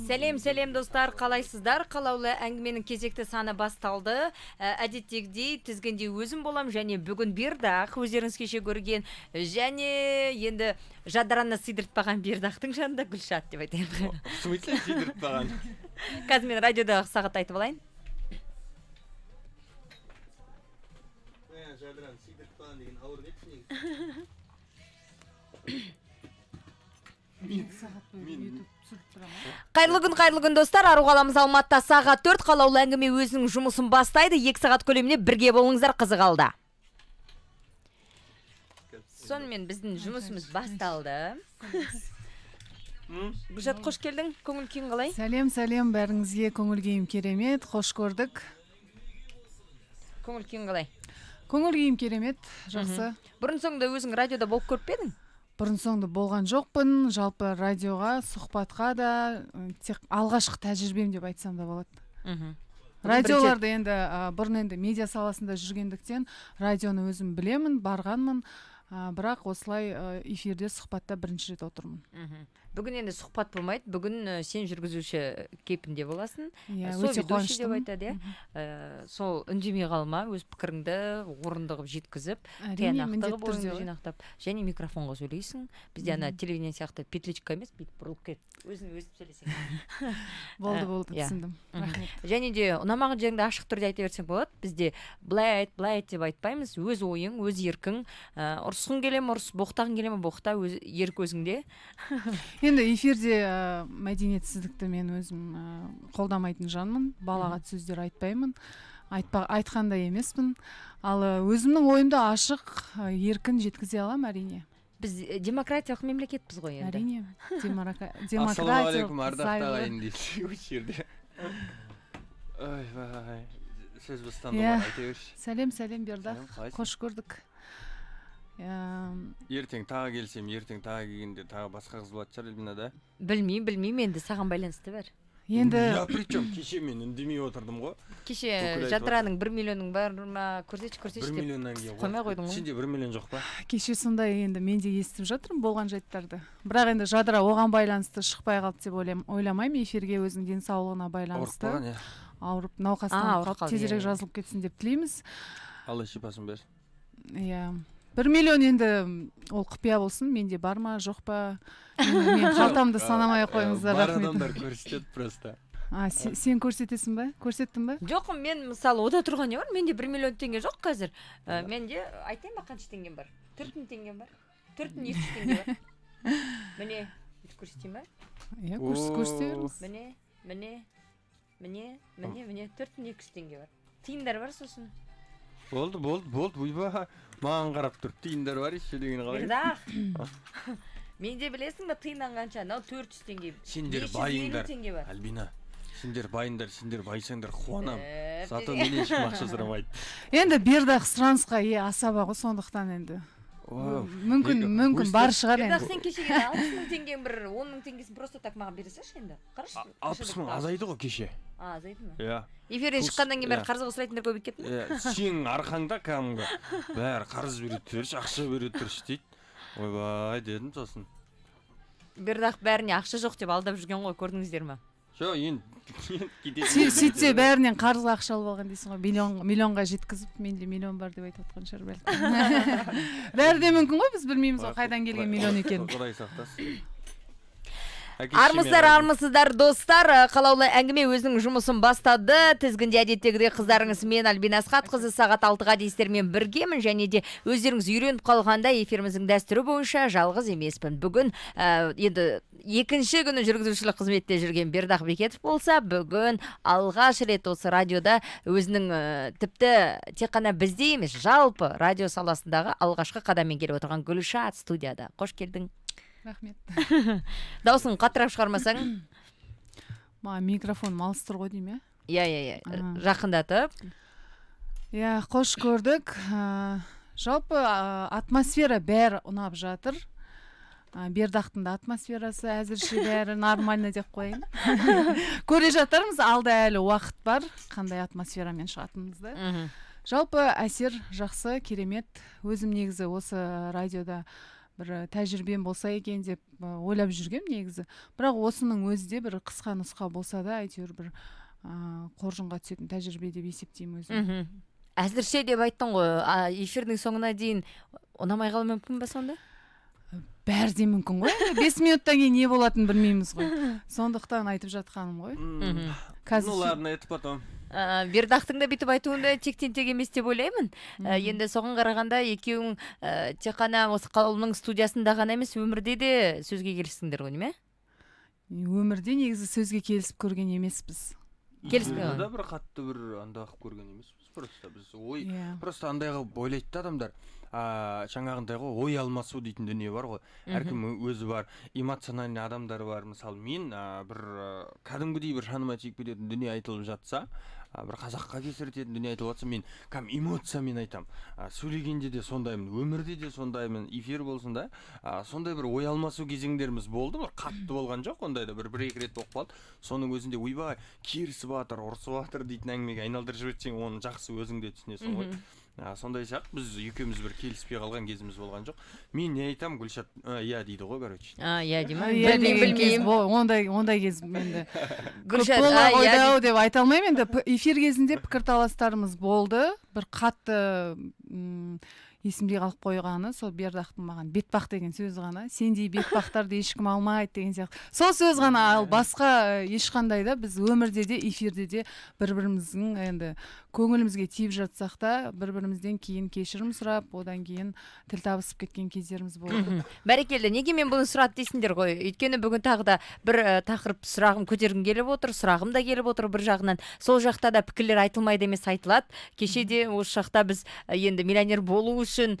Сәлем достар, қалайсыздар? Қалаулы әңгіменің кезекті саны басталды. Әдеттегідей тізгінде өзім болам, және бүгін Бердақ, өздеріңіз кеше көрген, және енді жадыранына сыйдыртпаған Бердақтың жанында Гүлшат деп айтайын. В смысле сыйдыртпаған? Қазір мен радиодағы сағат айтып алайын. Жадыран сыйдыртпаған деген ауыр кетсін. Қайырлы күн достар, ару қаламыз Алматыда сағат 4, қалаулы әңгіме өзінің жұмысын бастайды. 2 сағат көлеміне бірге болыңыздар, қызық алды. Сонымен біздің жұмысымыз басталды. Гүлшат, қош келдің, көңіл күйің қалай? Сәлем, бәріңізге көңіл күйім керемет, қош көрдік. Көңіл күйің қалай? Көңіл күйім керемет, жақсы. Бұрын соңды өзің радиода болып көріп педің? Бұрын соңды болған жоқпын, жалпы радиоға, сұхбатқа да тек алғашқы тәжірибем деп айтсам да болады. Радиоларды енді бұрын енді медиа саласында жүргендіктен радионы өзім білемін, барғанмын, бірақ осылай эфирде сұхбатта бірінші рет отырмын. Бүгін енді сұхбат болмайды, бүгін сен жүргізуші кейпінде боласың. Өте қуаныштымын. Сол үндемей қалма, өз пікіріңді орындығып жеткізіп, тиянақты бойыңды жинақтап, және микрофонға сөйлейсің. Бізде ана телевидение сияқты петличка емес, бүйтіп бұрылып кет, өзің сөйлесең. Болды, түсіндім. Және де ұнамаған жеріңді ашық түрде айта берсең болады. Бізде былай айт деп айтпаймыз, өз ойың, өз еркің, ұрысқың келем, ұрыс, боқтағың келем, боқта, ерік өзіңде. Енді эфирде мәдениетсіздікті мен өзім қолдамайтын жанмын, балағат сөздер айтпаймын, айтқанда емеспін. Ал өзімнің ойымды ашық, еркін жеткізе алам, әрине. Біз демократиялық мемлекетпіз ғой енді. Әрине, демократиялық. Ассалаумағалейкум, ардақтағы ағайын дейсіз осы жерде. Сөз бастан болар, айта берші. Сәлем, Бердақ, қош көрдік. Ертең тағы келсем, ертең тағы келгенде тағы басқа қыз болады шығар, Эльмина, да? Білмеймін, енді саған байланысты бар. Я причем кеше мен үндемей отырдым ғой. Кеше жадыраның 1 миллионың бар ма, көрсетші 1 миллионнан кейін қоймай қойдың ғой. Сенде 1 миллион жоқ па? Кеше сондай енді мен де естіп жатырмын болған жайттарды. Бірақ енді жадыра оған байланысты шықпай қалды деп ойламаймын, эфирге өзінің денсаулығына байланысты. Ауырып, науқастан қалып тезірек жазылып кетсін деп тілейміз. Алла шипасын берсін. 1 миллион енді ол құпия болсын, менде бар ма, жоқ па, мен қалтамды санамай қойыңыздар, бар рахмет. адамдар көрсетеді просто. Сен көрсетесің ба? Көрсеттің ба? Жоқ, мен мысалы ода тұрған не бар, менде 1 миллион теңге жоқ қазір. Менде айтайын ба қанша теңгем бар? 4000 теңгем бар. 4200 теңге бар. Міне, көрсетейін ба? Көрсетеміз. Міне, 4200 теңге бар. Тиындар бар сосын. Болды, бұйба, маған қарап тұр, тиындар бар еші деген қалай? Бердақ, менде білесің ба тиыннан қанша, 400 теңге, 550 теңге бар. Альбина, сендер байсаңдар қуанам, зато мен ешкім ақша сұрамайды. Енді Бердақ сұранысқа асаба ғой, сондықтан енді. Мүмкін бар шығар енді. Бердақ, сен кешеге 60 мың теңгең бір, 10 мың теңгесін просто так маған бересеші енді? 60 мың азайды ғой кеше. Азайды ма? Иә. Эфирден шыққаннан кейін бәрі қарызға сұрайтындар көбейіп кетті ме? Сенің арқаңда кәдімгі бәрі қарыз бере тұршы, ақша бере тұршы дейді. Ойбай дедім сосын. Бердақ бәріне ақша жоқ деп алдап жүрген ғой, көрдіңіздер ма? Жоқ, енді сөйтсе бәрінен қарызға ақша алып алған дейсің ғой, миллионға жеткізіп, менде миллион бар деп айтып отқан шығар бәлкім. Бәрі де мүмкін ғой, біз білмейміз ғой қайдан келген миллион екенін. Құдай сақтасын. Армысыздар достар, қалаулы әңгіме өзінің жұмысын бастады. Тізгінде әдеттегідей қыздарыңыз мен Альбина Асхат қызы сағат 6-ға дейстермен біргемін, және де өздеріңіз үйреніп қалғанда эфиріміздің дәстүрі бойынша жалғыз емеспін. Бүгін енді екінші күні жүргізушілік қызметте жүрген Бердақ Бекетов болса, бүгін алғаш рет осы радиода өзінің тіпті тек қана бізде емес, жалпы радио саласындағы алғашқы қадаммен келіп отырған Гүлшат студияда. Қош келдің. Рахмет. Дауысың қаттырақ шығармасаң? Микрофон малыстыр ғой дейм, иә? Жақындатып. Қош көрдік. Жалпы атмосфера бәрі ұнап жатыр. Бердақтың да атмосферасы әзірше бәрі нормально деп қойын. Көре жатармыз, алда әлі уақыт бар, қандай атмосферамен шығатынымызды. Мгм. Жалпы әсер жақсы, керемет. Өзім негізі осы радиода бір тәжірибем болса екен деп ойлап жүргем негізі. Бірақ осының өзі де бір қысқа нұсқа болса да әйтеуір бір қоржынға түсетін тәжірибе деп есептеймін өзім. Әзірше деп айттың ғой, эфирдің соңына дейін ұнамай қалуы мүмкін ба сонда? Бәрі де мүмкін ғой. 5 минуттан кейін не болатынын білмейміз ғой. Сондықтан айтып жатқаным ғой. Ну ладно, это потом. Бердақтың да бүйтіп айтуында тектен тек емес деп ойлаймын. Енді соған қарағанда екеуің тек қана осы қаланың студиясында ғана емес, өмірде де сөзге келістіңдер ғой, неме? Өмірде негізі сөзге келісіп көрген емеспіз. Келіспей да бір қатты бір андай қылып көрген емеспіз. Просто біз просто андай қылып ойлайды адамдар. Жаңағындай ғой, ой алмасу дейтін дүние бар ғой. Әркім өзі бар, эмоциональный адамдар бар. Мысалы мен бір кәдімгідей бір шаныма тиіп кететін дүние айтылып жатса, бір қазаққа кесір ететін дүние айтылып жатса, мен эмоциямен айтам. Сөйлегенде де сондаймын, өмірде де сондаймын, эфир болсын да. Сондай бір ой алмасу кезеңдеріміз болды, бір қатты болған жоқ, ондайда бір-екі рет болып қалды. Соның өзінде ойбай, керісіп жатыр, ұрысып жатыр дейтін әңгімеге айналдырып жіберсең, оны жақсы өзің де түсінесің ғой. Сондай сияқты біз екеуміз бір келіспей қалған кезіміз болған жоқ. Мен не айтам, Гүлшат иә дейді ғой, короче. Иә деймін. Білмеймін. Ондай кез менде Гүлшат ойдау деп айта алмаймын. Енді эфир кезінде пікірталастарымыз болды. Бір қатты есімде қалып қойғаны сол Бердақтың маған бетпақ деген сөзі ғана. Сендей бетпақтарды ешкім алмайды деген сияқты. Сол сөз ғана, ал басқа ешқандай да біз өмірде де эфирде де бір-біріміздің енді көңілімізге тиіп жатсақ та бір-бірімізден кейін кешірім сұрап, одан кейін тіл табысып кеткен кездеріміз болды. Бәрекелді, неге мен бұны сұрады дейсіңдер ғой? Өйткені бүгін тағы да бір тақырып сұрағым көтергім келіп отыр, сұрағым да келіп отыр бір жағынан. Сол жақта да пікірлер айтылмайды емес, айтылады. Кеше де осы жақта біз енді миллионер болу үшін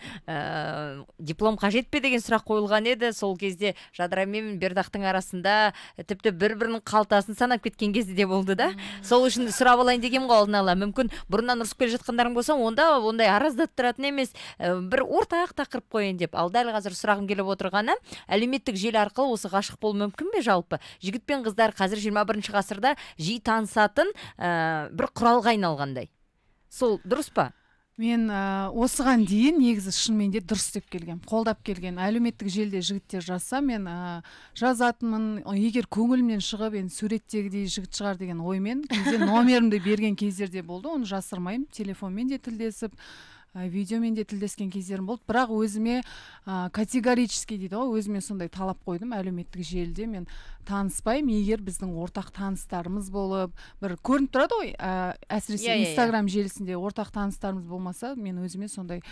диплом қажет пе деген сұрақ қойылған еді. Сол кезде Жадыра мен Бердақтың арасында тіпті бір-бірінің қалтасын санап кеткен кезде де болды да. Сол үшін сұрап алайын дегем ғой алдын ала. Мүмкін бұрыннан ұрысып келе жатқандарың болса, онда ондай араздаттыратын емес, бір ортақ тақырып қойын деп. Ал дәл қазір сұрағым келіп отырғаны, әлеуметтік желі арқылы осы ғашық болу мүмкін бе жалпы? Жігіт пен қыздар қазір 21 ғасырда жиі танысатын бір құралға айналғандай. Сол дұрыс па? Мен осыған дейін негізі шынымен де дұрыс деп келгем, қолдап келген. Әлеуметтік желіде жігіттер жазса, мен жазатынмын, егер көңілімнен шығып, суреттегідей жігіт шығар деген оймен, кейде номерімді берген кездерде болды, оны жасырмаймын, телефонмен де тілдесіп, видеомен де тілдескен кездерім болды. Бірақ өзіме категорически дейді ғой, өзіме сондай талап қойдым. Әлеуметтік желіде мен таныспаймын, егер біздің ортақ таныстарымыз болып, бір көрініп тұрады ғой, әсіресе Инстаграм желісінде ортақ таныстарымыз болмаса, мен өзіме сондай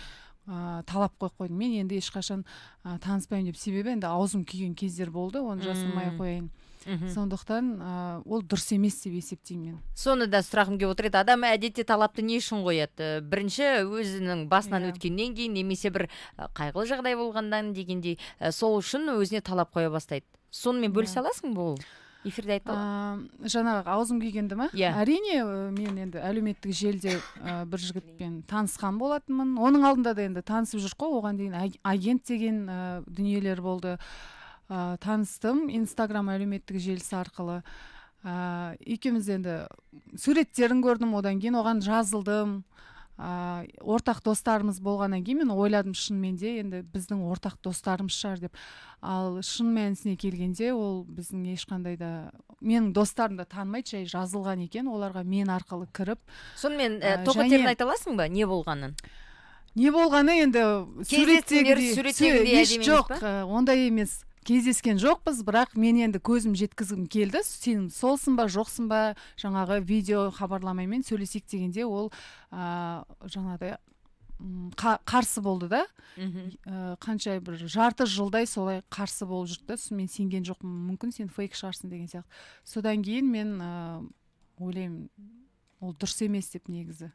талап қойдым. Мен енді ешқашан таныспаймын деп, себебі енді аузым күйген кездер болды, оны жасырмай қояйын. Сондықтан ол дұрыс емес деп есептеймін мен. Соны да сұрағым келіп отыр еді. Адам әдетте талапты не үшін қояды? Бірінші өзінің басынан өткеннен кейін, немесе бір қайғылы жағдай болғандан дегендей, сол үшін өзіне талап қоя бастайды. Сонымен бөлісе аласың бұл? Эфирде айтты. Жаңағы аузым күйгенді ма? Әрине, мен енді әлеуметтік желіде бір жігітпен танысқан болатынмын. Оның алдында да енді танысып жүр қой, оған дейін агент деген дүниелер болды. Таныстым Инстаграм әлеуметтік желісі арқылы. Екеуміз енді суреттерін көрдім, одан кейін оған жазылдым. Ортақ достарымыз болғаннан кейін мен ойладым, шынымен де енді біздің ортақ достарымыз шығар деп. Ал шын мәнісіне келгенде ол біздің ешқандай да, менің достарым да танымайды, жай жазылған екен, оларға мен арқылы кіріп. Сонымен тоқетерін айта аласың ба, не болғанын? Не болғаны енді суреттегідей жоқ, ондай емес. Кездескен жоқпыз, бірақ мен енді көзім жеткізгім келді. Сен солсың ба, жоқсың ба, жаңағы видео хабарламаймен сөйлесек дегенде ол жаңағыдай қарсы болды да. Қанша бір жарты жылдай солай қарсы болып жүрді. Мен сенген жоқпын, мүмкін сен фейк шығарсың деген сияқты. Содан кейін мен ойлаймын, ол дұрыс емес деп негізі.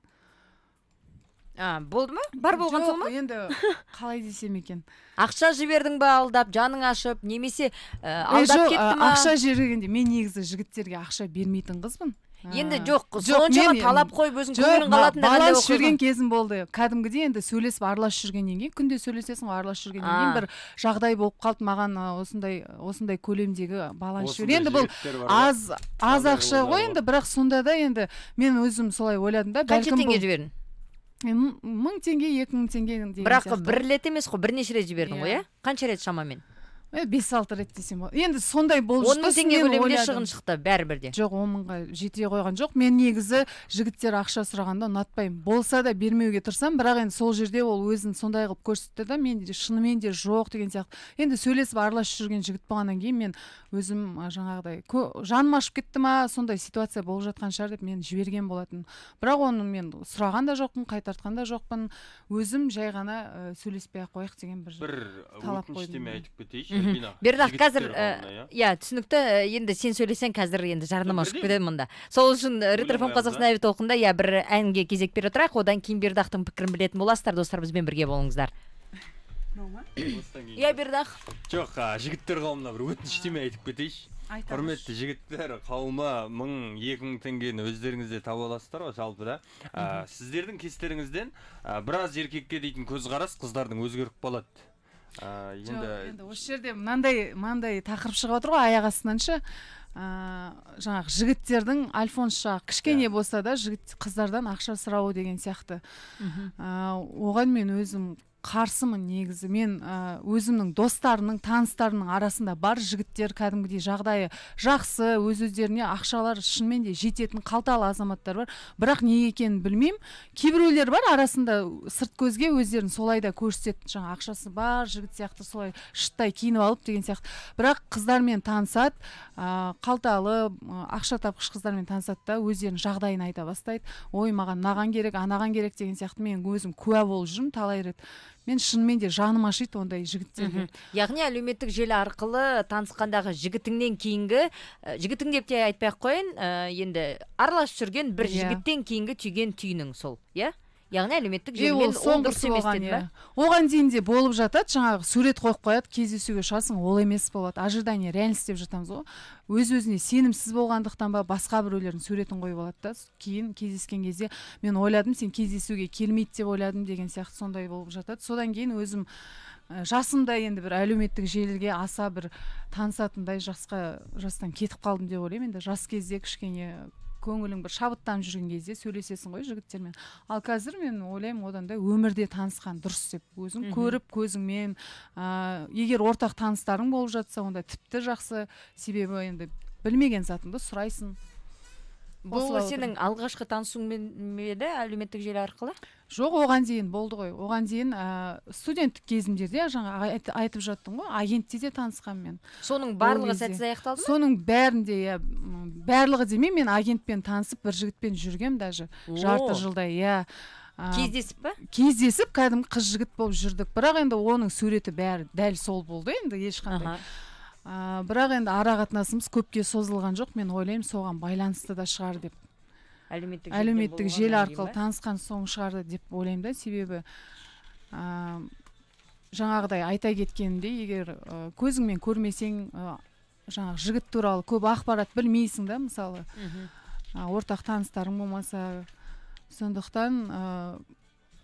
Болды ма? Бар болған сол ма? Енді қалай десем екен. Ақша жібердің ба алдап, жаның ашып, немесе алдап кетті ма? Ақша жібергенде мен негізі жігіттерге ақша бермейтін қызбын. Енді жоқ, соншама талап қойып өзің көңілің қалатында баланс жүрген кезім болды. Кәдімгідей енді сөйлесіп араласып жүргеннен кейін, күнде сөйлесесің, араласып жүргеннен кейін бір жағдай болып қалды маған, осындай көлемдегі баланс жібер. Енді бұл аз ақша ғой енді, бірақ сонда да енді мен өзім солай ойладым да, қанша теңге жібердің? 1000 теңге 2000 теңге деген бірақ бір рет емес қой, бірнеше рет жібердің ғой, иә? Қанша рет шамамен? 5-6 рет десем болады. Енді сондай болып 10 000 теңге көлемінде шығын шықты бәрібірде. Жоқ, 10 000-ға жете қойған жоқ. Мен негізі жігіттер ақша сұрағанда ұнатпаймын. Болса да бермеуге тырысам, бірақ енді сол жерде ол өзін сондай қылып көрсетті да, мен шынымен де жоқ деген сияқты. Енді сөйлесіп араласып жүрген жігіт болғаннан кейін мен өзім жаңағыдай жаным ашып кетті ма, сондай ситуация болып жатқан шығар деп мен жіберген болатын. Бірақ оны мен сұраған да жоқпын, қайтартқан да жоқпын. Өзім жай ғана сөйлеспей ақ қояйық деген бір талап қойдым. Айтып кетейінші. Бердақ, қазір түсінікті, енді сен сөйлесең қазір енді жарнама шығып кетеді мұнда. Сол үшін Ретрофм Қазақстан әуе толқында бір әнге кезек бере тұрайық, одан кейін Бердақтың пікірін білетін боласыздар, достар, бізбен бірге болыңыздар. Бердақ. Жоқ, жігіттер қауымына бір өтініштеме айтып кетейінші. Құрметті жігіттер қауымы, 1000-2000 теңгені өздеріңізде таба аласыздар ғой, жалпы да. Сіздердің кестеріңізден біраз еркекке дейтін көзқарас қыздардың өзгеріп қалады. Енді осы жерде мынандай тақырып шығып отыр ғой, аяқ астынан ше. Жаңағы жігіттердің альфонсша кішкене болса да қыздардан ақша сұрауы деген сияқты. Оған мен өзім қарсымын негізі. Мен өзімнің достарының, таныстарының арасында бар жігіттер кәдімгідей жағдайы жақсы, өздеріне ақшалар шынымен де жететін қалталы азаматтар бар. Бірақ не екенін білмеймін. Кейбіреулер бар арасында сырт көзге өздерін солай да көрсетеді. Жаңа ақшасы бар жігіт сияқты солай шыттай киініп алып деген сияқты. Бірақ қыздармен танысады, қалталы, ақша тапқыш қыздармен танысады да өздерінің жағдайын айта бастайды. Ой, маған мынаған керек, анаған керек деген сияқты. Мен өзім куә болып жүрмін талай рет. Мен шынымен де жаным ашиды ондай жігіттерге. Яғни әлеуметтік желі арқылы танысқандағы жігітіңнен кейінгі, жігітің деп те айтпай ақ қойын, енді араласып жүрген бір жігіттен кейінгі түйген түйінің сол, иә? Яғни әлеуметтік желімен ол дұрыс емес деді ме? Оған дейін де болып жатады, жаңағы сурет қойып қояды, кездесуге шығасың, ол емес болады. Ожидание, реальность деп жатамыз ғой. Өз-өзіне сенімсіз болғандықтан ба басқа біреулердің суретін қойып алады да, кейін кездескен кезде мен ойладым, сен кездесуге келмейді деп ойладым деген сияқты сондай болып жатады. Содан кейін өзім жасымда енді бір әлеуметтік желіге аса бір танысатындай жастан кетіп қалдым деп ойлаймын. Енді жас кезде кішкене көңілің бір шабыттанып жүрген кезде сөйлесесің ғой жігіттермен. Ал қазір мен ойлаймын одан да өмірде танысқан дұрыс деп. Өзің көріп көзіңмен, егер ортақ таныстарың болып жатса, онда тіпті жақсы. Себебі енді білмеген затыңды сұрайсың. Бұл сенің алғашқы танысуың еді әлеуметтік желі арқылы? Жоқ, оған дейін болды ғой. Оған дейін студенттік кезімдерде жаңа айтып жаттым ғой, агентте де танысқан мен. Соның барлығы сәтсіз аяқталды ма? Соның бәрінде, барлығы демей, мен агентпен танысып бір жігітпен жүргем даже жарты жылдай, иә. Кездесіп па? Кездесіп, кәдімгі қыз жігіт болып жүрдік. Бірақ енді оның суреті бәрі дәл сол болды, енді ешқандай. Бірақ енді ара қатынасымыз көпке созылған жоқ. Мен ойлаймын, соған байланысты да шығар деп. Әлеуметтік желі арқылы танысқан соң шығарды деп ойлаймын да, себебі жаңағыдай айта кеткенімде, егер көзіңмен көрмесең, жаңағы жігіт туралы көп ақпарат білмейсің да, мысалы, ортақ таныстарың болмаса, сондықтан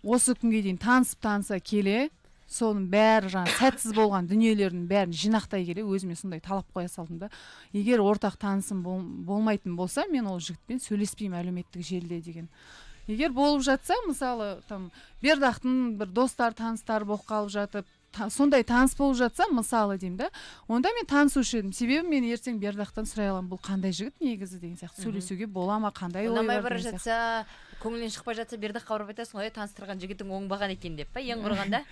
осы күнге дейін таныса келе, соның бәрі жаңа сәтсіз болған дүниелердің бәрін жинақтай келе өзіме сондай талап қоя салдым да. Егер ортақ танысым болмайтын болса, мен ол жігітпен сөйлеспеймін әлеуметтік желіде деген. Егер болып жатса, мысалы, Бердақтың бір достар, таныстар болып қалып жатып, сондай таныс болып жатса, мысалы деймін да, онда мен танысушы едім. Себебі мен ертең Бердақтан сұрай аламын, бұл қандай жігіт негізі деген сияқты. Сөйлесуге бола ма, қандай ой бар деген сияқты. Ұнамай бара жатса, көңілінен шықпай жатса, Бердаққа барып айтасың ғой, таныстырған жігітің оңбаған екен деп па, ең құрғанда?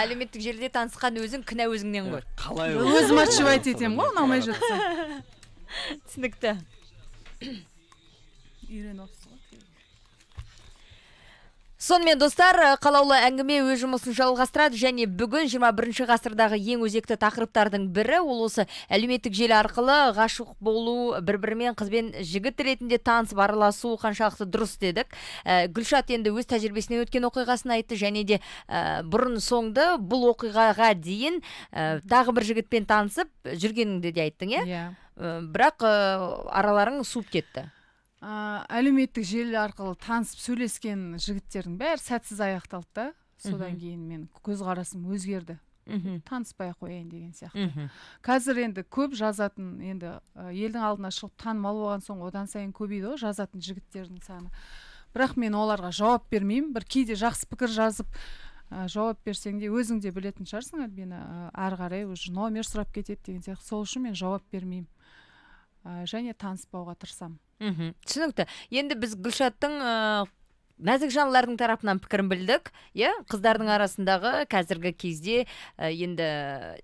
Әлеуметтік желіде танысқан өзің кінә өзіңнен ғой. Қалай өзім отшивать етемін ғой, ұнамай жатса. Түсінікті. Үйреніп отырсың ғой. Сонымен достар, қалаулы әңгіме өз жұмысын жалғастырады және бүгін 21 ғасырдағы ең өзекті тақырыптардың бірі ол осы әлеуметтік желі арқылы ғашық болу, бір-бірімен қызбен жігіт ретінде танысып араласу қаншалықты дұрыс дедік. Гүлшат енді өз тәжірибесінен өткен оқиғасын айтты және де бұрын соңды бұл оқиғаға дейін тағы бір жігітпен танысып жүргеніңді де айттың, иә? Бірақ араларың суып кетті. Әлеуметтік желі арқылы танысып сөйлескен жігіттердің бәрі сәтсіз аяқталды да. Содан кейін мен көзқарасым өзгерді. Таныспай қояйын деген сияқты. Қазір енді көп жазатын, енді елдің алдына шығып танымал болған соң одан сайын көбейді ғой жазатын жігіттердің саны. бірақ мен оларға жауап бермеймін. Бір кейде жақсы пікір жазып жауап берсең де өзің де білетін шығарсың, Альбина, ары қарай уже номер сұрап кетеді деген сияқты. Сол үшін мен жауап бермеймін. Және таныспауға тырысамын. Түсінікті. Енді біз Гүлшаттың нәзік жандылардың тарапынан пікірін білдік, қыздардың арасындағы қазіргі кезде енді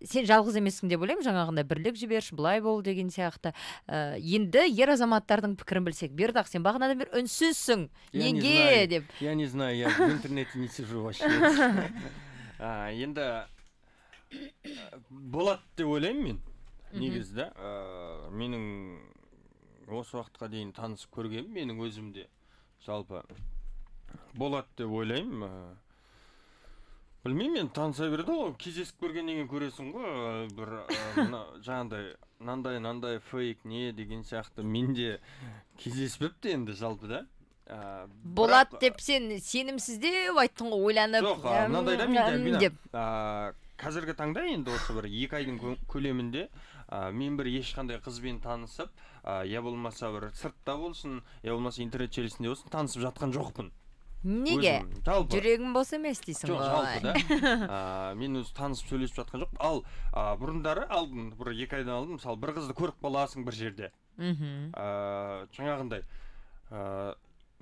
сен жалғыз емессің деп ойлаймын, жаңағында бірлік жіберші, былай бол деген сияқты. Енді ер азаматтардың пікірін білсек, Бердақ, сен бағанадан бері үнсізсің, неге деп? Я не знаю, я в интернете не сижу вообще. Енді болады деп ойлаймын мен, негізді. Менің осы уақытқа дейін танысып көргенім, менің өзімде жалпы болады деп ойлаймын. Білмеймін, мен таныса берді ғой, кездесіп көргеннен кейін көресің ғой, бір жаңағыдай нандай фейк не деген сияқты менде кездеспепті енді жалпы да. Болады деп сен сенімсіздеу айттың ғой, ойланып. Жоқ, мынандай да менде қазіргі таңда енді осы бір 2 айдың көлемінде мен бір ешқандай қызбен танысып, я болмаса бір сыртта болсын, я болмаса интернет желісінде болсын, танысып жатқан жоқпын. Неге? Жүрегім бос емес дейсің ғой. Жоқ, жалпы да. Мен өзі танысып сөйлесіп жатқан жоқ. Ал бұрындары алдым, бір 2 айдан алдым, мысалы бір қызды көріп қаласың бір жерде. Жаңағындай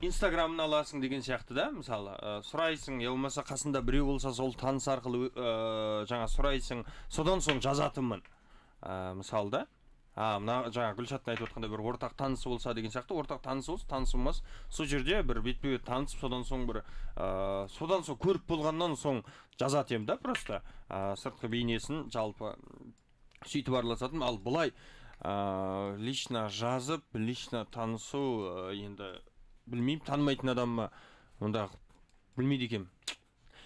Инстаграмын аласың деген сияқты да, мысалы сұрайсың, я болмаса қасында біреу болса сол таныс арқылы жаңа сұрайсың, содан соң жазатынмын. Мысалы да, мына жаңа Гүлшаттың айтып отқандай бір ортақ танысы болса деген сияқты, ортақ танысы болса, танысы болмас, сол жерде бір бетпе-бет танысып, содан соң көріп болғаннан соң жазатым да, просто сыртқы бейнесін жалпы сөйтіп араласатым. Ал бұлай лично жазып, лично танысу енді білмеймін, танымайтын адамма онда білмейді екенмін.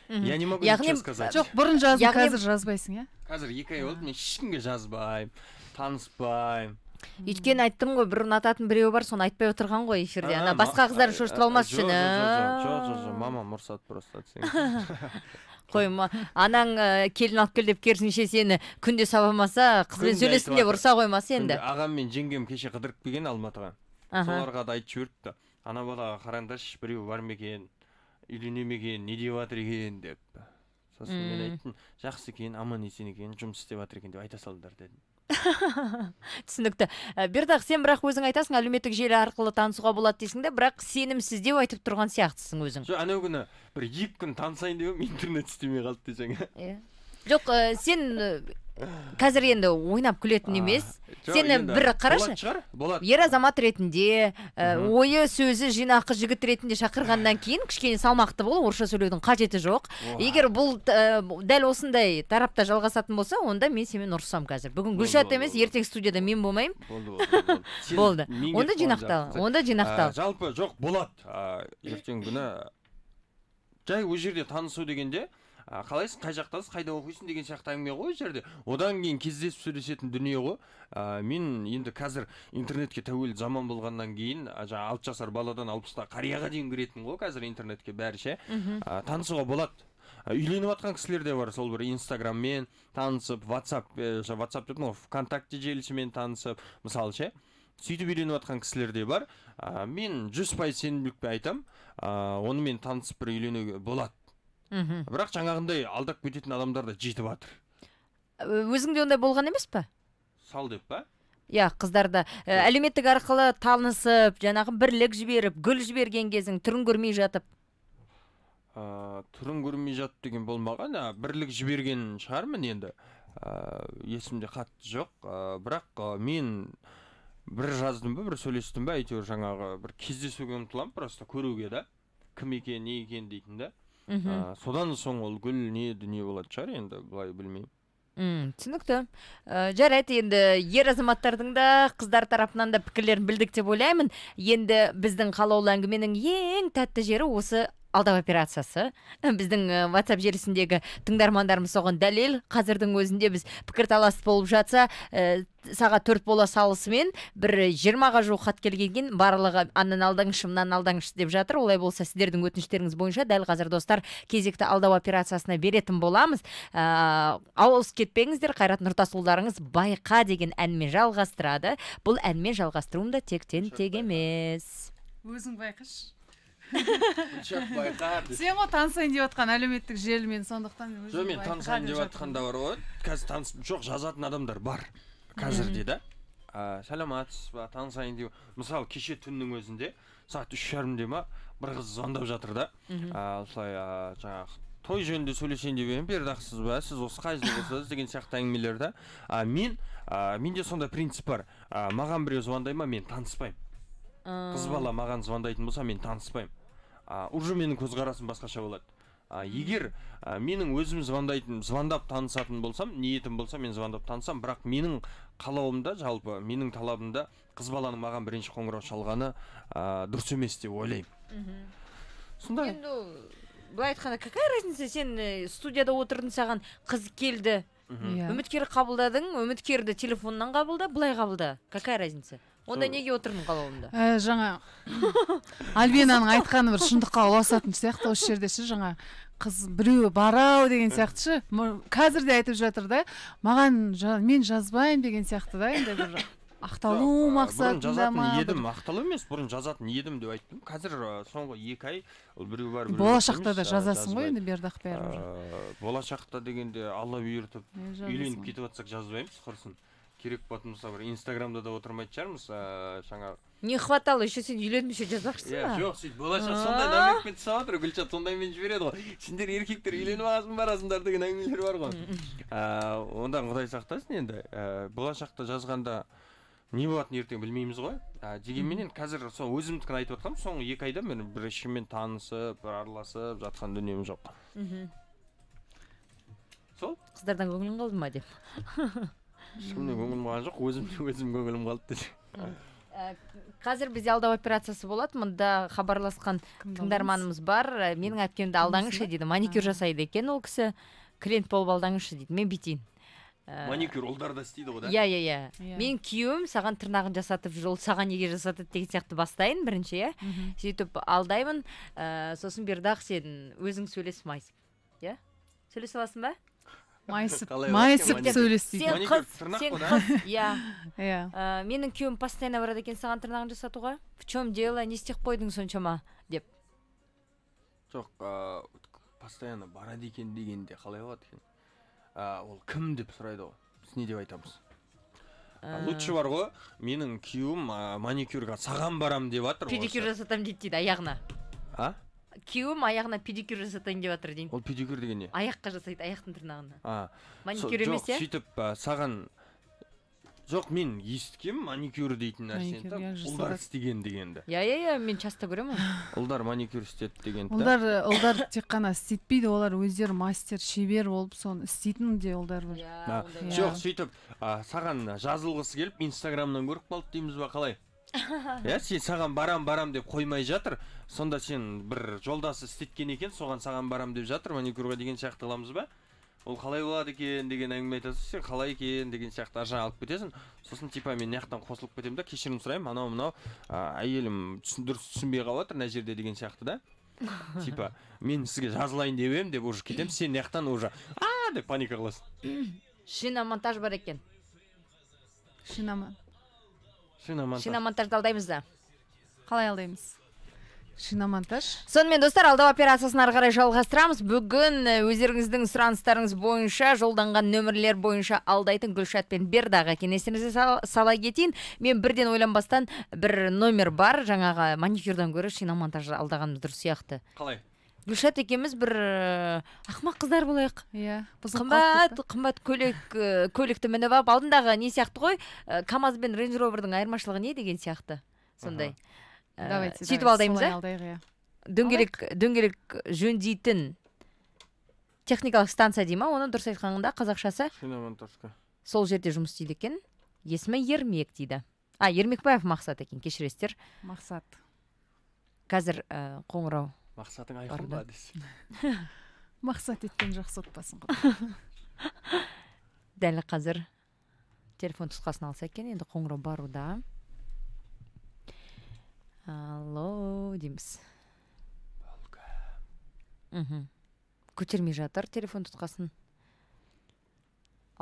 Я не могу ничего сказать. Жоқ, бұрын жазып, қазір жазбайсың, иә? Қазір 2 ай болды, мен ешкімге жазбаймын, таныспаймын. Өйткені айттым ғой, бір ұнататын біреу бар, соны айтпай отырған ғой эфирде. Ана басқа қыздарды шошытып алмас үшін. Жоқ, мама мұрсат просто атсең. Қойма, анаң келін алып кел деп керісінше сені күнде сабамаса, қызбен сөйлесін деп ұрса қоймасы енді. Ағам мен жеңгем кеше қыдырып келген Алматыға. Соларға да айтып жіберіпті. Ана балаға қараңдаршы, біреу бар ма екен, үйленемеген, не деп жатыр екен деп. Сосын мен айттым, жақсы екен, аман есен екен, жұмыс істеп жатыр екен деп айта салдыр дедім. Түсінікті. Бердақ, сен бірақ өзің айтасың, әлеуметтік желі арқылы танысуға болады дейсің де, бірақ сенімсіздеу айтып тұрған сияқтысың өзің. Жоқ, анау күні бір 2 күн танысайын деп интернет істемей қалды десең. Жоқ, сен қазір енді ойнап күлетін емес. Сені бір қарашы, ер азамат ретінде, ойы сөзі жинақы жігіт ретінде шақырғаннан кейін кішкене салмақты бол, орысша сөйлеудің қажеті жоқ. Егер бұл дәл осындай тарапта жалғасатын болса, онда мен сенімен ұрсам қазір. Бүгін Гүлшат емес, ертең студияда мен болмаймын. Болды. Онда жинақтал. Жалпы жоқ, болады. Ертең күні жай өз жерде танысу дегенде қалайсың, қай жақтасың, қайда оқисың деген сияқты әңгіме ғой жерде. Одан кейін кездесіп сөйлесетін дүние ғой. Мен енді қазір интернетке тәуелді заман болғаннан кейін, 6 жасар баладан 60-та қарияға дейін кіретін ғой қазір интернетке бәрі ше. Танысуға болады. Үйленіп жатқан кісілер де бар, сол бір Инстаграммен танысып, WhatsApp дейтін ғой, ВКонтакте желісімен танысып, мысалы ше. Сөйтіп үйленіп жатқан кісілер де бар. Мен 100% сенімділікпен айтам, онымен танысып бір үйленуге болады. Бірақ жаңағындай алдап кететін адамдар да жетіп жатыр. Өзіңде ондай болған емес па? Сал деп па? Иә, қыздарда әлеуметтік арқылы танысып, жаңағы бірлік жіберіп, гүл жіберген кезің түрін көрмей жатып. Түрін көрмей жатып деген болмаған, бірлік жіберген шығармын енді. Есімде қатты жоқ, бірақ мен бір жаздым ба, бір сөйлестім ба, әйтеуір жаңағы бір кездесуге ұмтылам, просто көруге да, кім екен, не екен дейтін да. Содан соң ол гүл не дүние болады шығар, енді бұлай білмеймін. Түсінікті. Жарайды, енді ер азаматтардың да қыздар тарапынан да пікірлерін білдік деп ойлаймын. Енді біздің қалаулы әңгіменің ең тәтті жері осы алдау операциясы. Біздің WhatsApp желісіндегі тыңдармандарымыз соған дәлел. Қазірдің өзінде біз пікірталас болып жатса, сағат 4 бола салысымен бір 20-ға жуық хат келген, барлығы аннан алдаңызшы, мынан алдаңызшы деп жатыр. Олай болса, сіздердің өтініштеріңіз бойынша дәл қазір достар кезекті алдау операциясына беретін боламыз. Ауыз кетпеңіздер, Қайрат Нұртасұлдарыңыз Байқа деген әнмен жалғастырады. Бұл әнмен жалғастыруым да тектен тек емес. Өзің байқаш. Гүлшат байқа. Сен ғой танысайын деп жатқан әлеуметтік желімен, сондықтан Жоқ, мен танысайын деп жатқанда бар ғой. Қазір танысып жоқ жазатын адамдар бар. Қазірде да. Сәлематсыз ба, танысайын деп. Мысалы, кеше түннің өзінде сағат 3:30-де ма бір қыз звондап жатыр да. Осылай жаңағы той жөнінде сөйлесейін деп едім, бердақсыз ба, сіз осы қай жылғы болсаңыз деген сияқты әңгімелер да. Менде сондай принцип бар. Маған біреу звондай ма, мен таныспаймын. Қыз бала маған звондайтын болса, мен таныспаймын. Уже менің көзқарасым басқаша болады. Егер менің өзім звондап танысатын болсам, ниетім болса, мен звондап танысам, бірақ менің қалауымда, жалпы менің талабымда қыз баланың маған бірінші қоңырау шалғаны дұрыс емес деп ойлаймын. Сонда былай айтқанда, какая разница, сен студияда отырдың, саған қыз келді, үміткер қабылдадың, үміткерді телефоннан қабылда, былай қабылда, какая разница? Онда неге отырдың қалауымда? Жаңа Альбинаның айтқаны бір шындыққа ұласатын сияқты осы жерде ше, жаңа қыз біреу барау деген сияқты ше, қазір де айтып жатыр да, мен жазбаймын деген сияқты да, енді бір ақталу мақсатында ма? Бұрын жазатын едім, ақталу емес, бұрын жазатын едім деп айттым. Қазір соңғы 2 ай біреу бар, біреу болашақта да жазасың ғой енді, бердақ бәрі. Болашақта дегенде Алла бұйыртып үйленіп кетіп жатсақ жазбаймыз, құрсын. Керек болатын болса, бір Инстаграмда да отырмайтын шығармыз, жаңа. Не хватало, еще сен үйленбесе жазбақшысың ба? Жоқ, сөйтіп болашақ сондай намекпен түсіп отыр, Гүлшат сондаймен жібереді ғой. Сендер еркектер үйленіп аласың барасыңдар деген әңгімелер бар ғой. Ондан Құдай сақтасын енді. Болашақта жазғанда не болатынын ертең білмейміз ғой. Дегенменен қазір сол өзімдікін айтып жатқаным, соңғы 2 айда мен бір ешкіммен танысып, араласып жатқан дүнием жоқ. Сол? Қыздардан көңілің қалды ма деп? Ешкімнен көңілім қалған жоқ, өзім көңілім қалды деді. Қазір бізде алдау операциясы болады, мұнда хабарласқан тыңдарманымыз бар. Менің әпкемді алдаңызшы дейді, маникюр жасайды екен ол кісі, клиент болып алдаңызшы дейді, мен бүйтейін. Маникюр ұлдарда істейді ғой да? Иә. Мен күйеуім саған тырнағын жасатып жүр, ол саған неге жасатады деген сияқты бастайын бірінші, иә. Сөйтіп алдаймын, сосын бердақ сен өзің сөйлесіп майсып. Иә? Сөйлесе аласың ба? Майсып сөйлесіп. Сен қыз, иә. Менің күйеуім постоянно барады екен саған тырнағын жасатуға. В чем дело, не істеп қойдың соншама деп. Жоқ, постоянно барады екен дегенде қалай болады екен? Ол кім деп сұрайды ғой, біз не деп айтамыз? Лучше бар ғой, менің күйеуім маникюрға саған барам деп жатыр. Педикюр жасатам дейді, аяғына. Күйеуім аяғына педикюр жасатайын деп жатыр дейін. Ол педикюр деген не? Аяққа жасайды, аяқтың тырнағына. Маникюр емес, иә? Жоқ, сөйтіп саған... Жоқ, мен естігем маникюр дейтін нәрсені, ұлдар істеген дегенді. Иә, мен часто көремін. Ұлдар маникюр істеді дегенді. Ұлдар тек қана істетпейді, олар өздері мастер, шебер болып, соны істейтін де ұлдар бар. Жоқ, сөйтіп, саған жазылғысы келіп, Инстаграмнан көріп қалды дейміз ба, қалай? Сен саған барам деп қоймай жатыр, сонда сен бір жолдасы істеткен екен, соған саған барам деп жатыр, маникюрға деген сияқты қыламыз ба? Ол қалай болады екен деген әңгіме айтасың, сен қалай екен деген сияқты аржан алып кетесің. Сосын типа мен яқтан қосылып кетемін да, кешірім сұраймын, анау әйелім дұрыс түсінбей қалып отыр мына жерде деген сияқты да. Типа мен сізге жазылайын деп едім деп уже кетемін, сен яқтан уже деп паника қыласың. Шиномонтаж бар екен. Шиномонтажды алдаймыз да. Қалай алдаймыз? Шиномонтаж. Сонымен достар, алдау операциясын ары қарай жалғастырамыз. Бүгін өздеріңіздің сұраныстарыңыз бойынша жолданған нөмірлер бойынша алдайтын Гүлшат пен Бердағы кеңестеріңізге сала кетейін. Мен бірден ойланбастан бір номер бар, жаңағы маникюрдан гөрі шиномонтажды алдағанымыз дұрыс сияқты. Қалай? Гүлшат екеуміз бір ақымақ қыздар болайық. Иә. Қымбат көлікті мініп алып, алдындағы не сияқты ғой, КамАЗ бен Range Rover'дың айырмашылығы не деген сияқты. Сондай. Сөйтіп алдаймыз, дөңгелек жөндейтін техникалық станция дейма, оны дұрыс айтқанында қазақшасы шиномонтажка. Сол жерде жұмыс істейді екен. Есімі Ермек дейді. Ермекбаев Мақсат екен, кешіресіздер. Мақсат. Қазір қоңырау. Мақсатың айқын ба десе. Мақсат еткен жақсы отбасын ғой. Дәл қазір телефон тұтқасын алса екен, енді қоңырау баруда. Алло, дейміз. Көтермей жатыр телефон тұтқасын.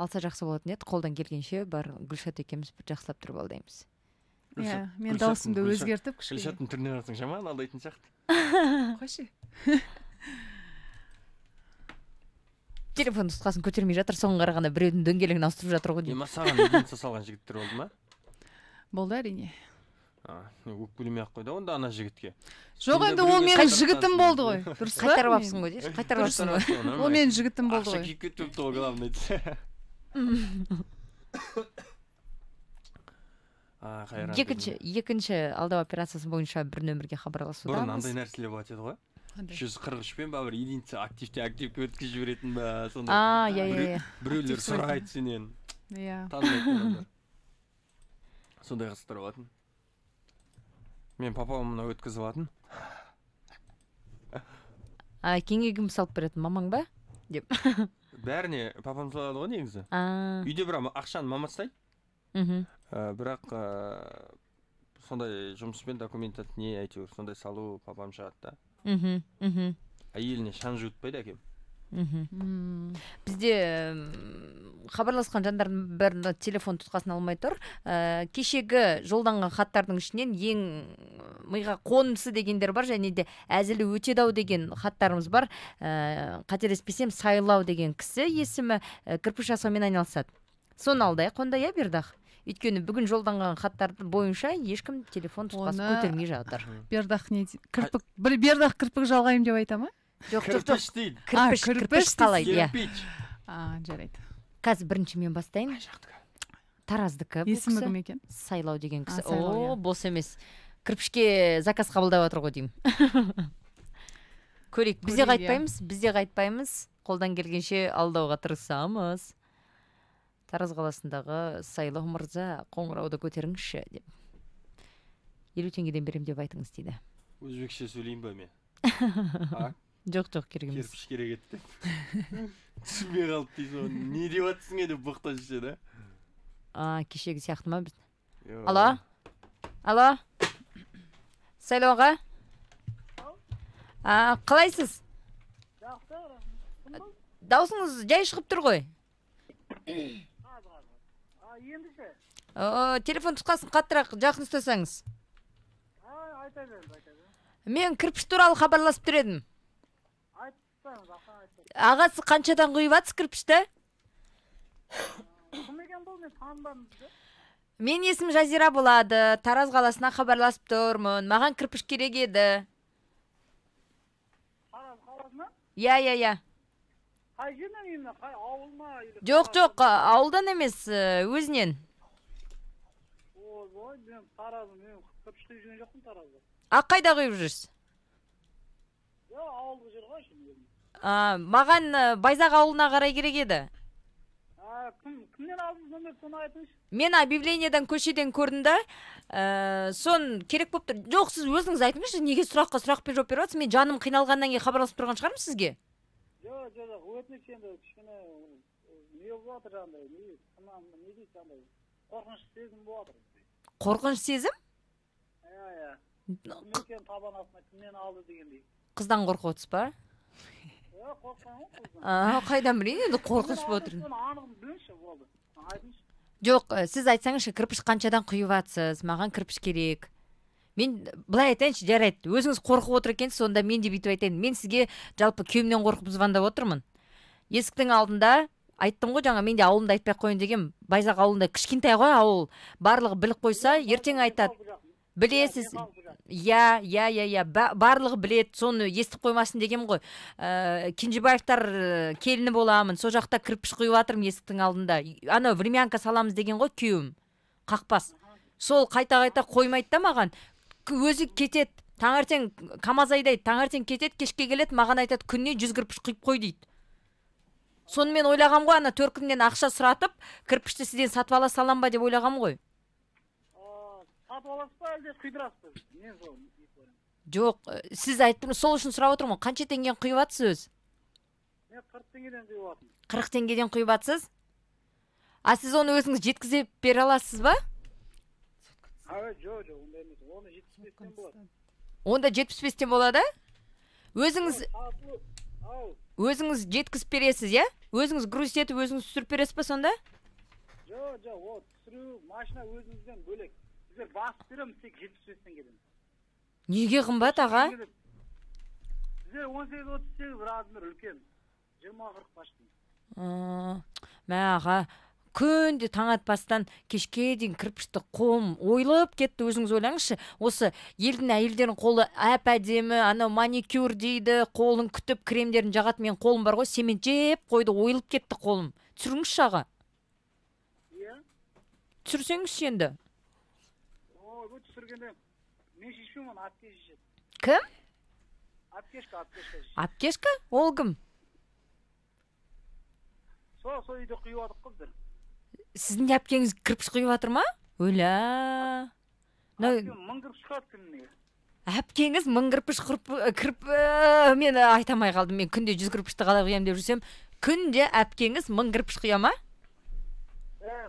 Алса жақсы болатын еді, қолдан келгенше бар Гүлшат екеміз бір жақсылап тұрып алдаймыз. Мен даусымды өзгертіп Гүлшаттың түріне қарасаң жаман алдайтын сияқты. қойшы. Телефон тұтқасын көтермей жатыр, соған қарағанда біреудің дөңгелегін ауыстырып жатыр ғой деймін. Маған единица салған жігіттер болды ма? Болды әрине. Өкпелемей ақ қойды онда ана жігітке. Жоқ, енді ол менің жігітім болды ғой. Дұрыс па? Қайтарып алыпсың ғой, қайтарып алыпсың ғой. Ол менің жігітім болды Ақша ғой. киіп кетіпті ғой, главное. Екінші алдау операциясы бойынша бір нөмірге хабарласудамыз. Бұрын андай нәрселер болады еді ғой. 143 пен бір единица активке өткізіп жіберетін ба, сондай. Біреулер сұрайды сенен. Иә. Танымайтын. Сондай қыздар болатын. Мен папам мұны өткізіп алатын. Кеңегім салып беретін мамаң ба? Деп. Бәріне папам салады ғой негізі. Үйде бірақ ақшаны мама ұстайды. Бірақ сондай жұмыспен документ не әйтеуір сондай салу папам шығады да. Әйеліне шан жуытпайды әкем. Бізде хабарласқан жандардың бәрі телефон тұтқасын алмай тұр. Кешегі жолданған хаттардың ішінен ең миға қонымсы дегендер бар, және де әзілі өтедау деген хаттарымыз бар. Қателеспесем, Сайлау деген кісі есімі, кірпіш жасаумен айналысады. Соны алдайық, онда я Бердақ. Өйткені бүгін жолданған хаттарды бойынша ешкім телефон тұтқасын көтермей жатыр. Бердақ не дейді? Бердақ кірпік жалғайым деп айта ма? Жоқ, кірпіш дейді. Кірпіш қалай, иә. Жарайды. Қазір бірінші мен бастайын. Тараздікі бұл Есімі кім екен? Сайлау деген кісі. О, бос емес. Кірпішке заказ қабылдап отыр ғой деймін. Көрейік, бізде қайтпаймыз. Қолдан келгенше алдауға тырысамыз. Тараз қаласындағы Сайлау мырза, қоңырауды көтеріңізші деп. 50 теңгеден берем деп айтыңыз дейді. Өзбекше сөйлейін ба мен? Жоқ, керек емес. Кірпіш керек етті. Түсінбей қалып дейсің, не деп атсың еді бұқтан жүше да? Кешегі сияқты ма біз? Алло? Сайлауға? Қалайсыз? Даусыңыз жай шығып тұр ғой? Телефон тұтқасын қаттырақ жақын ұстасаңыз. Мен кірпіш туралы хабарласып тұр едім. Ағасы қаншадан құйып атсыз кірпішті? Мен есім Жазира болады. Тараз қаласына хабарласып тұрмын. Маған кірпіш керек еді. Тараз қаласына? Я. Қай жерден емін? Қай ауыл ма? Жоқ, ауылдан емес, өзінен. Ой, мен Таразым, мен кірпішті жүрген жоқпын Таразда. Қайда құйып жүрсіз? Ауылғы жер ғой şimdi. Маған Байзақ ауылына қарай керек еді. Кімнен алдыңыз нөмір, соны айтыңыз? Мен объявлениеден көшеден көрдім да, сон керек болып тұр. Жоқ, сіз өзіңіз айтыңызшы, неге сұрақпен жауап беріп жатсыз? Мен жаным қиналғаннан кейін хабарласып тұрған шығармын сізге. Жоқ, өтініш енді кішкене не болып жатыр андай, не дейді андай, қорқыныш сезім болып жатыр. Қорқыныш сезім? Иә. Кімнен табан астына кімнен алды дегендей. Қыздан қорқып отырсыз ба? Қорққан ғой қыздан. Қайдан білейін, енді қорқыныш болып отыр. Анығын біліңізші болды. Айтыңызшы. Жоқ, сіз айтсаңызшы, кірпіш қаншадан құйып атсыз? Маған кірпіш керек. Мен былай айтайыншы, жарайды. Өзіңіз қорқып отыр екенсіз, сонда мен де бүйтіп айтайын. Мен сізге жалпы күйеуімнен қорқып звондап отырмын. Есіктің алдында айттым ғой, жаңа мен де ауылымда айтпай қойын деген. Байзақ ауылында кішкентай ғой ауыл. Барлығы біліп қойса, ертең айтады. Білесіз? Я, барлығы білет, соны естіп қоймасын деген ғой. Кенжебаевтар келіні боламын, со жақта кірпіш құйып атырмын есіктің алдында. Ана времянка саламыз деген ғой күйеуім. Қақпас. Сол қайта қоймайды да маған. Өзі кетет, таңертең КамАЗ айдайды, таңертең кетет, кешке келет, маған айтады, күніне 100 кірпіш құйып қой дейді. Соны мен ойлағам ғой, ана 4 күннен ақша сұратып, кірпішті сізден сатып ала салам ба деп ойлағам ғой. Сатып аласыз ба, әлде құйдырасыз ба? Мен сол. Жоқ, сіз айттым, сол үшін сұрап отырмын. Қанша теңгеден құйып атсыз өз? Мен 40 теңгеден құйып атым. 40 теңгеден құйып атсыз? Сіз оны өзіңіз жеткізіп бере аласыз ба? Жоқ, онда емес. Оны 75-тен болады. Онда 75-тен болады? Өзіңіз жеткізіп бересіз, я? Өзіңіз груз етіп, өзіңіз түсіріп бересіз ба сонда? Жоқ, ол түсіру машина өзіңізден бөлек. Сіздер басып береміз тек 75 теңгеден. Неге қымбат, аға? бізде 18-38 размер үлкен. 20-40 почти. Мә аға, күнде таң атпастан кешке дейін кірпішті қолым ойылып кетті. Өзіңіз ойлаңызшы, осы елдің әйелдерінің қолы әп-әдемі, анау маникюр дейді, қолын күтіп кремдерін жағат, мен қолым бар ғой, семен жеп қойды, ойылып кетті қолым. Түсіріңізші аға. Иә? Түсірсеңізші енді. Бұл түсіргенде мен шешпеймін, апке шешеді. Кім? Апкешка. Апкешка? Ол кім? Сол үйде құйып адық қыздар. Сіздің әпкеңіз кірпіш құйып жатыр ма? Өля. Әпкем мың кірпіш құяды күніне. Әпкеңіз мың кірпіш мен айтамай қалдым. Мен күнде 100 кірпішті қалай құям деп жүрсем, күнде әпкеңіз мың кірпіш құя ма?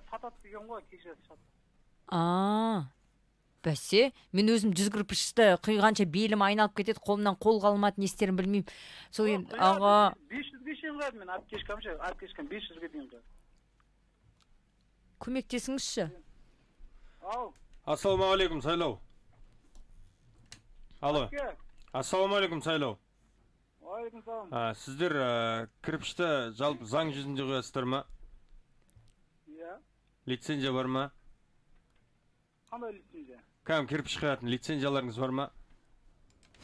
Сатады деген ғой, кешіреді сатады. Бәсе, мен өзім 100 кірпішті құйғанша белім айналып кетеді, қолымнан қол қалмады, не істерін білмеймін. Сол енді аға 500-ге шейін қояды мен апкешкам 500-ге дейін қояды. Көмектесіңізші. Ассалаумағалейкум, Сайлау. Алло. Ассалаумағалейкум, Сайлау. Уағалейкум салам. Сіздер кірпішті жалпы заң жүзінде қоясыздар ма? Иә. Лицензия бар ма? Қандай лицензия? Кәм кірпіш құятын лицензияларыңыз бар ма?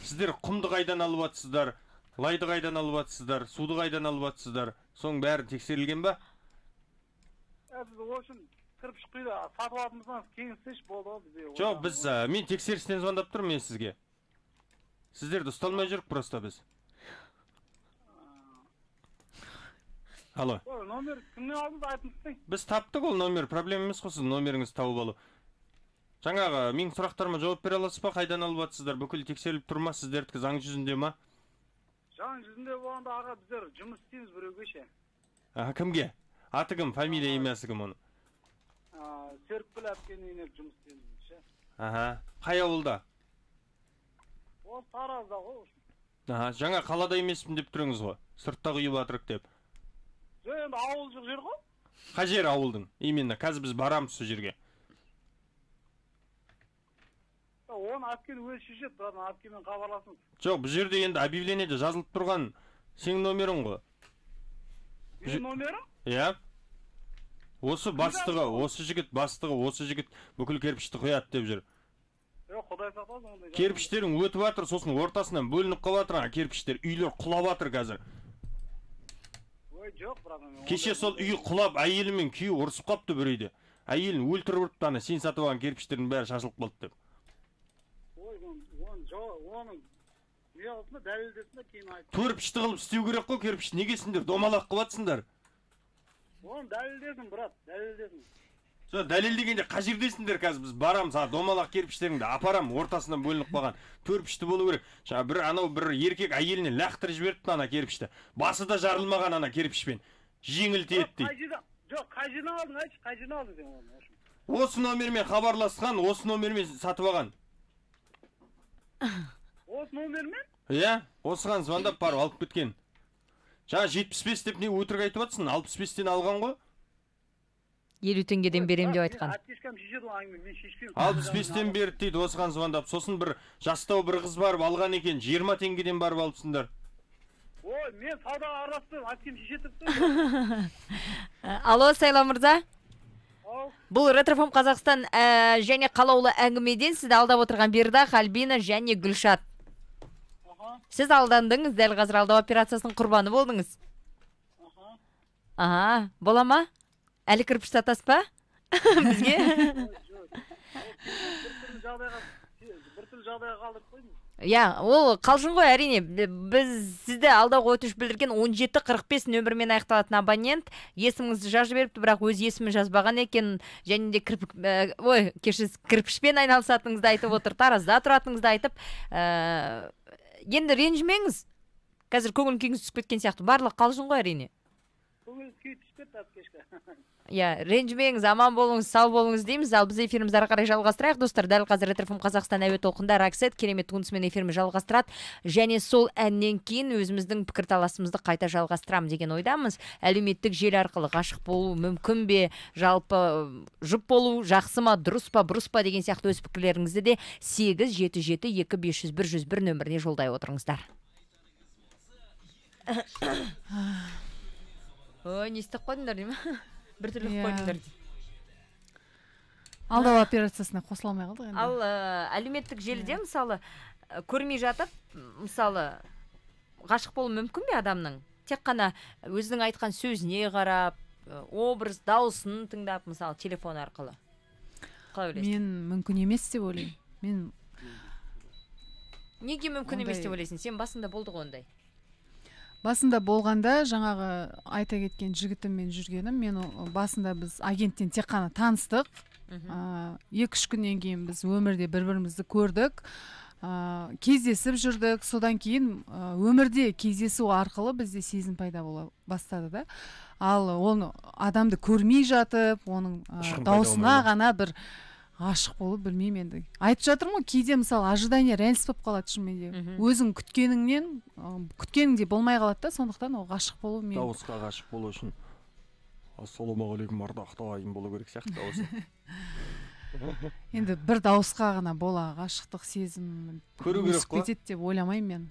Сіздер құмды қайдан алып атсыздар, лайды қайдан алып атсыздар, суды қайдан алып атсыздар, соның бәрі тексерілген ба? Біз үшін кірпіш құйды, сатып алатымыздан кейін сеш болды бізде. Жоқ, мен тексерістен звондап тұрмын мен сізге. Сіздерді ұсталмай жүрік просто біз. Алло. Номер кімнен алдыңыз айтыңызсың? Біз таптық ол номер, проблема емес қой сіз номеріңізді тауып алу. Жаңағы менің сұрақтарыма жауап бере аласыз ба? Қайдан алып атсыздар? Бүкіл тексеріліп тұр ма? Сіздердікі заң жүзінде ма? Заң жүзінде болғанда аға біздер жұмыс істейміз біреуге ше. Кімге? Аты кім? Фамилия емесі кім оны? Серікбіл әпкенің үйіне жұмыс істейміз ше. Қай ауылда? Ол Таразда ғой. Жаңа қалада емеспін деп тұрыңыз ғой. Сыртта құйып атырық деп. Енді ауыл жоқ жер ғой? Қай жер ауылдың? Именно қазір біз барамыз сол жерге. Оны әпкен өзі шешеді, бұрадан әпкемен хабарласыңыз. Жоқ, бұл жерде енді объявлениеде жазылып тұрған сенің номерің ғой. Менің номерім? Иә. Осы бастығы, осы жігіт бүкіл кірпішті құяды деп жүр. Құдай сақтасын. Кірпіштерің өтіп жатыр, сосын ортасынан бөлініп қалып жатыр, кірпіштер, үйлер құлап жатыр қазір. Жоқ, бұрадан. Кеше сол үй құлап, әйелі мен күйеуі ұрысып қалыпты бір үйде. Әйелін өлтіріп ұрыпты, сен сатып алған кірпіштердің бәрі шашылып қалды деп. Оның не алысында дәлелдесінде кейін айтты. Кірпішті қылып істеу керек қой, кірпішті неге сендер домалақ қылатсыңдар? Оны дәлелдесін, брат, дәлелдесін. Сол дәлелдегенде қай жердесіңдер қазір? Біз барамыз, домалақ кірпіштеріңді апарам, ортасынан бөлініп қалған. Кірпішті болу керек. Бір еркек әйеліне лақтырып жіберіпті ана кірпішті. Басы да жарылмаған ана кірпішпен. Жеңіл тиеді дейді. Жоқ, қай жерден алдың, айтшы, қай жерден алдың сен оны? Осы номермен хабарласқан, осы номермен сатып алған. Осы номермен? Иә, осыған звондап барып алып кеткен. Жаңа 75 деп не өтірік айтып жатсың? 65-тен алған ғой? 50 теңгеден берем деп айтқан. Әпкешкам шешеді ол әңгіме, мен шешпеймін. 65-тен берді дейді осыған звондап. Сосын бір жастау бір қыз барып алған екен, 20 теңгеден барып алыпсыңдар. Ой, мен саудаға араласпаймын, әпкем шешетіпті. Алло, Сайлау мырза. Бұл Ретрофом Қазақстан және қалаулы әңгімеден сізді алдап отырған Бердақ, Альбина және Гүлшат. Сіз алдандыңыз, дәл қазір алдау операциясының құрбаны болдыңыз. Бола ма? Әлі кірпіш сатасыз ба? Бізге? Бір түрлі жағдайға қалдырып қойдыңыз. Ол қалжың ғой, әрине. Біз сізді алдауға өтініш білдірген 1745 нөмірмен аяқталатын абонент есіміңізді жазып беріпті, бірақ өз есімін жазбаған екен, және де кірпішпен айналысатыныңызды айтып отыр, Таразда тұратыныңызды айтып. Енді ренжімеңіз. Қазір көңіл күйіңіз түсіп кеткен сияқты. Барлық қалжың ғой, әрине. Көңіл күй түсіп кетті әпкешка. Ренжімеңіз, аман болыңыз, сау болыңыз дейміз. Ал біз эфирімізді ары қарай жалғастырайық, достар. Дәл қазір Ретрофом Қазақстан әуе толқында Роксет керемет туындысымен эфиріміз жалғастырады. Және сол әннен кейін өзіміздің пікірталасымызды қайта жалғастырамыз деген ойдамыз. Әлеуметтік желі арқылы ғашық болу мүмкін бе, жалпы жұп болу жақсы ма, дұрыс па, бұрыс па деген сияқты өз пікірлеріңізді де 877250101 нөміріне жолдай отырыңыздар. ой не істеп қойдыңдар дей ма біртүрлі қылып қойдыңдар дейді. Алдау операциясына қосыла алмай қалдық енді. Ал әлеуметтік желіде мысалы көрмей жатып мысалы ғашық болу мүмкін бе адамның? Тек қана өзінің айтқан сөзіне қарап, образ, дауысын тыңдап, мысалы телефон арқылы. Қалай ойлайсың? Мен мүмкін емес деп ойлаймын. Мен неге мүмкін емес деп ойлайсың? Сен басында болды ғой ондай. Басында болғанда жаңағы айта кеткен жігітіммен жүргенім, мен басында біз агенттен тек қана таныстық. 2-3 күннен кейін біз өмірде бір-бірімізді көрдік, кездесіп жүрдік. Содан кейін өмірде кездесу арқылы бізде сезім пайда бола бастады да. Ал оны адамды көрмей жатып, оның даусына ғана бір ғашық болып, білмеймін енді. Айтып жатырмын ғой, кейде мысалы ожидание реальность болып қалады шынымен. Өзің күткеніңде болмай қалады да, сондықтан ол ғашық болу мен. Дауысқа ғашық болу үшін ассалаумағалейкум ардақты ағайын болу керек сияқты дауысы. Енді бір дауысқа ғана бола ғашықтық сезім көру керек қой. кетеді деп ойламаймын мен.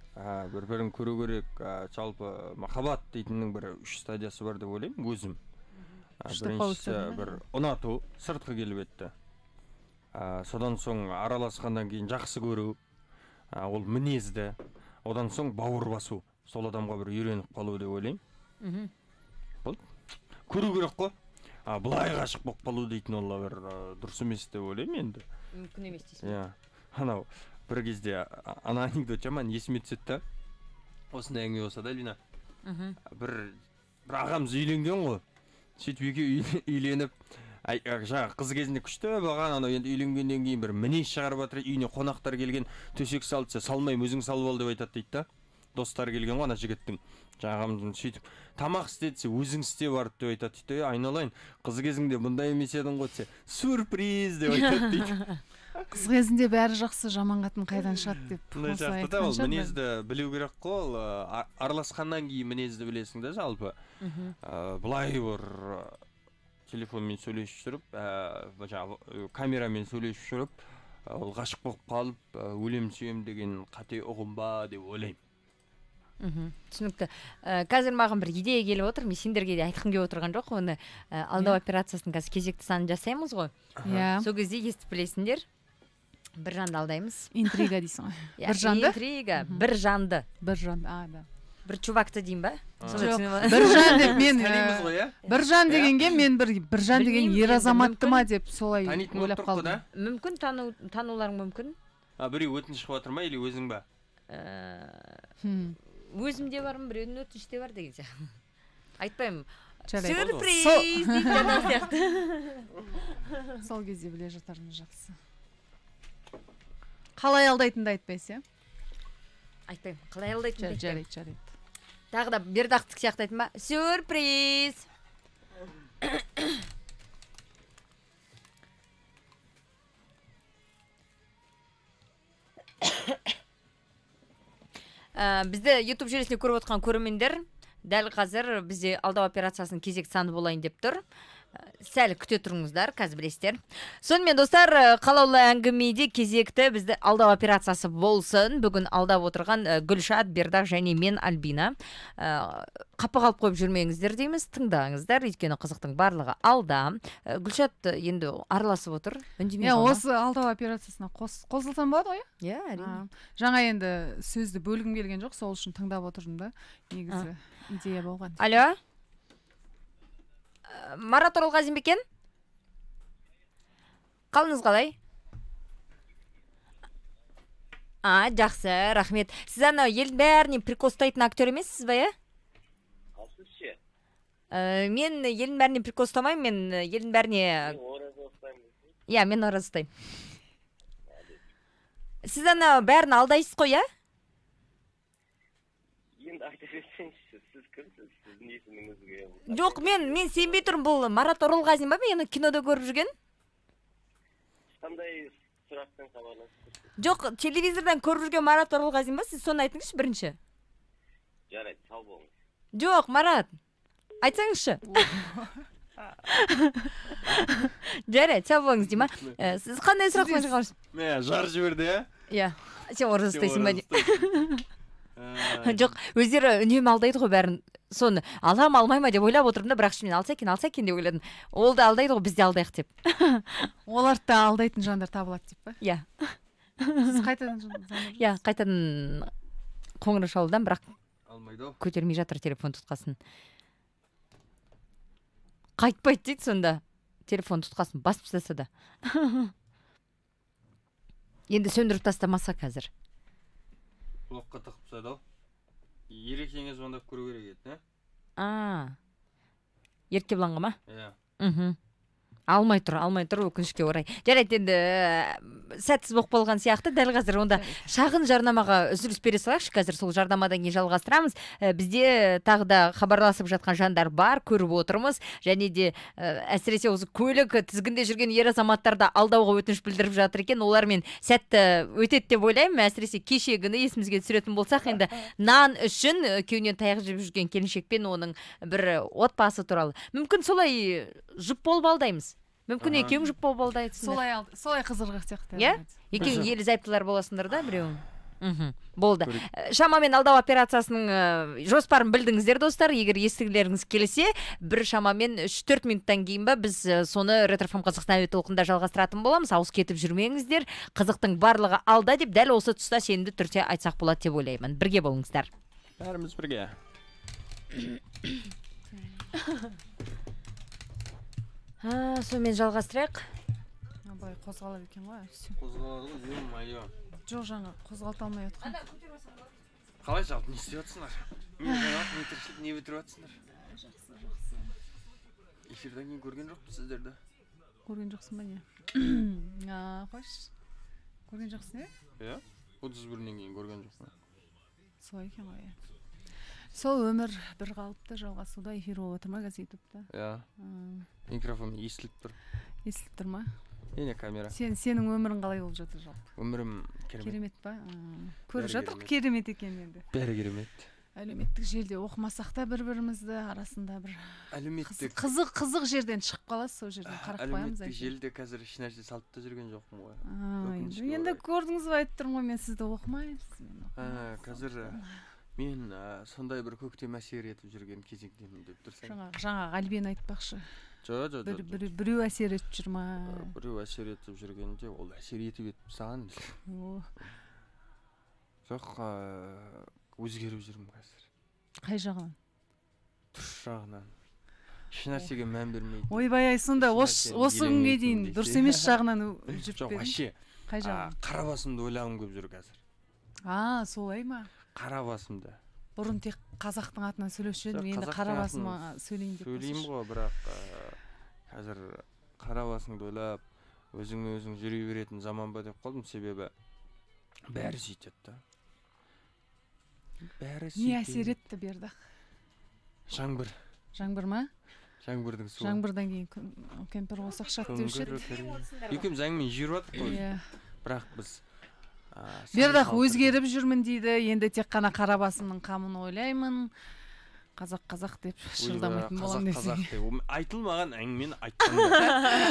Бір-бірін көру керек. Жалпы махаббат дейтіннің бір 3 стадиясы бар деп ойлаймын өзім. Біріншісі бір ұнату, сыртқы келбетті. Содан соң араласқаннан кейін жақсы көру, ол мінезді. Одан соң бауыр басу, сол адамға бір үйреніп қалу деп ойлаймын. Бұл көру керек қой. Бұлай ғашық болып қалу дейтін ол бір дұрыс емес деп ойлаймын енді. Мүмкін емес дейсің. Иә. Анау бір кезде ана анекдот жаман есіме түседі да. Осындай әңгіме болса да, Лина. Бір ағамыз үйленген ғой. Сөйтіп екеуі үйленіп, жаңағы қыз кезінде күшті болған, анау енді үйленгеннен кейін бір мінез шығарып жатыр, үйіне қонақтар келген, төсек салды, салмаймын, өзің салып ал деп айтады дейді да. Достар келген ғой ана жігіттің. Жаңағымыздың сөйтіп тамақ істетсе өзің істе барып деп айтады дейді. Айналайын, қыз кезіңде бұндай емес едің ғой десе, сюрприз деп айтады дейді. Қыз кезінде бәрі жақсы, жаман қатын қайдан шығады деп. Ол мінезді білу керек қой, араласқаннан кейін мінезді білесің да жалпы. Бұлай бір телефонмен сөйлесіп жүріп, камерамен сөйлесіп жүріп, ол ғашық болып қалып, өлем сүйем деген қате ұғым ба деп ойлаймын. Түсінікті. Қазір маған бір идея келіп отыр, мен сендерге де айтқым келіп отырған жоқ, оны алдау операциясының қазір кезекті санын жасаймыз ғой. Сол кезде естіп білесіңдер, бір жанды алдаймыз. Интрига дейсің ғой. Бір жанды? Интрига, бір жанды. Бір жанды, да. Бір чувакты дейін ба? Бір жан деп мен бір жан дегенге мен бір жан деген ер азаматты ма деп солай ойлап қалдым. Мүмкін тануларың мүмкін. Біреу өтініш қылып жатыр ма или өзің ба? Өзімде бармын, біреудің өтініште бар деген сияқты. Айтпаймын. Сюрприз дейді жаңа сияқты. Сол кезде біле жатармыз жақсы. Қалай алдайтынды айтпайсың, айтпаймын. Қалай алдайтынды айтпаймын. Жарайды. Тағы да бердақтық сияқты айтма. Сюрприз. Бізді YouTube желісінде көріп отқан көрермендер дәл қазір бізде алдау операциясының кезекті саны болайын деп тұр. Сәл күте тұрыңыздар, қазір білесіздер. Сонымен достар, қалаулы әңгімеде кезекті бізді алдау операциясы болсын. Бүгін алдап отырған Гүлшат, Бердақ және мен Альбина. Қапы қалып қойып жүрмеңіздер дейміз, тыңдаңыздар, өйткені қызықтың барлығы алда. Гүлшат енді араласып отыр. Осы алдау операциясына қосылсам болады ғой? Иә, әрине. Жаңа енді сөзді бөлгім келген жоқ, сол үшін тыңдап отырдым да. Негізі идея болған. Алло? Марат Оралғазин бекен? Қалыңыз қалай? Жақсы, рахмет. Сіз ана елдің бәріне прикол ұстайтын актер емессіз ба, е? Қалсыз ше? Мен елдің бәріне прикол ұстамаймын, мен елдің бәріне... Иә, мен ораза ұстаймын. Сіз ана бәрін алдайсыз қой, е? Енді айта берсеңізші, сіз кімсіз? Сіздің есіміңізге... Жоқ, мен сенбей тұрмын, бұл Марат Оралғазин ба, мен кинода көріп жүрген? Қандай сұрақтан хабарласып? Жоқ, телевизордан көріп жүрген Марат Оралғазин ба, сіз соны айтыңызшы бірінші. Жарайды, сау болыңыз. Жоқ, Марат, айтсаңызшы. Жарайды, сау болыңыз дейма. Сіз қандай сұрақ қойыңыз? Жар жіберді, Иә, сен ораза ұстайсың ба? Жоқ, өздері үнемі алдайды ғой бәрін. Соны алам алмай ма деп ойлап отырдым да, бірақ мен алса екен деп ойладым. Ол да алдайды ғой, біз де алдайық деп. Оларды да алдайтын жандар табылады деп па? Иә. Сіз қайтадан Иә, қайтадан қоңырау шалудан, бірақ алмайды ау. көтермей жатыр телефон тұтқасын. Қайтпайды дейді сонда. Телефон тұтқасын басып тастаса да. Енді сөндіріп тастамаса қазір. Құлаққа тығып тастады ау. Ерекеңе звондап көру керек еді, Еркебұланға ма? Иә. Алмай тұр өкінішке орай. Жарайды, енді сәтсіз болып қалған сияқты. Дәл қазір онда шағын жарнамаға үзіліс бере салайықшы. Қазір сол жарнамадан кейін жалғастырамыз. Бізде тағы да хабарласып жатқан жандар бар, көріп отырмыз. Және де әсіресе осы көлік тізгінде жүрген ер азаматтарды алдауға өтініш білдіріп жатыр екен. Олармен сәтті өтеді деп ойлаймын. Әсіресе кешегіні есімізге түсіретін болсақ, енді нан үшін күйеуінен таяқ жеп жүрген келіншекпен оның бір отбасы туралы. Мүмкін солай жұп болып алдаймыз. Мүмкін екеуің жұп болып алдайсыңдар. Солай қызырғақ сияқты. Иә? Екеуің ерлі зайыптылар боласыңдар да, біреуің. Болды. Шамамен алдау операциясының жоспарын білдіңіздер, достар. Егер естігілеріңіз келсе, бір шамамен 3-4 минуттан кейін ба біз соны Ретрофм Қазақстан әуе толқында жалғастыратын боламыз. Ауыз кетіп жүрмеңіздер. Қызықтың барлығы алда деп дәл осы тұста сенімді түрде айтсақ болады деп ойлаймын. Бірге болыңыздар. Бәріміз бірге. Сонымен жалғастырайық. Абай қозғалады екен ғой. Қозғалады ғой, ё-моё. Жоқ, жаңа қозғалта алмай отқан. Қалай жалпы не істеп жатсыңдар? Не тіршілік, не бітіріп жатсыңдар? Жақсы. Эфирден кейін көрген жоқпын сіздерді. Көрген жоқсың ба не? Қойш. Көрген жоқсың, Иә? 31-нен кейін көрген жоқпын. Солай екен ғой. Сол өмір бір қалыпты жалғасуда, эфир болып отыр ма қазір ютубта? Иә. Микрофон естіліп тұр. Естіліп тұр ма? Ене камера. Сенің өмірің қалай болып жатыр жалпы? Өмірім керемет. Керемет па? Көріп жатыр керемет екен енді. Бәрі керемет. Әлеуметтік желіде оқымасақ та бір-бірімізді арасында бір қызық жерден шығып қаласыз, сол жерден қарап қоямыз. Әлеуметтік желіде қазір еш нәрсе салып та жүрген жоқпын ғой. Енді көрдіңіз ба, айтып тұрмын ғой, мен сізді оқымаймын. Қазір мен сондай бір көктем әсер етіп жүрген кезеңдемін деп тұрсаң. Жаңа Альбен айтпақшы. Жоқ. Біреу әсер етіп жүр ма? Біреу әсер етіп жүргенде ол әсер етіп саған. Жоқ, өзгеріп жүрмін қазір. Қай жағынан? Дұрыс жағынан. Еш нәрсеге мән бермейді. Ойбай, сонда осы күнге дейін дұрыс емес жағынан жүріп жоқ, вообще. Қай жағынан? Қара басымды ойлағым көп жүр қазір. Солай ма? Қара басымды. Бұрын тек қазақтың атынан сөйлеуші едім, енді қара басыма сөйлейін деп. Сөйлеймін ғой, бірақ қазір қара басыңды ойлап, өзің жүре беретін заман ба деп қалдым, себебі бәрі сөйтеді да. Не әсер етті берді? Жаңбыр. Жаңбыр ма? Жаңбырдың суы. Жаңбырдан кейін кемпір болсақ шат деуші еді. Екеуміз әңгіме жүріп жатыр ғой. Бірақ біз Бердақ өзгеріп жүрмін дейді, енді тек қана қара басымның қамын ойлаймын. Қазақ деп шырылдамайтын болам десең. Айтылмаған әңгімені айтқандар.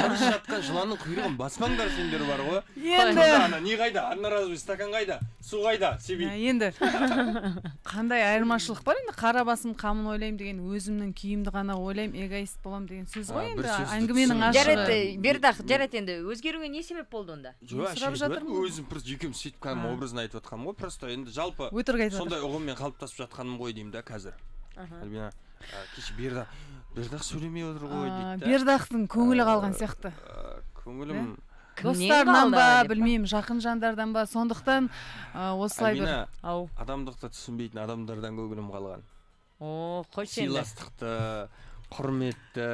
Қарсы жатқан жыланның құйрығын баспаңдар сендер бар ғой. Енді не қайда? Одноразовый стакан қайда? Су қайда? Себей. Енді қандай айырмашылық бар енді? Қара басым қамын ойлаймын деген, өзімнің күйімді ғана ойлаймын, эгоист болам деген сөз ғой енді. Әңгіменің ашығы. Бердақ, жарайды, енді өзгеруге не себеп болды онда? Өзім просто екеуміз сөйтіп кәдімгі образын айтып жатқанмын ғой. Просто енді жалпы сондай ұғыммен қалыптасып жатқаным ғой деймін да қазір. Альбина, кеше Бердақ сөйлемей отыр ғой дейді. Бердақтың көңілі қалған сияқты. Көңілім достарынан ба, білмеймін, жақын жандардан ба, сондықтан осылай бір. Альбина, адамдықты түсінбейтін адамдардан көңілім қалған. Қойшы енді. Сыйластықты, құрметті,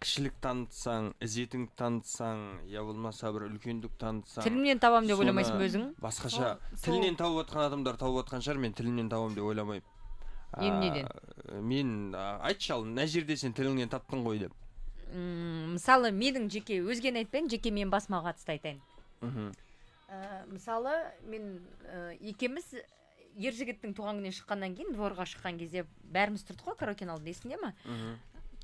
кішілік танытсаң, ізетің танытсаң, я болмаса бір үлкендік танытсаң. Тілімнен табам деп ойламайсың ба өзің? Басқаша, тілінен тауып отқан адамдар тауып отқан шығар, мен тілімнен табам деп ойламаймын. Неден? Мен айтшы ал, мына жерде сен тіліңнен таптың ғой деп. Мысалы, менің жеке өзгені айтпайын, жеке мен басыма қатысты айтайын. Мысалы, мен екеміз ер жігіттің туған күніне шыққаннан кейін, дворға шыққан кезде бәріміз тұрдық қой караоке алдында, есіңде ме?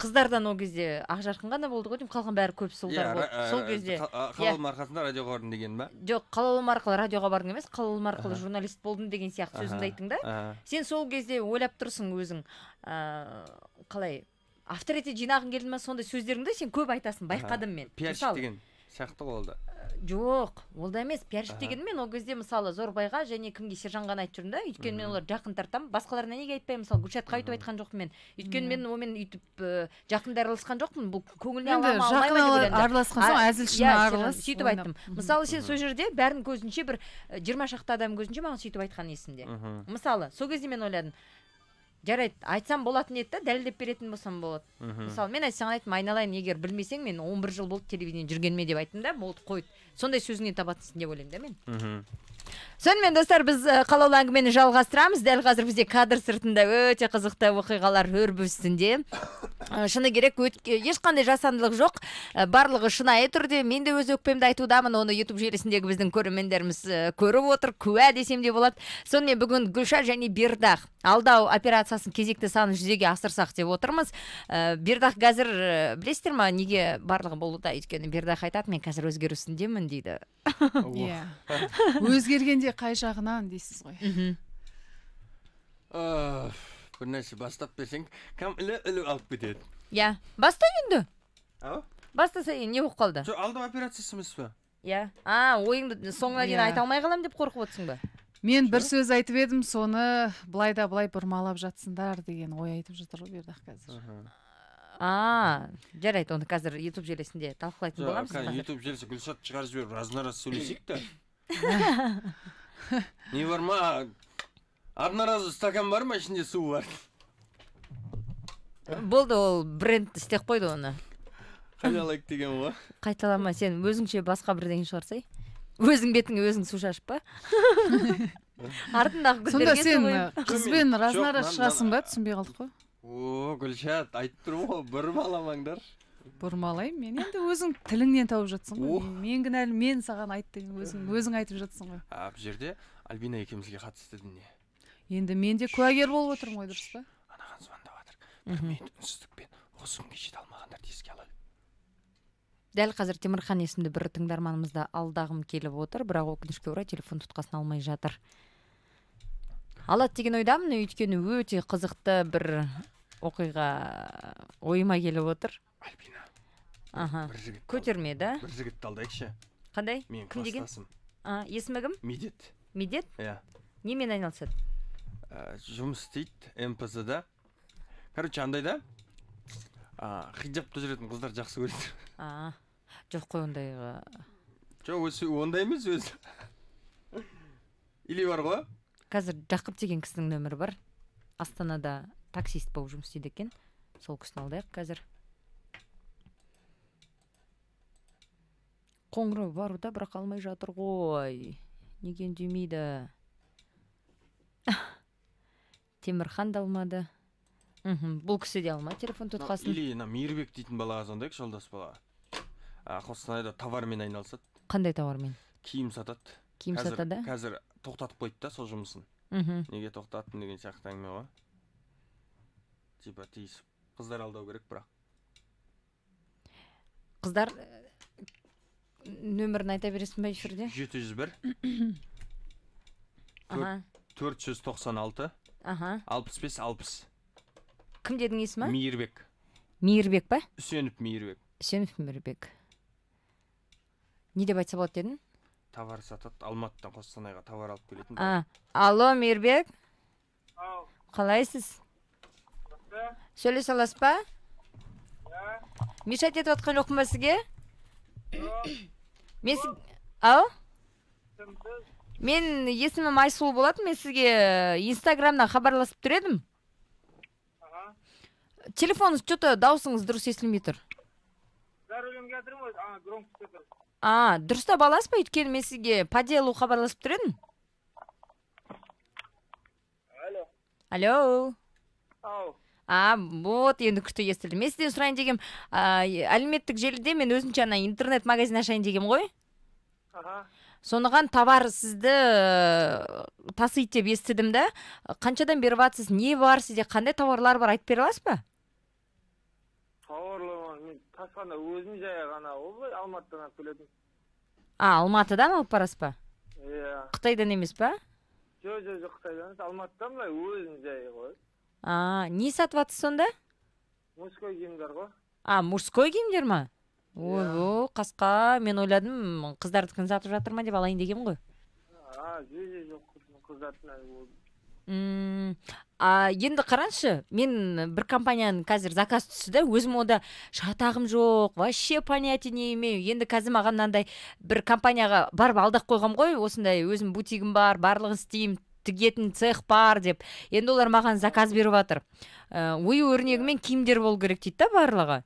қыздардан ол кезде Ақжарқын ғана болды ғой деймін, қалған бәрі көп сұлудар болды. Сол кезде қалаулым арқасында радиоға бардым деген ба? Жоқ, қалаулым арқылы радиоға бардың емес, қалаулым арқылы журналист болдым деген сияқты сөзіңді айттың да. Сен сол кезде ойлап тұрсың өзің, қалай авторитет жинағың келді ма, сондай сөздеріңді сен көп айтасың, байқадым мен. Пиарщик деген сияқты ғой ол да. Жоқ, ол да емес. Пиарщик деген мен ол кезде мысалы Зорбайға және кімге Сержанға айтып жүрмін да, өйткені мен олар жақын тартамын. Басқаларына неге айтпаймын? Мысалы Гүлшатқа өйтіп айтқан жоқпын мен. Өйткені мен онымен өйтіп жақында араласқан жоқпын. Бұл көңіліне алмай ма деп ойландым. Араласқан соң әзілшіні аралас. Сөйтіп айттым. Мысалы сен сол жерде бәрінің көзінше бір 20 шақты адам көзінше маған сөйтіп айтқан есімде. Мысалы, сол кезде мен ойладым, жарайды, айтсам болатын еді да, дәлелдеп беретін болсам болады. Мысалы, мен айтсаң айттым, айналайын, егер білмесең, мен 11 жыл болды телевидение жүргеніме деп айттым да, болды, қойды. Сондай сөзіңнен табатынсың деп ойлаймын да мен. Сонымен достар, біз қалаулы әңгімені жалғастырамыз. Дәл қазір бізде кадр сыртында өте қызықты оқиғалар өрбу үстінде. Шыны керек, ешқандай жасандылық жоқ. Барлығы шынайы түрде. Мен де өз өкпемді айтудамын. Оны YouTube желісіндегі біздің көрермендеріміз көріп отыр, куә десем де болады. Сонымен бүгін Гүлшат және Бердақ алдау операциясын кезекті санын жүзеге асырсақ деп отырмыз. Бердақ қазір білесіздер ма, неге барлығы болуда? Өйткені Бердақ айтады, мен қазір өзгеру үстіндемін дейді. Өзгергенде қай жағынан дейсіз ғой. Бір нәрсе бастап берсең, кәм ілі алып кетеді. Я, баста енді. Ау? Бастаса не болып қалды? Жоқ, алдау операциясы емес па? Я. Ойыңды соңына дейін айта алмай қалам деп қорқып отырсың ба? Мен бір сөз айтып едім, соны былай да былай бұрмалап жатсындар деген ой айтып жатыр ғой Бердақ қазір. Жарайды, оны қазір YouTube желісінде талқылайтын боламыз. YouTube желісі Гүлшат шығарып жіберіп, разына-раз сөйлесек те. Не бар ма? Одноразовый стакан бар ма, ішінде су бар? Болды, ол бренд істеп қойды оны. Қайналайық деген ғой. Қайталама, сен өзіңше басқа бірдеңе шығарсай. Өзің бетіңе өзің су шашып па? Артындағы сонда сен қызбен разына-раз шығасың ба, түсінбей қалдық қой. Гүлшат, айтып тұрмын ғой, бұрмаламаңдар. Бұрмалаймын, мен енді өзің тіліңнен тауып жатсың ғой. Мен кінәлі, мен саған айттым, өзің айтып жатсың ғой. Бұл жерде Альбина екеумізге қатысты дүние. Енді мен де куәгер болып отырмын ғой, дұрыс па? Анаған звондап жатыр. Бір минут үнсіздікпен осы күнге жете алмағандар еске алайық. Дәл қазір Темірхан есімді бір тыңдарманымызды алдағым келіп отыр, бірақ өкінішке орай телефон тұтқасын алмай жатыр. Алады деген ойдамын, өйткені өте қызықты бір оқиға ойыма келіп отыр. Альбина. Көтерме, да? Бір жігітті алдайықшы. Қандай? Кім деген? Есімі кім? Медет. Медет? Иә. Немен айналысады? Жұмыс істейді МПЗ-да. Короче, андай да, хиджапта жүретін қыздар жақсы көреді. Жоқ қой ондайға. Жоқ, ондай емес өзі. Или бар ғой? Қазір Жақып деген кісінің нөмірі бар. Астанада таксист болып жұмыс істейді екен. Сол кісіні алдайық қазір. Қоңырау баруда, бірақ алмай жатыр ғой. Неге үндемейді? Темірхан да алмады. Бұл кісі де алма телефон тұтқасын. Или Мейірбек дейтін балаға звондайық, жолдас балаға. Қостанайда товармен айналысады. Қандай товармен? Киім сатады. Киім сатады? Қазір тоқтатып қойды да сол жұмысын. Неге тоқтаттың деген сияқты әңгіме ғой. Типа тиісіп. Қыздар алдау керек бірақ. Қыздар нөмірін айта бересің ба эфирде? 701 496 65-60. Кім дедің есімі? Мейірбек. Мейірбек па? Үсеніп Мейірбек. Үсеніп Мейірбек. Не деп айтса болады дедің? Товар сатады, Алматыдан Қостанайға товар алып келетін. Алло, Мейірбек. Қалайсыз? Сөйлесе аласыз ба? Мешайт етіп отқан жоқпын ба сізге? Мен есімім Айсұлу болатын, мен сізге Инстаграмнан хабарласып тұр едім. Телефоныңыз что-то даусыңыз дұрыс естілмей тұр. Дұрыстап аласыз ба? Өйткені мен сізге по делу хабарласып тұр едім. Алло. Вот, енді күшті естілді. Мен сізден сұрайын дегем, әлеуметтік желіде мен өзінше интернет магазин ашайын дегем ғой. Соныған товар сізді тасиды деп естідім да. Қаншадан беріп атсыз, не бар сізде, қандай товарлар бар, айтып бере аласыз ба? Қасқанда өзім жай ғана олай Алматыдан алып келетін. Алматыдан алып барасыз ба? Иә. Қытайдан емес па? Жоқ, Қытайдан емес, Алматыдан былай өзім жай ғой. Не сатып жатсыз сонда? Мужской киімдер ғой. Мужской киімдер ма? Ой, қасқа, мен ойладым, қыздардікін сатып жатыр ма деп алайын деген ғой. Жоқ, қыздардікін болды. Енді қараңызшы, мен бір компанияның қазір заказ түсті да, өзім онда шатағым жоқ, вообще понятия не имею. Енді қазір маған мынандай бір компанияға барып алдақ қойғам ғой, осындай өзім бутигім бар, барлығын істеймін, тігетін цех бар деп. Енді олар маған заказ беріп жатыр. Ою өрнегімен киімдер болу керек дейді да барлығы.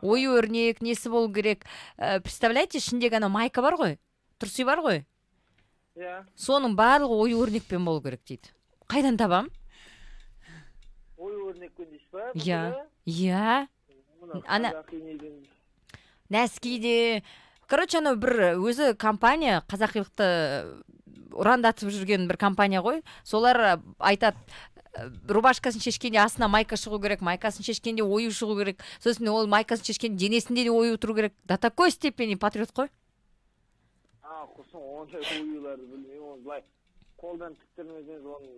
Ою өрнек, несі болу керек. Представляете, ішіндегі ана майка бар ғой, тұрсый бар ғой. Иә. Соның барлығы ою өрнекпен болу керек дейді. Қайдан табам? Ою өрнекпен дейсіз ба? Иә. Ана нәскиде. Короче, ана бір өзі компания, қазақилықты ұрандатып жүрген бір компания ғой. Солар айтады, рубашкасын шешкенде астына майка шығу керек, майкасын шешкенде ою шығу керек. Сосын ол майкасын шешкенде денесінде де ою тұру керек. До такой степени патриот қой. Құсын ондай оюларды білмеймін, оны былай қолдан тіктірмесеңіз оны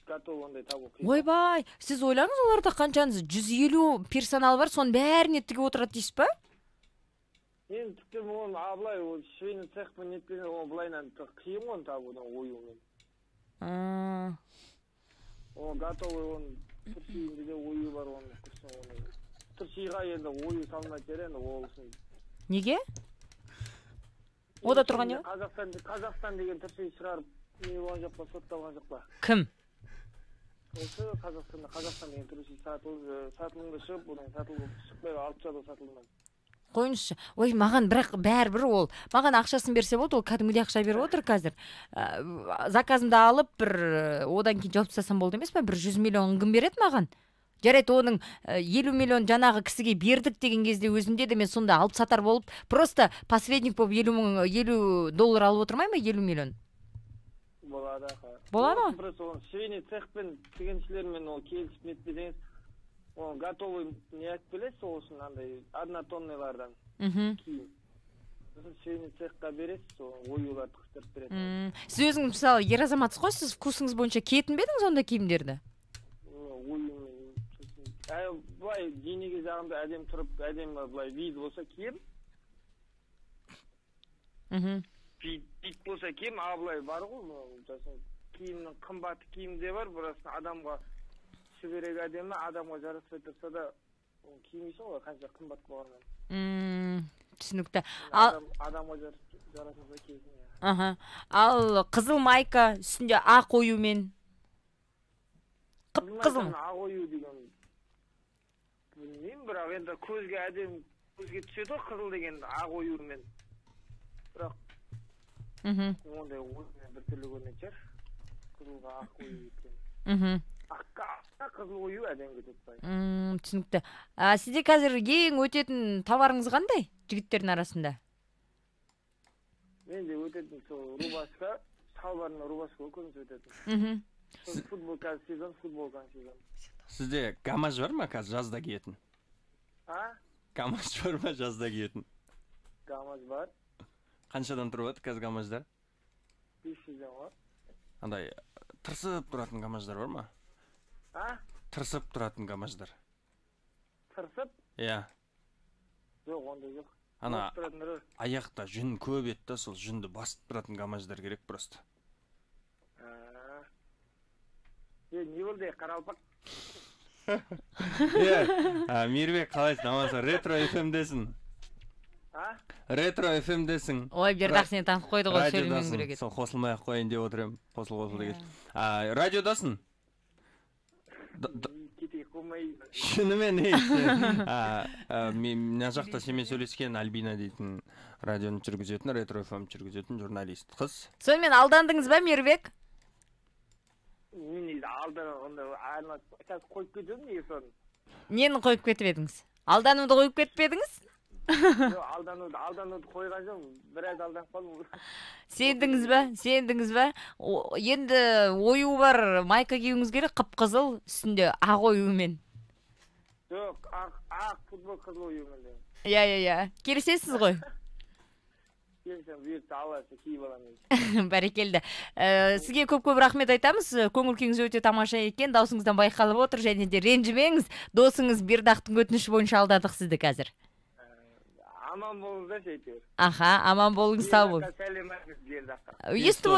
готов ондай табу қиын. Ойбай, сіз ойлаңыз, оларда қаншаңыз 150 персонал бар, соның бәріне тігіп отырады дейсіз ба? Мен тіктірмін оны, былай швейный цехпен неткенде оны былайынан қиын оны табудан оюмен. Оны готовый оны түршейінде де ою бар оны құсын оны. Түршейға енді ою салмай терен олсын. Неге? Ода тұрған не? Қазақстан деген түршей шығарып не болған жоқ па, сотталған жоқ па? Кім? Осы Қазақстан деген түршей сатылымды шығып, одан сатылып шықпай алып жату сатылымдан. Қойыңызшы. Ой, маған бірақ бәрібір ол. Маған ақшасын берсе болды, ол кәдімгідей ақша беріп отыр қазір. Заказымды алып, бір одан кейін жауап тастасам болды емес пе? Бір 100 миллион кім береді маған? Жарайды, оның 50 миллион жаңағы кісіге бердік деген кезде өзімде де мен сонда алып сатар болып, просто посредник болып $50 алып отырмай ма? 50 миллион. Болады. Болады? Просто оны швейный цехпен тігіншілермен ол келісіп нетпесеңіз, оны готовый не айтып келесіз, ол үшін андай 1 тонналардан киім. Сосын швейный цехқа бересіз, оюларды қыстырып бересіз. Сіз өзіңіз мысалы ер азаматсыз ғой, сіз вкусыңыз бойынша киетін бе едіңіз онда киімдерді? Оюмен. Былай денеге жағымда әдем тұрып, әдем былай вид болса киім. Вид болса киім, былай бар ғой, киімнің қымбаты киімде бар, бұрасын адамға шүберек әдемі, адамға жараспай тұрса да киімейсің ғой, қанша қымбат болғаннан. Түсінікті. Адамға жарасынса киесің. Ал қызыл майка үстінде ақ оюмен. Қызыл ақ ою деген білмеймін, бірақ енді көзге әдем, көзге түседі ғой қызыл деген ақ оюмен. Бірақ ондай ойымен бір түрлі көрінетін шығар. Қызылға ақ ою еткен. Аққа қызыл ою әдем кетеді. Түсінікті. Сізде қазір ең өтетін товарыңыз қандай жігіттердің арасында? Менде өтетін сол рубашка, шалбарына рубашка көбінесе өтетін. Футболка сезон, футболка сезон. Сізде гамаж бар ма қазір жазда киетін? Гамаж бар ма жазда киетін? Гамаж бар. Қаншадан тұрып өтті қазір гамаждар? 500-ден бар. Андай тырсып тұратын гамаждар бар ма? Тырсып тұратын гамаждар. Тырсып? Иә. Жоқ, ондай жоқ. Ана аяқта жүн көп етті, сол жүнді басып тұратын гамаждар керек просто. Не болды, қаралпақ? Мейірбек, қалайсың, амансың? Ретро FM-десің. Ретро FM-десің. Ой, бердақ сені танып қойды ғой, сөйлемең керек еді. Сол қосылмай-ақ қойын деп отырым. Қосыл деген. Радиодасың? Кетейік қоймай. Шынымен мына жақта семен сөйлескен Альбина дейтін радионы жүргізетін, Ретро FM жүргізетін журналист қыз. Сонымен алдандыңыз ба, Мейірбек? Мен алдана қойып кетіп неге соны? Нені қойып кетіп едіңіз? Алдануды қойып кетпедіңіз? Алдануды қойған жоқ, біраз алданып қалдым. Сендіңіз ба? Енді ою бар майка киюіңіз керек, қып-қызыл, үстінде ақ оюмен. Жоқ, ақ футбол қызыл оюмен. Иә. Келісесіз ғой? Келсем бұйыртса алласы киіп аламын. Бәрекелді. Сізге көп рахмет айтамыз. Көңіл күйіңіз өте тамаша екен. Даусыңыздан байқалып отыр, және де ренжімеңіз. Досыңыз Бердақтың өтініші бойынша алдадық сізді қазір. Аман болыңыздар әйтеуір. Аха, аман болыңыз, сау болыңыз. Сәлеметсіз Бердаққа. Естіп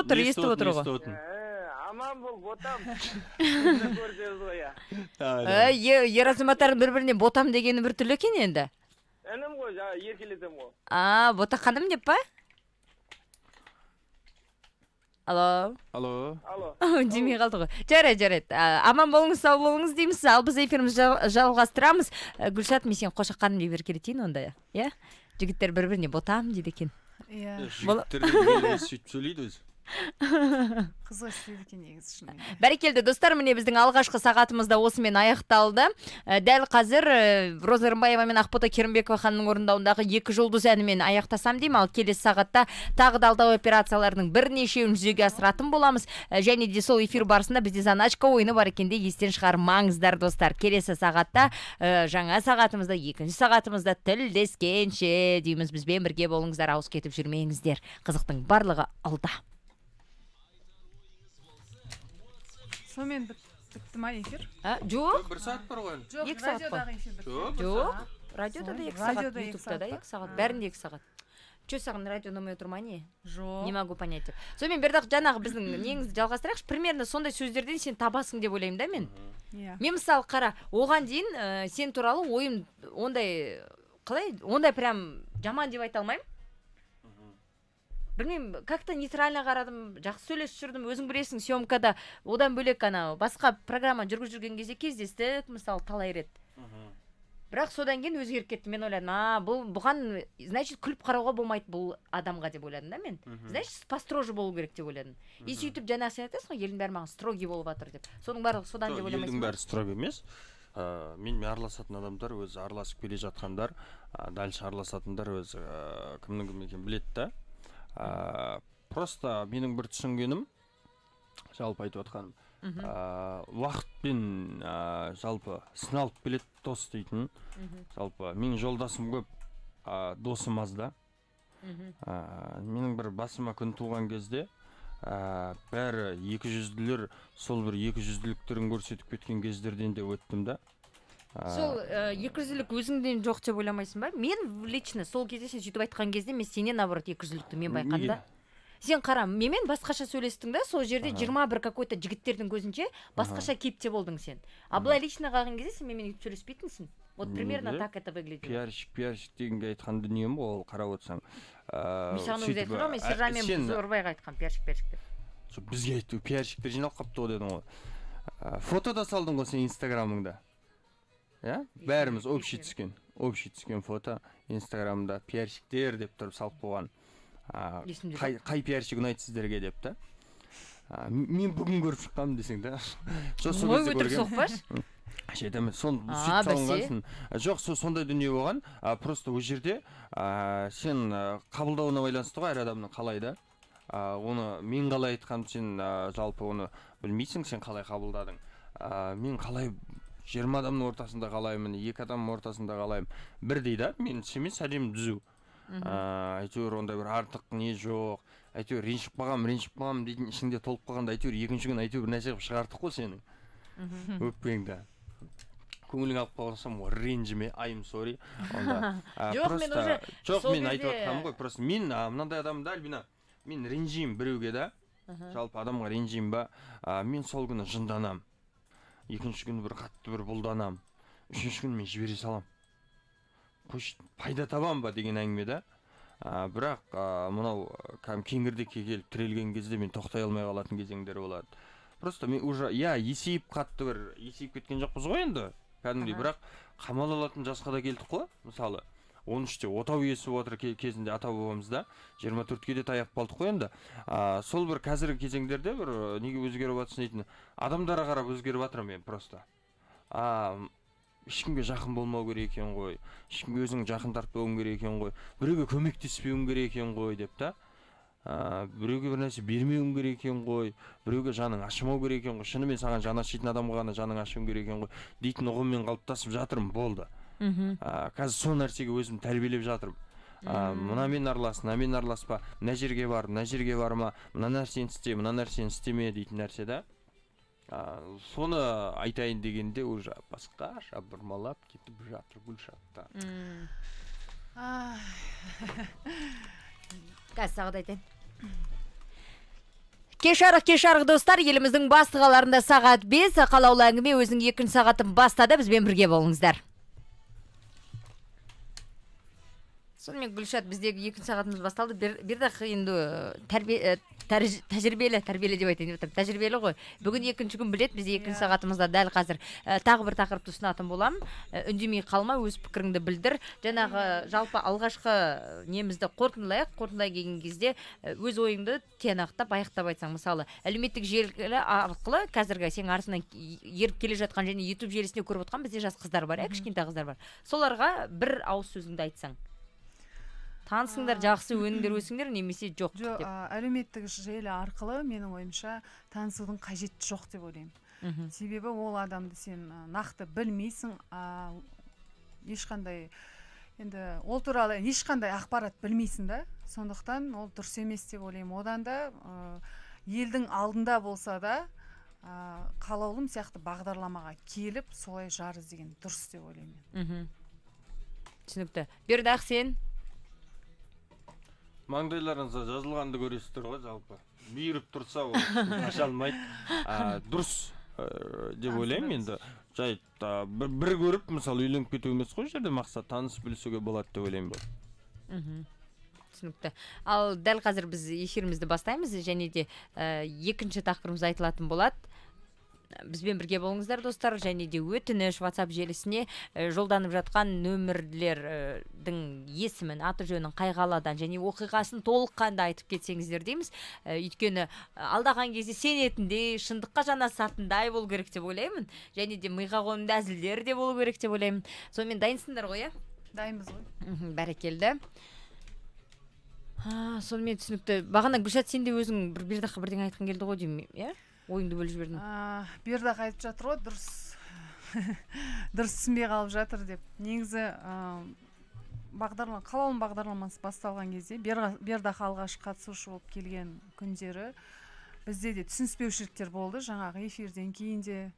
отыр ғой. Аман бол, ботам. Көрсеңіз ғой, Ер азаматтардың бір-біріне ботам дегені бір түрлі екен енді. Інім ғой, еркелетем ғой. Бота ханым деп па? Алло. Демей қалды ғой. Жарайды. Аман болыңыз, сау болыңыз дейміз. Ал біз эфирімізді жалғастырамыз. Гүлшат, мен сен Қошақ ханым деп еркелетейін онда. Жігіттер бір-біріне ботам дейді екен. Жігіттер де сөйтіп сөйлейді өзі. Қызға істейді екен негізі шынымен. Бәрекелді достар, міне біздің алғашқы сағатымызда осымен аяқталды. Дәл қазір Роза Рымбаева мен Ақбота Керімбекова ханымның орындауындағы 2 жұлдыз әнімен аяқтасам деймін. Ал келесі сағатта тағы да алдау операцияларының бірнешеуін жүзеге асыратын боламыз. Және де сол эфир барысында бізде заначка ойыны бар екенде естен шығармаңыздар достар. Келесі сағатта жаңа сағатымызда, 2-ші сағатымызда тілдескенше дейміз. Бізбен бірге болыңыздар, ауыз кетіп жүрмеңіздер. Қызықтың барлығы алда. Сонымен бітті ма эфир? Жоқ. 1 сағат бар ғой. Жоқ, 2 сағат радиодағы эфир бітті. Жоқ. Радиода да 2 сағат, Радиода 2 ютубта да 2 сағат, бәрінде 2 сағат. Че саған радио номер тұрма не? Жоқ. Не могу понять деп. Сонымен Бердақ, жаңағы біздің неңізді жалғастырайықшы. Примерно сондай сөздерден сен табасың деп ойлаймын да мен. Мен мысалы қара, оған дейін сен туралы ойым ондай қалай? Ондай прям жаман деп айта алмаймын. Білмеймін, как-то нейтрально қарадым, жақсы сөйлесіп жүрдім, өзің білесің, съемкада одан бөлек басқа программа жүрген кезде кездестік, мысалы талай рет. Бірақ содан кейін өзгеріп кетті. Мен ойладым, бұған, значит, күліп қарауға болмайды бұл адамға деп ойладым да мен. Значит, построже болу керек деп ойладым. И сөйтіп жаңа сен айтасың ғой, елдің бәрі маған строгий болып жатыр деп. Соның барлығы содан деп ойламайсың. Елдің бәрі строгий емес. Мен араласатын адамдар, өзі араласып келе жатқандар, дальше араласатындар өзі кімнің кім екенін біледі да. Просто менің бір түсінгенім, жалпы айтып отқаным, уақытпен жалпы сыналып келеді дос дейтін. Жалпы менің жолдасым көп, досым аз да. Менің бір басыма күн туған кезде бәрі 200-лер, сол бір 200-ліктерін көрсетіп кеткен кездерден де өттім да. Сол 200-лік өзіңден жоқ деп ойламайсың ба? Мен лично сол кезде сен сөйтіп айтқан кезде мен сенен наоборот 200-лікті мен байқадым. Сен қара, менімен басқаша сөйлестің да, сол жерде 21 какой-то жігіттердің көзінше басқаша кейіпте болдың сен. А былай лично қалған кезде сен менімен сөйлеспейтінсің. Вот примерно так это выглядит. Пиарщик дегенге айтқан дүнием ғой, ол қарап отырсаң. Мен саған өзі айтып тұрмын, мен Сержанмен Зорбайға айтқан пиарщик деп. Бізге айтты, пиарщиктер жиналып қапты ғой дедің ғой. Фото да салдың ғой сен инстаграмыңда. Бәріміз общий түскен фото инстаграмда пиарщиктер деп тұрып салып қойған. Қай пиарщик ұнайды сіздерге деп та. Мен бүгін көріп шыққанмын десең да. Ой, өтірік соқпаш? Жетемін, сөйтіп салынғансың. Жоқ, сондай дүние болған. Просто ол жерде сен қабылдауына байланысты ғой әр адамның қалай да. Оны мен қалай айтқан, сен жалпы оны білмейсің, сен қалай қабылдадың. Мен қалай 20 адамның ортасында қалаймын, 2 адамның ортасында қалаймын. Бірдей да, мен семен сәлем дүзу. Әйтеуір онда бір артық не жоқ. Әйтеуір ренжіп қалғам дейтін ішіңде толып қалғанда әйтеуір екінші күн әйтеуір бір нәрсе қылып шығартық қой сенің. Өкпеңді. Көңілің алып қалсам, ренжіме, I'm sorry. Жоқ, мен айтып жатқаным ғой, просто мен мынандай адамда, Альбина, мен ренжеймін біреуге да, жалпы адамға ренжеймін ба, мен сол күні жынданам. Екінші күні бір қатты бір бұлданам. Үшінші күні мен жібере салам. Пайда табам ба деген әңгіме да. Бірақ мынау кеңірдекке келіп тірелген кезде мен тоқтай алмай қалатын кезеңдер болады. Просто мен уже, есейіп қатты бір, есейіп кеткен жоқпыз ғой енді. Кәдімгідей, бірақ қамал алатын жасқа да келдік қой. Мысалы, 13-те отау иесі отыр кезінде ата бабамызда, 24-ке де таяп қалдық қой енді. Сол бір қазіргі кезеңдерде бір неге өзгеріп жатсын дейтін, адамдарға қарап өзгеріп жатырмын мен просто. Ешкімге жақын болмау керек екен ғой, ешкімге өзің жақын тартпауың керек екен ғой, біреуге көмектеспеуің керек екен ғой деп та. Біреуге бір нәрсе бермеуің керек екен ғой, біреуге жаның ашымау керек екен ғой, шынымен саған жаны ашитын адамға ғана жаның ашуың керек екен ғой дейтін ұғыммен қалыптасып жатырмын, болды. қазір сол нәрсеге өзім тәрбиелеп жатырмын. Мынамен аралас, мынамен араласпа, мына жерге бар, мына жерге барма, мына нәрсені істе, мына нәрсені істеме дейтін нәрсе да. Соны айтайын дегенде уже басқаша бұрмалап кетіп жатыр Гүлшатта. Қазір сағат айтайын. Кеш арық достар, еліміздің басты қалаларында сағат 5, қалаулы әңгіме өзінің 2 сағатын бастады, бізбен бірге болыңыздар. Сонымен Гүлшат, біздегі 2 сағатымыз басталды. Бердақ енді тәжірибелі деп айтайын. Тәжірибелі ғой. Бүгін 2-ші күн білет, бізде 2 сағатымызда дәл қазір тағы бір тақырыпты ұсынатын болам. Үндемей қалма, өз пікіріңді білдір. Жаңағы жалпы алғашқы немізді қорытындылайық. Қорытындылай келген кезде өз ойыңды тиянақтап, аяқтап айтсаң, мысалы, әлеуметтік желі арқылы қазіргі сен арасынан еріп келе жатқан және YouTube желісінде көріп отқан бізде жас қыздар бар, кішкентай қыздар бар. Соларға бір ауыз сөзіңді айтсаң. Танысыңдар, жақсы өніңдер өсіңдер, немесе жоқ деп. Әлеуметтік желі арқылы менің ойымша танысудың қажеті жоқ деп ойлаймын. Себебі ол адамды сен нақты білмейсің, ешқандай енді ол туралы ешқандай ақпарат білмейсің да. Сондықтан ол дұрыс емес деп ойлаймын. Одан да елдің алдында болса да қалаулым сияқты бағдарламаға келіп солай жар іздеген дұрыс деп ойлаймын. Түсінікті. Бердақ, сен? Маңдайларыңызда жазылғанды көресіздер ғой, жалпы. Мейіріп тұрса ол ашалмайды. Дұрыс деп ойлаймын енді. Жай бір көріп, мысалы, үйленіп кету емес қой, жерде мақсат таныс білісуге болады деп ойлаймын бұл. Түсінікті. Ал дәл қазір біз эфирімізді бастаймыз, және де 2-ші тақырыбымыз айтылатын болады. Бізбен бірге болыңыздар достар, және де өтініш WhatsApp желісіне жолданып жатқан нөмірлердің есімін, аты жөнін, қай қаладан және оқиғасын толыққанды айтып кетсеңіздер дейміз. Өйткені алдаған кезде сенетіндей, шындыққа жанасатындай болу керек деп ойлаймын. Және де миға қонымды әзілдер де болу керек деп ойлаймын. Сонымен дайынсыңдар ғой, иә? Дайынбыз ғой. Бәрекелді. Сонымен түсінікті. Бағана Гүлшат, сен де өзің Бердаққа бірдеңе айтқан келді ғой деймін, иә? Ойыңды бөліп жібердің. Бердақ айтып жатыр ғой, дұрыс түсінбей қалып жатыр деп. Негізі қалаулым бағдарламасы басталған кезде Бердақ алғаш қатысушы болып келген күндері бізде де түсініспеушіліктер болды. Жаңағы эфирден кейін де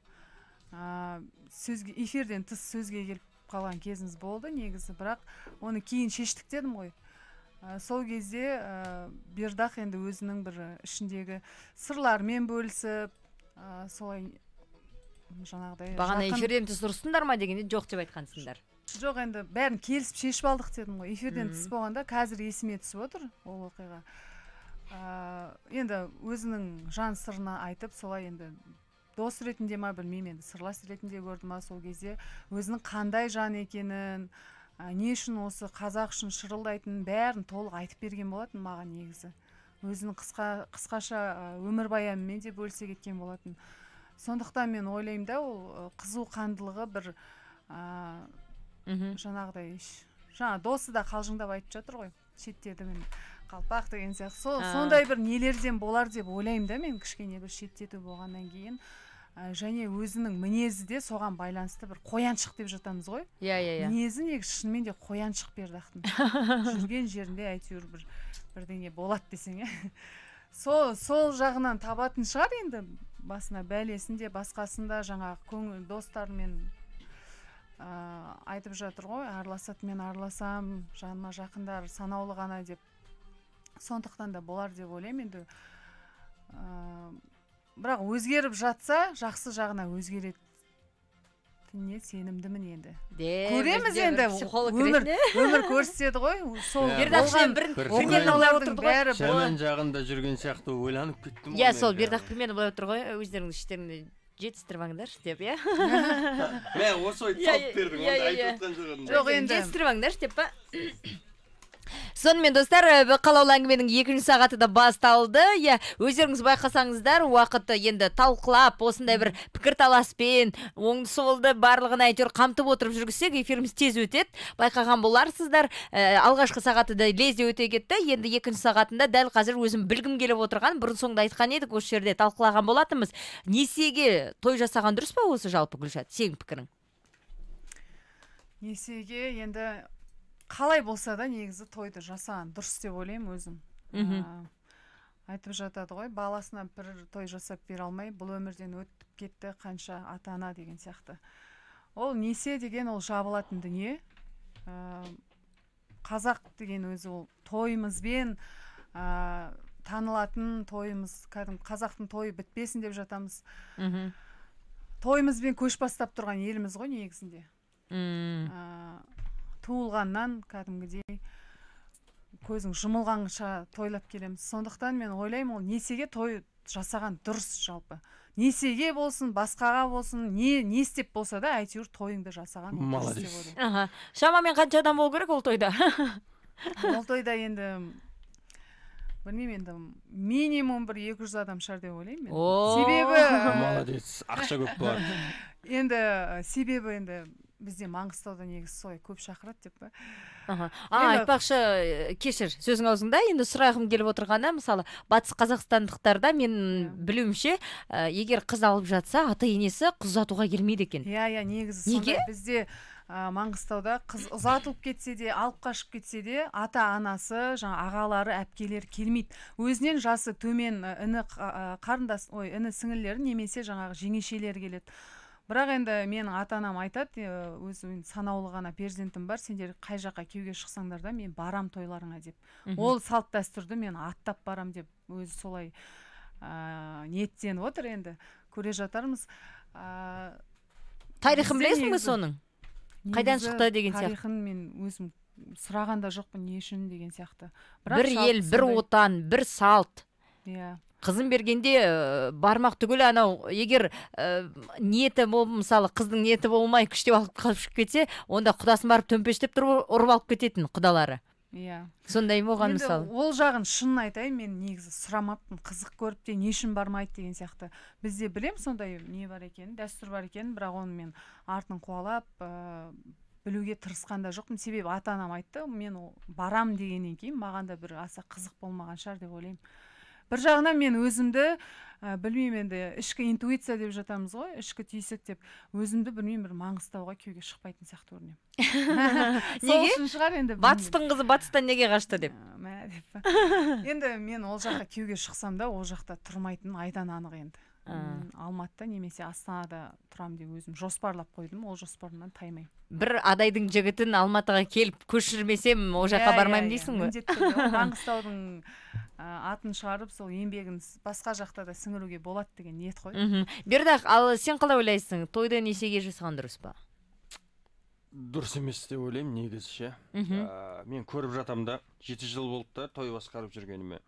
эфирден тыс сөзге келіп қалған кезіміз болды негізі, бірақ оны кейін шештік дедім ғой. Сол кезде Бердақ енді өзінің бір ішіндегі сырлармен бөлісіп, солай жаңағыдай... Бағана эфирден тыс ұрыстыңдар ма дегенде жоқ деп айтқансыңдар. Жоқ, енді бәрін келісіп шешіп алдық дедім ғой. Эфирден тыс болғанда қазір есіме түсіп отыр ол оқиға. Енді өзінің жан сырына айтып, солай енді дос ретінде ма білмеймін, енді сырлас ретінде көрді ма сол кезде өзінің қандай жан екенін, не үшін осы қазақ үшін шырылдайтынын бәрін толық айтып берген болатын маған негізі. Өзінің қысқаша өмірбаянымен де бөлісе кеткен болатын. Сондықтан мен ойлаймын да, ол қызу қандылығы бір жаңағыдай, досы да қалжыңдап айтып жатыр ғой, шеттеді мен қалпақ деген сияқты. Сондай бір нелерден болар деп ойлаймын да мен, кішкене бір шеттету болғаннан кейін. Және өзінің мінезі де соған байланысты бір қояншық деп жатамыз ғой. Мінезі негізі шынымен де қояншық Бердақтың. Жүрген жерінде әйтеуір бірдеңе болады десең, сол жағынан табатын шығар енді, басына бәлесін де басқасын да жаңағы көңіл достарымен айтып жатыр ғой, араласатымен араласам, жаныма жақындар санаулы ғана деп. Сондықтан да болар деп ойлаймын енді. Бірақ өзгеріп жатса, жақсы жағына өзгеретініне сенімдімін енді. Көреміз енді, өмір көрсетеді ғой. Бердақшымен примерно олай отырды ғой. Жаман жағында жүрген сияқты ойланып кеттім. Иә, сол Бердақ примерно олай отыр ғой, өздеріңіз іштерінде жетістірмаңдар деп, иә? Мен осы ойды салып бердің, онда айтып отқан жоғын. Жоқ, енді жетістірмаңдар деп па? Сонымен достар, қалаулы әңгіменің 2-ші сағаты да басталды. Өздеріңіз байқасаңыздар, уақытты енді талқылап, осындай бір пікір таласпен, оңды солды барлығын әйтеуір қамтып отырып жүргізсек, эфиріміз тез өтеді. Байқаған боларсыздар. Алғашқы сағаты да лезде өте кетті. Енді 2-ші сағатында дәл қазір өзім білгім келіп отырған, бұрын соңды айтқан едік, осы жерде талқылаған болатынбыз. Несиеге той жасаған дұрыс па осы жалпы, Гүлшат? Сенің пікірің? несиеге енді қалай болса да негізі тойды жасаған дұрыс деп ойлаймын өзім. Айтып жатады ғой, баласына бір той жасап бере алмай, бұл өмірден өтіп кетті қанша ата-ана деген сияқты. Ол несие деген ол жабылатын дүние. Қазақ деген өзі ол тойымызбен танылатын тойымыз, қазақтың тойы бітпесін деп жатамыз. Тойымызбен көш бастап тұрған еліміз ғой негізінде. Туылғаннан кәдімгідей көзің жұмылғанша тойлап келеміз. Сондықтан мен ойлаймын, ол несиеге той жасаған дұрыс жалпы. Несиеге болсын, басқаға болсын, не істеп болса да, әйтеуір тойыңды жасаған дұрыс деп ойлаймын. Шамамен қанша адам болу керек ол тойда? Ол тойда енді білмеймін, енді минимум бір 200 адам шығар деп ойлаймын мен. Себебі молодец, ақша көп болады. Енді себебі енді бізде Маңғыстауда негізі солай көп шақырады деп па. Айтпақшы, кешір, сөзің аузыңда, енді сұрағым келіп отырғанда, мысалы, батыс қазақстандықтарда мен білуімше, егер қыз алып жатса, ата-енесі қыз ұзатуға келмейді екен. Негізі сонда бізде Маңғыстауда қыз ұзатылып кетсе де, алып қашып кетсе де, ата-анасы, ағалары, әпкелері келмейді. Өзінен жасы төмен іні сіңілері немесе жаңағы жеңешелері келеді. Бірақ енді менің ата-анам айтады, өзі санаулы ғана перзентім бар, сендер қай жаққа күйеуге шықсаңдар да мен барам тойларыңа деп. Ол салт дәстүрді мен аттап барам деп өзі солай ниеттеніп отыр, енді көре жатармыз. Тарихын білесің бе соның? Қайдан шықты деген сияқты? Тарихын мен өзім сұрағанда жоқпын, не үшін деген сияқты. Бір ел, бір отан, бір салт. Қызын бергенде бармақ түгіл, анау егер ниеті болып, мысалы қыздың ниеті болмай күштеп алып қалып кетсе, онда құдасын барып төмпештеп тұрып ұрып алып кететін құдалары. Сондай болған мысалы. Ол жағын шынын айтайын, мен негізі сұрамаппын, қызық көріп те не үшін бармайды деген сияқты. Бізде білем сондай не бар екенін, дәстүр бар екенін, бірақ оны мен артын қуалап білуге тырысқанда жоқпын. Себебі ата-анам айтты, мен барам дегеннен кейін маған да бір аса қызық болмаған шығар деп ойлаймын. Бір жағынан мен өзімді, білмеймін, енді ішкі интуиция деп жатамыз ғой, ішкі түйсік деп, өзімді білмеймін, бір Маңғыстауға күйеуге шықпайтын сияқты көрінемін. Неге? Сол үшін шығар енді. Батыстың қызы батыстан неге қашты деп. Енді мен ол жаққа күйеуге шықсам да, ол жақта тұрмайтын айдан анық енді. Алматыда немесе Астанада тұрам деп өзім жоспарлап қойдым, ол жоспарымнан таймаймын. Бір адайдың жігітін Алматыға келіп көшірмесем, ол жаққа бармаймын дейсің ғой? Маңғыстаудың атын шығарып, сол еңбегін басқа жақта да сіңіруге болады деген ниет қой. Бердақ, ал сен қалай ойлайсың? Тойды несиеге жасаған дұрыс па? Дұрыс емес деп ойлаймын негізі ше. Мен көріп жатам да, 7 жыл болды да той басқарып жүргеніме.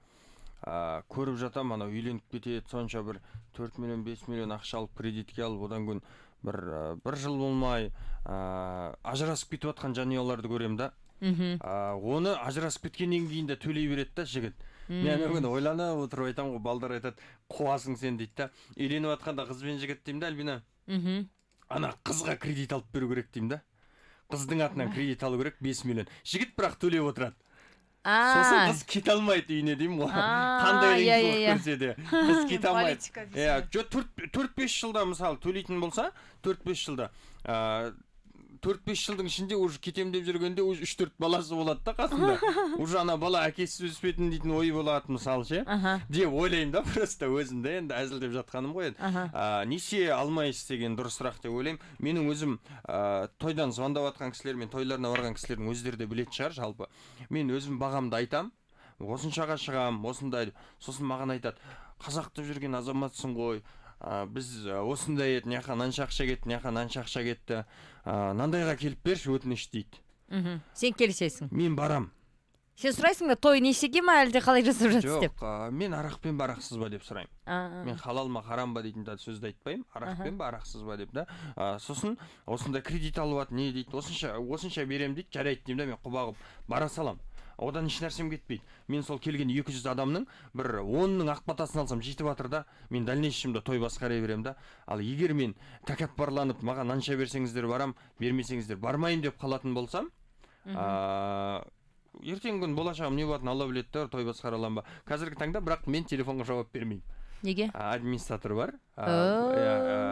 Көріп жатам, анау үйленіп кетеді, сонша бір 4 миллион, 5 миллион ақша алып, кредитке алып, одан кейін бір жыл болмай ажырасып кетіп жатқан жанұяларды көрем да. Оны ажырасып кеткеннен кейін де төлей береді да жігіт. Мен бүгін ойланып отырып айтам ғой, балдар айтады, қуасың сен дейді да. Үйленіп жатқанда қыз бен жігіт деймін да, Альбина. Ана қызға кредит алып беру керек деймін да. Қыздың атынан кредит алу керек 5 миллион. Жігіт бірақ төлеп отырады. Сосын қыз кете алмайды үйіне деймін ғой. Қандай ренжіп көрсе де қыз кете алмайды. 4-5 жылда мысалы төлейтін болса, 4-5 жылда 4-5 жылдың ішінде уже кетем деп жүргенде уже 3-4 баласы болады да қасында. Уже ана бала әкесіз өспетін дейтін ой болады мысалы ше. Деп ойлаймын да, просто өзімді енді әзілдеп жатқаным ғой. Несие алмай істеген дұрысырақ деп ойлаймын. Менің өзім тойдан звондап жатқан кісілер мен тойларына барған кісілердің өздері де білетін шығар жалпы. Мен өзім бағамды айтам. Осыншаға шығам, осындай. Сосын маған айтады, қазақтып жүрген азаматсың ғой. Біз осындай еді, мынақа мынанша ақша кетті, мынақа мынанша ақша кетті. Мынандайға келіп берші өтініш дейді. Сен келісесің? Мен барам. Сен сұрайсың ба, той несиеге ма әлде қалай жасап жатсыз деп? Жоқ, мен арақпен барақсыз ба деп сұраймын. Мен халал ма харам ба дейтін сөзді айтпаймын. Арақпен барақсыз ба деп да. Сосын осындай кредит алып не дейді, осынша берем дейді, жарайды деймін да, мен құба қылып бара салам. Одан еш нәрсем кетпейді. Мен сол келген 200 адамның бір 10-ның ақ батасын алсам жетіп жатыр да, мен дальнейшемде той басқара берем да. Ал егер мен тәкаппарланып, маған анша берсеңіздер барам, бермесеңіздер бармайын деп қалатын болсам, ертеңгі күн болашағым не болатынын Алла біледі, той басқара аламын ба. Қазіргі таңда бірақ мен телефонға жауап бермеймін. Неге? Администратор бар.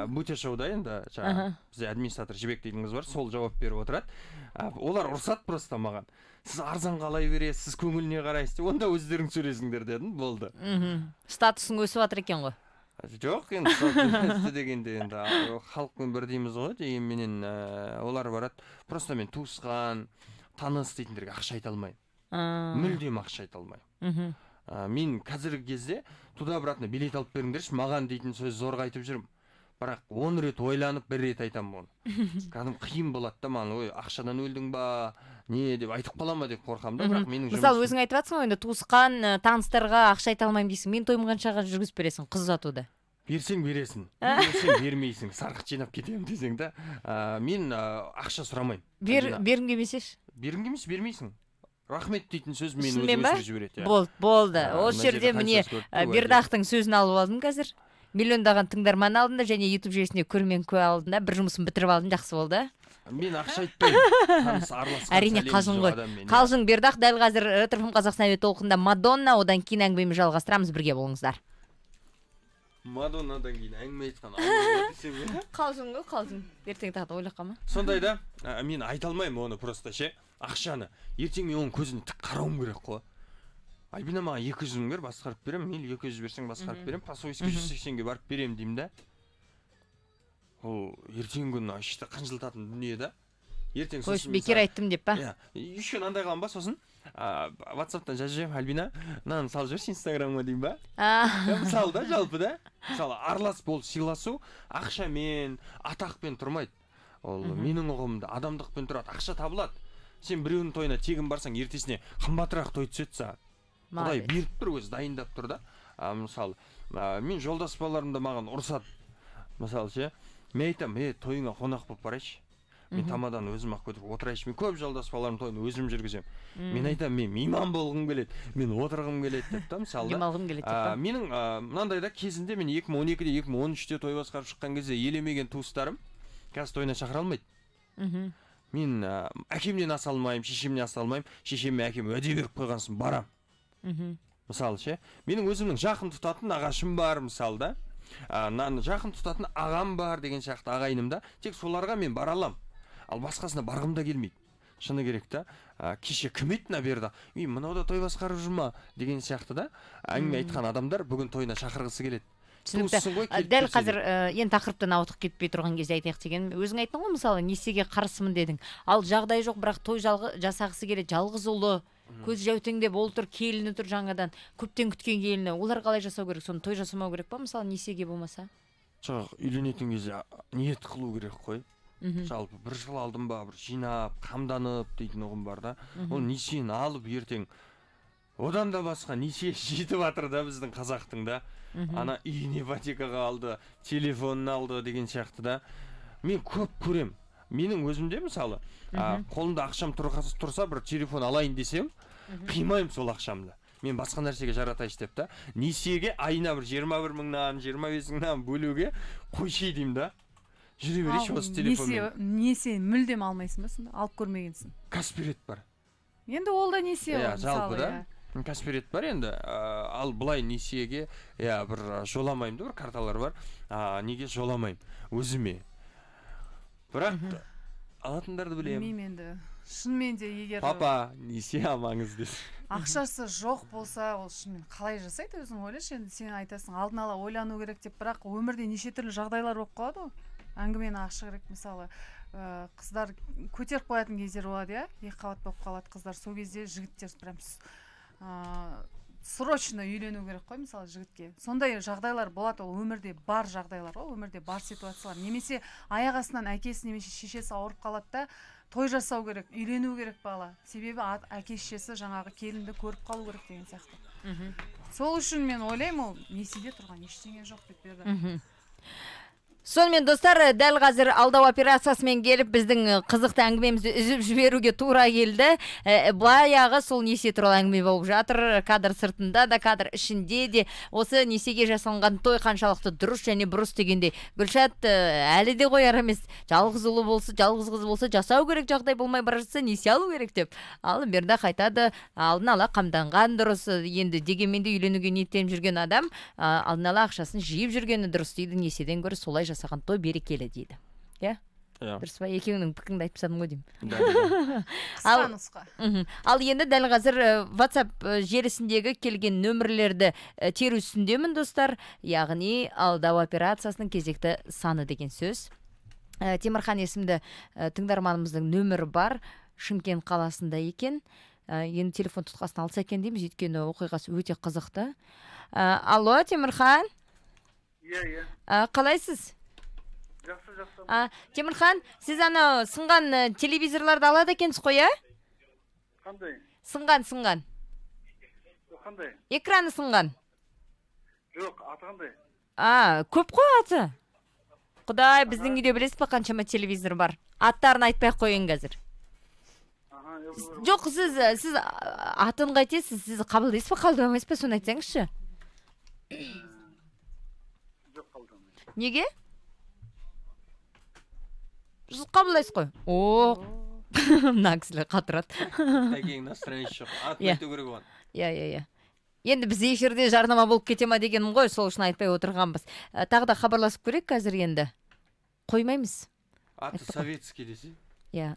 Бутер шоуда енді бізде администратор Жібек дейтін қыз бар, сол жауап беріп отырады. Олар ұрсады просто маған. Сіз арзан қалай бересіз, сіз көңіліне қарайсыз, онда өздерің сөйлесіңдер дедім, болды. Статусың өсіп жатыр екен ғой. Жоқ, енді статус дегенде енді халықпен бір дейміз ғой, дегенменен олар барады. Просто мен туысқан, таныс дейтіндерге ақша айта алмаймын. Мүлдем ақша айта алмаймын. Мен қазіргі кезде туда обратно билет алып беріңдерші, маған дейтін сөз зорға айтып жүрмін. Бірақ 10 рет ойланып, 1 рет айтамын оны. Кәдім қиын болады да маған, ой, ақшадан өлдің ба, не деп айтып қалама деп қорқамын да, бірақ менің жұмысым. Мысалы, өзің айтып жатсың ғой, енді туысқан, таныстарға ақша айта алмаймын дейсің. Мен тойым қаншаға жүргізіп бересің қыз ұзатуды? Берсең бересің, берсең бермейсің, сарқыт жинап кетемін десең да. Мен ақша сұрамаймын. Бергім келмесеші? Бергім келмес, бермейсің. Рахмет дейтін сөз мені өсіріп жібереді. Болды. Осы жерде міне Бердақтың сөзін алып алдым қазір. Миллиондаған тыңдарман алдында және YouTube желісінде көрермен куә алдында бір жұмысын бітіріп алдым, жақсы болды. Мен ақша айтпаймын. Әрине қалжың ғой. Қалжың. Бердақ дәл қазір РТФ Қазақстан әуе толқында Мадонна, одан кейін әңгімемізді жалғастырамыз, бірге болыңыздар. Мадоннадан кейін әңгіме айтқан. Қалжың ғой, қалжың. Ертең тағы ойлап қалма. Сондай да, мен айта алмаймын оны просто ше. Ақшаны. Ертең мен оның көзіне тік қарауым керек қой. Альбина маған 200 мың бер, басқарып берем, мен 200 берсең басқарып берем, Пасойский 180-ге барып берем деймін да. Ол ертең күні ішті қынжылтатын дүние да. Ертең сосын бекер айттым деп па? Еще мынандай қылам ба сосын? WhatsApp-тан жазып жіберемін, Альбина, мынаны салып жіберші Инстаграмға деймін ба? Мысалы да, жалпы да. Мысалы араласып ол сыйласу ақшамен, атақпен тұрмайды. Ол менің ұғымымда адамдықпен тұрады, ақша табылады. Сен біреудің тойына тегін барсаң, ертесіне қымбатырақ той түседі саған. Құдай беріп тұр, өзі дайындап тұр да. Мысалы, мен жолдас балаларымда маған ұрсады. Мысалы ше, мен айтам, тойыңа қонақ болып барайшы. Мен тамадан өзім ақ көтеріп отырайшы. Мен көп жолдас балаларым тойын өзім жүргізем. Мен айтам, мен мейман болғым келеді, мен отырғым келеді деп та, мысалы да. Демалғым келеді деп та. Менің мынандай да кезінде мен 2012-де, 2013-те той басқарып шыққан кезде елемеген туыстарым қазір тойына шақыра алмайды. Мен әкемнен аса алмаймын, шешемнен аса алмаймын. Шешем мен әкем уәде беріп қойғансын барам. Мысалы ше, менің өзімнің жақын тұтатын ағашым бар, мысалы да. Жақын тұтатын ағам бар деген сияқты ағайынымда, тек соларға мен бара алам. Ал басқасына барғым да келмейді. Шыны керек та. Кеше кім еді берді? Мынау да той басқарып жүр ма деген сияқты да. Әңгіме айтқан адамдар бүгін тойына шақырғысы келеді. Дәл қазір енді тақырыптан ауытқып кетпей тұрған кезде айтайық деген. Өзің айттың ғой, мысалы, несиеге қарсымын дедің. Ал жағдай жоқ, бірақ той жасағысы келеді, жалғыз ұлы, көз жәутеңдеп ол тұр, келіні тұр жаңадан, көптен күткен келіні. Олар қалай жасау керек? Соны той жасамау керек па, мысалы, несиеге болмаса? Жоқ, үйленетін кезде ниет қылу керек қой. Жалпы бір жыл алдым ба, бір жинап, қамданып дейтін ұғым бар да. Ол несиені алып ертең одан да басқа несие жетіп жатыр да біздің қазақтың да. Ана үйін ипотекаға алды, телефонын алды деген сияқты да. Мен көп көрем. Менің өзімде мысалы, қолымда ақшам тұрса бір телефон алайын десем, қимаймын сол ақшамды. Мен басқа нәрсеге жаратайшы деп та. Несиеге айына бір 21 мыңнан, 25 мыңнан бөлуге қойшы деймін да. Жүре берейші осы телефонмен. Несие мүлдем алмайсың ба сонда? Алып көрмегенсің. Каспирет бар. Енді ол да несие ғой, жалпы да. Каспирет бар енді, ал бұлай несиеге бір жоламаймын да, бір карталар бар. Неге жоламаймын? Өзіме. Бірақ алатындарды білемін. Білмеймін енді. Шынымен де егер папа несие алмаңыз десе. Ақшасы жоқ болса, ол шынымен қалай жасайды өзің ойлашы. Енді сен айтасың, алдын ала ойлану керек деп, бірақ өмірде неше түрлі жағдайлар болып қалады ғой. Әңгімені ашық керек, мысалы, қыздар көтеріп қоятын кездер болады, иә? Екі қабат болып қалады қыздар. Сол кезде жігіттер прям срочно үйлену керек қой, мысалы, жігітке. Сондай жағдайлар болады, ол өмірде бар жағдайлар ғой, өмірде бар ситуациялар. Немесе аяқ астынан әкесі немесе шешесі ауырып қалады да, той жасау керек, үйлену керек бала. Себебі әке шешесі жаңағы келінді көріп қалу керек деген сияқты. Сол үшін мен ойлаймын, ол несиеде тұрған ештеңе жоқ деп берді. Сонымен достар, дәл қазір алдау операциясымен келіп біздің қызықты әңгімемізді үзіп жіберуге тура келді. Баяғы сол несие туралы әңгіме болып жатыр. Кадр сыртында да, кадр ішінде де осы несиеге жасалынған той қаншалықты дұрыс және бұрыс дегенде. Гүлшат әлі де қояр емес. Жалғыз ұлы болса, жалғыз қыз болса, жасау керек, жағдай болмай бара жатса несие алу керек деп. Ал берді қайтады, алдын ала қамданған дұрыс. Енді дегенмен де үйленуге ниеттеніп жүрген адам алдын ала ақшасын жиып жүргені дұрыс дейді. Несиеден гөрі солай жасаған той берекелі дейді. Иә? Дұрыс па? Екеуіңнің пікіріңді айтып тастадым ғой деймін. Қысқа нұсқа. Ал енді дәл қазір WhatsApp желісіндегі келген нөмірлерді теру үстіндемін достар. Яғни алдау операциясының кезекті саны деген сөз. Темірхан есімді тыңдарманымыздың нөмірі бар. Шымкент қаласында екен. Енді телефон тұтқасын алса екен дейміз, өйткені оқиғасы өте қызықты. Алло, Темірхан? Иә. Қалайсыз? Жақсы. Темірхан, сіз ана сынған телевизорларды алады екенсіз қой, а? Қандай? Сынған. Қандай? Экраны сынған. Жоқ, аты қандай? Көп қой аты. Құдай, біздің үйде білесіз ба қаншама телевизор бар? Аттарын айтпай қойын қазір. Жоқ, сіз атын қайтесіз, сіз қабылдайсыз ба, қабылдамайсыз ба, соны айтсаңызшы. Жоқ, қабылдамайсыз. Неге? Сіз қабылдайсыз қой. Мына кісілер қатырады. Тәкең настроение жоқ. Атын айту керек оған. Иә. Енді біз эфирде жарнама болып кете ма дегенім ғой, сол үшін айтпай отырғанбыз. Тағы да хабарласып көрек қазір енді. Қоймаймыз. Аты советский десе. Иә.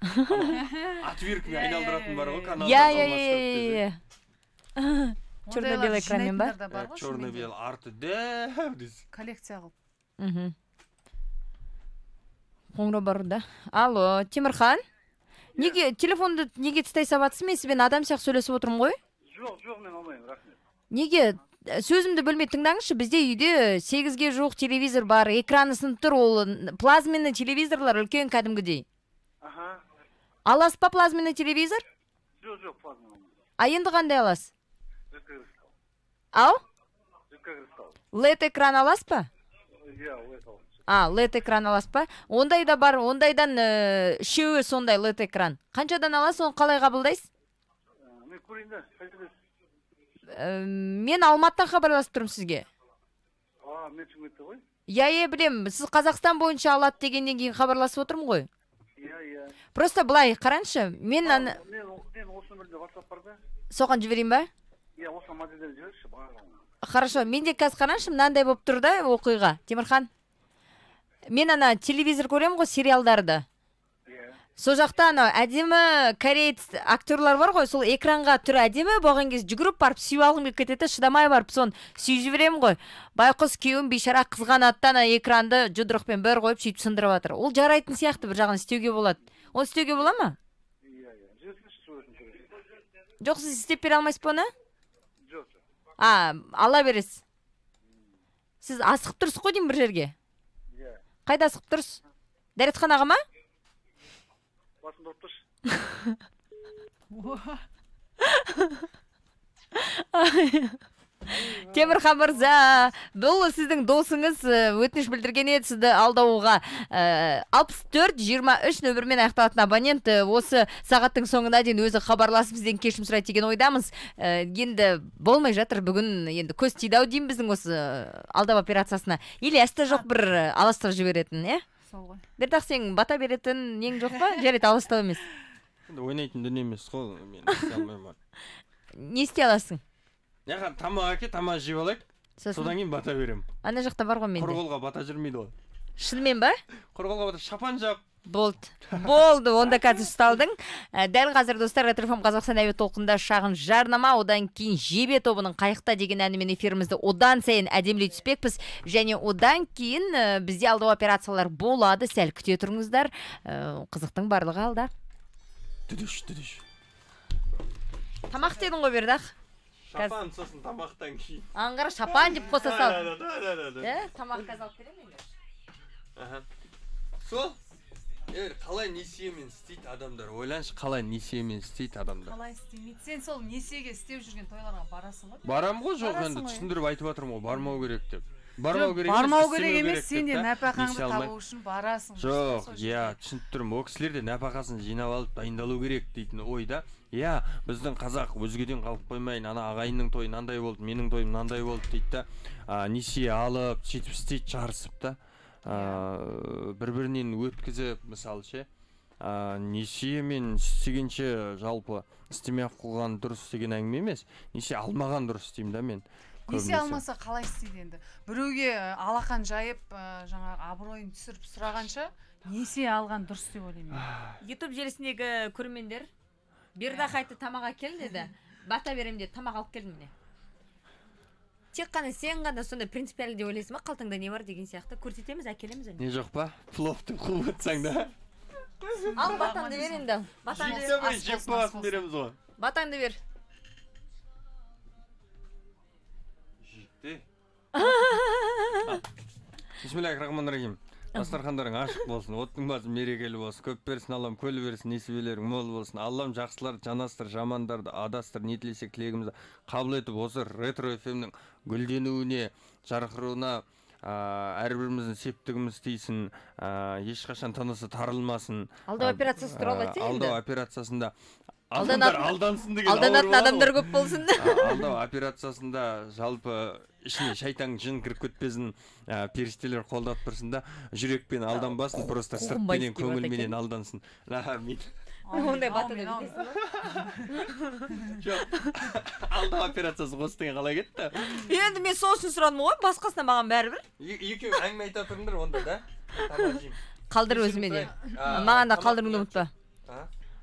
Отверткамен айналдыратын бар ғой, каналда. Иә. Черно-белый экранмен ба? Черно-белый арты дәу десе. Коллекция қылып. Қоңырау бар да. Алло, Темірхан? Неге телефонды неге тыстай сабатсыз? Мен сізбен адам сияқты сөйлесіп отырмын ғой? Жоқ, мен алмаймын, рахмет. Неге? Сөзімді бөлмей тыңдаңызшы, бізде үйде 8-ге жуық телевизор бар, экраны сынып тұр, ол плазменный телевизорлар үлкен кәдімгідей. Аласыз па плазменный телевизор? Жоқ, плазменный. Енді қандай аласыз? Жидкий кристалл. Ау? Жидкий кристалл. LED экран аласыз па? Иә, LED аласыз. LED экран аласыз ба? Ондай да бар, ондайдан үшеуі сондай LED экран. Қаншадан аласыз, оны қалай қабылдайсыз? Мен көрейін да, қайтедесіз? Мен Алматыдан хабарласып тұрмын сізге. Мен Шымкентте ғой? Иә, білем. Сіз Қазақстан бойынша алады дегеннен кейін хабарласып отырмын ғой. Иә. Просто былай, қараңызшы. Мен осы нөмірде WhatsApp бар да? Соған жіберейін ба? Иә, осы модельден жіберші, бағалауын. Хорошо, менде қазір қараңызшы, мынандай болып тұр да оқиға. Темірхан, мен телевизор көремін ғой, сериалдарды. Сол жақта әдемі кореец актерлар бар ғой, сол экранға түрі әдемі болған кез жүгіріп барып сүйіп алғым келіп кетеді, шыдамай барып соны сүйіп жіберемін ғой. Байқұс күйеуім бейшара қызғанаттан экранды жұдырықпен бір қойып сөйтіп сындырып жатыр. Ол жарайтын сияқты, бір жағын істеуге болады. Оны істеуге бола ма? Жоқ, сіз істеп бере алмайсыз ба оны? Жоқ. Ала бересіз. Сіз асығып тұрсыз ғой деймін бір жерге. Қайда асығып тұрсыз? Дәретханаға ма? Басында отырш. Темірхан мырза, бұл сіздің досыңыз өтініш білдірген еді сізді алдауға. 64-23 нөмірмен аяқталатын абонент осы сағаттың соңына дейін өзі хабарласып бізден кешірім сұрайды деген ойдамыз. Енді болмай жатыр бүгін, енді көз тиді ау деймін біздің осы алдау операциясына. Или әсті жоқ бір аластау жіберетін, е? Бердақ сен бата беретін нең жоқ па? Жарайды, аластау емес. Ойнайтын дүние емес қой, мен істей алмаймын. Не істей аласың? Яғын тамақ әке, тамақ жеп алайық, содан кейін бата берем. Ана жақта бар ғой менде. Құрғолға бата жүрмейді ғой. Шынымен ба? Құрғолға бата шапан жап. Болды, онда қазір ұсталдың. Дәл қазір достар, Ретрофм Қазақстан әуе толқында шағын жарнама, одан кейін Жебе тобының Қайықта деген әнімен эфирімізді одан сайын әдемілей түспекпіз. Және одан кейін бізде алдау операциялар болады, сәл күте тұрыңыздар. Қызықтың барлығы алда. Түдіш. Тамақ дедің ғой Бердақ? Шапан сосын тамақтан кейін. Аңғара шапан деп қоса сал. Тамақ қазалып берем енді. Сол? Қалай несиемен істейді адамдар? Ойланшы, қалай несиемен істейді адамдар? Қалай істемейді? Сен сол несиеге істеп жүрген тойларға барасың ғой? Барам ғой, жоқ, енді түсіндіріп айтып жатырмын ғой, бармау керек деп. бармау керек бармау керек емес, сен де нәпақаңды табу үшін барасың. Жоқ, түсініп тұрмын. О кісілер де нәпақасын жинап алып дайындалу керек дейтін ойда. Біздің қазақ өзгеден қалып қоймайын, ана ағайынның тойы мынандай болды, менің тойым мынандай болды дейді да. Несие алып, сөйтіп істейді, жарысып та. Бір-бірінен өткізіп, мысалы ше, несие мен істегенше жалпы істемей қойған дұрыс деген әңгіме емес. Несие алмаған дұрыс деймін да мен. Несие алмаса қалай істейді енді? Біреуге алақан жайып, жаңағы абыройын түсіріп сұрағанша, несие алған дұрыс деп ойлаймын. YouTube желісіндегі көрермендер Бердақ айтты тамақ әкел деді. Бата берем деді, тамақ алып келдім міне. Тек қана сен ғана сондай принципиалды деп ойлайсың ба? Қалтаңда не бар деген сияқты көрсетеміз, әкелеміз. Не жоқ па? Пловты қуып өтсең да. Ал батаңды бер енді. Жеп бағасын береміз ғой. Батаңды бер. Жекте. Бисмиллахир-рахманир-рахим. Дастархандарың ашық болсын, оттың басы мерекелі болсын, көп берсін Аллам, көл берсін, несібелерің мол болсын. Аллам жақсыларды жанастыр, жамандарды адастыр, не тілесек тілегімізді қабыл етіп, осы ретро FM-нің гүлденуіне, жарқыруына әрбіріміздің септігіміз тейсін, ешқашан тынысы тарылмасын. Алдау операциясы туралы айтсай енді. Алдау операциясында алдансын деген алданатын адамдар көп болсын. Алдау операциясында жалпы ішіне шайтан жын кіріп кетпесін, періштелер қолдап тұрсын да, жүрекпен алданбасын, просто сыртпенен көңілменен алдансын. Ондай батыны білесің ба? Жоқ, алдау операциясы қос деген қалай кетті? Енді мен сол үшін сұрадым ғой, басқасына маған бәрібір. Екеуің әңгіме айта тұрыңдар онда да. Қалдыр өзіме де. Маған да қалдырыңды ұмытпа.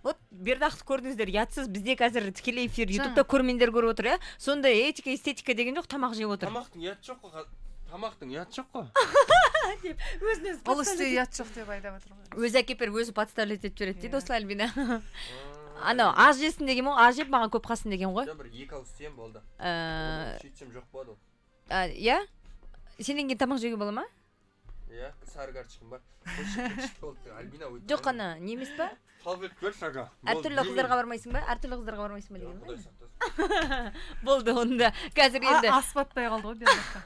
Вот Бердақты көрдіңіздер, ятсыз бізде қазір тікелей эфир ютубта көрермендер көріп отыр, сонда этика, эстетика деген жоқ, тамақ жеп отыр. Тамақтың ұят жоқ қой. Тамақтың ұят жоқ қой. Ол істе ұят жоқ деп айтып отыр ғой. Өзі әкепер өзі подставлять етіп жібереді дейді осылай Альбина. Анау аз жесін деген ғой, аз жеп маған көп қалсын деген ғой. Бір екі ауыз істеймін болды. Сөйтсем жоқ болады ол. Иә? Сенен кейін тамақ жеуге бола ма? Иә, сары карточкам бар. Жоқ қана, не емес па? Әртүрлі қыздарға бармайсың ба? Әртүрлі қыздарға бармайсың ба деген ба? Болды, онда қазір енді ас батпай қалды ғой Бердаққа.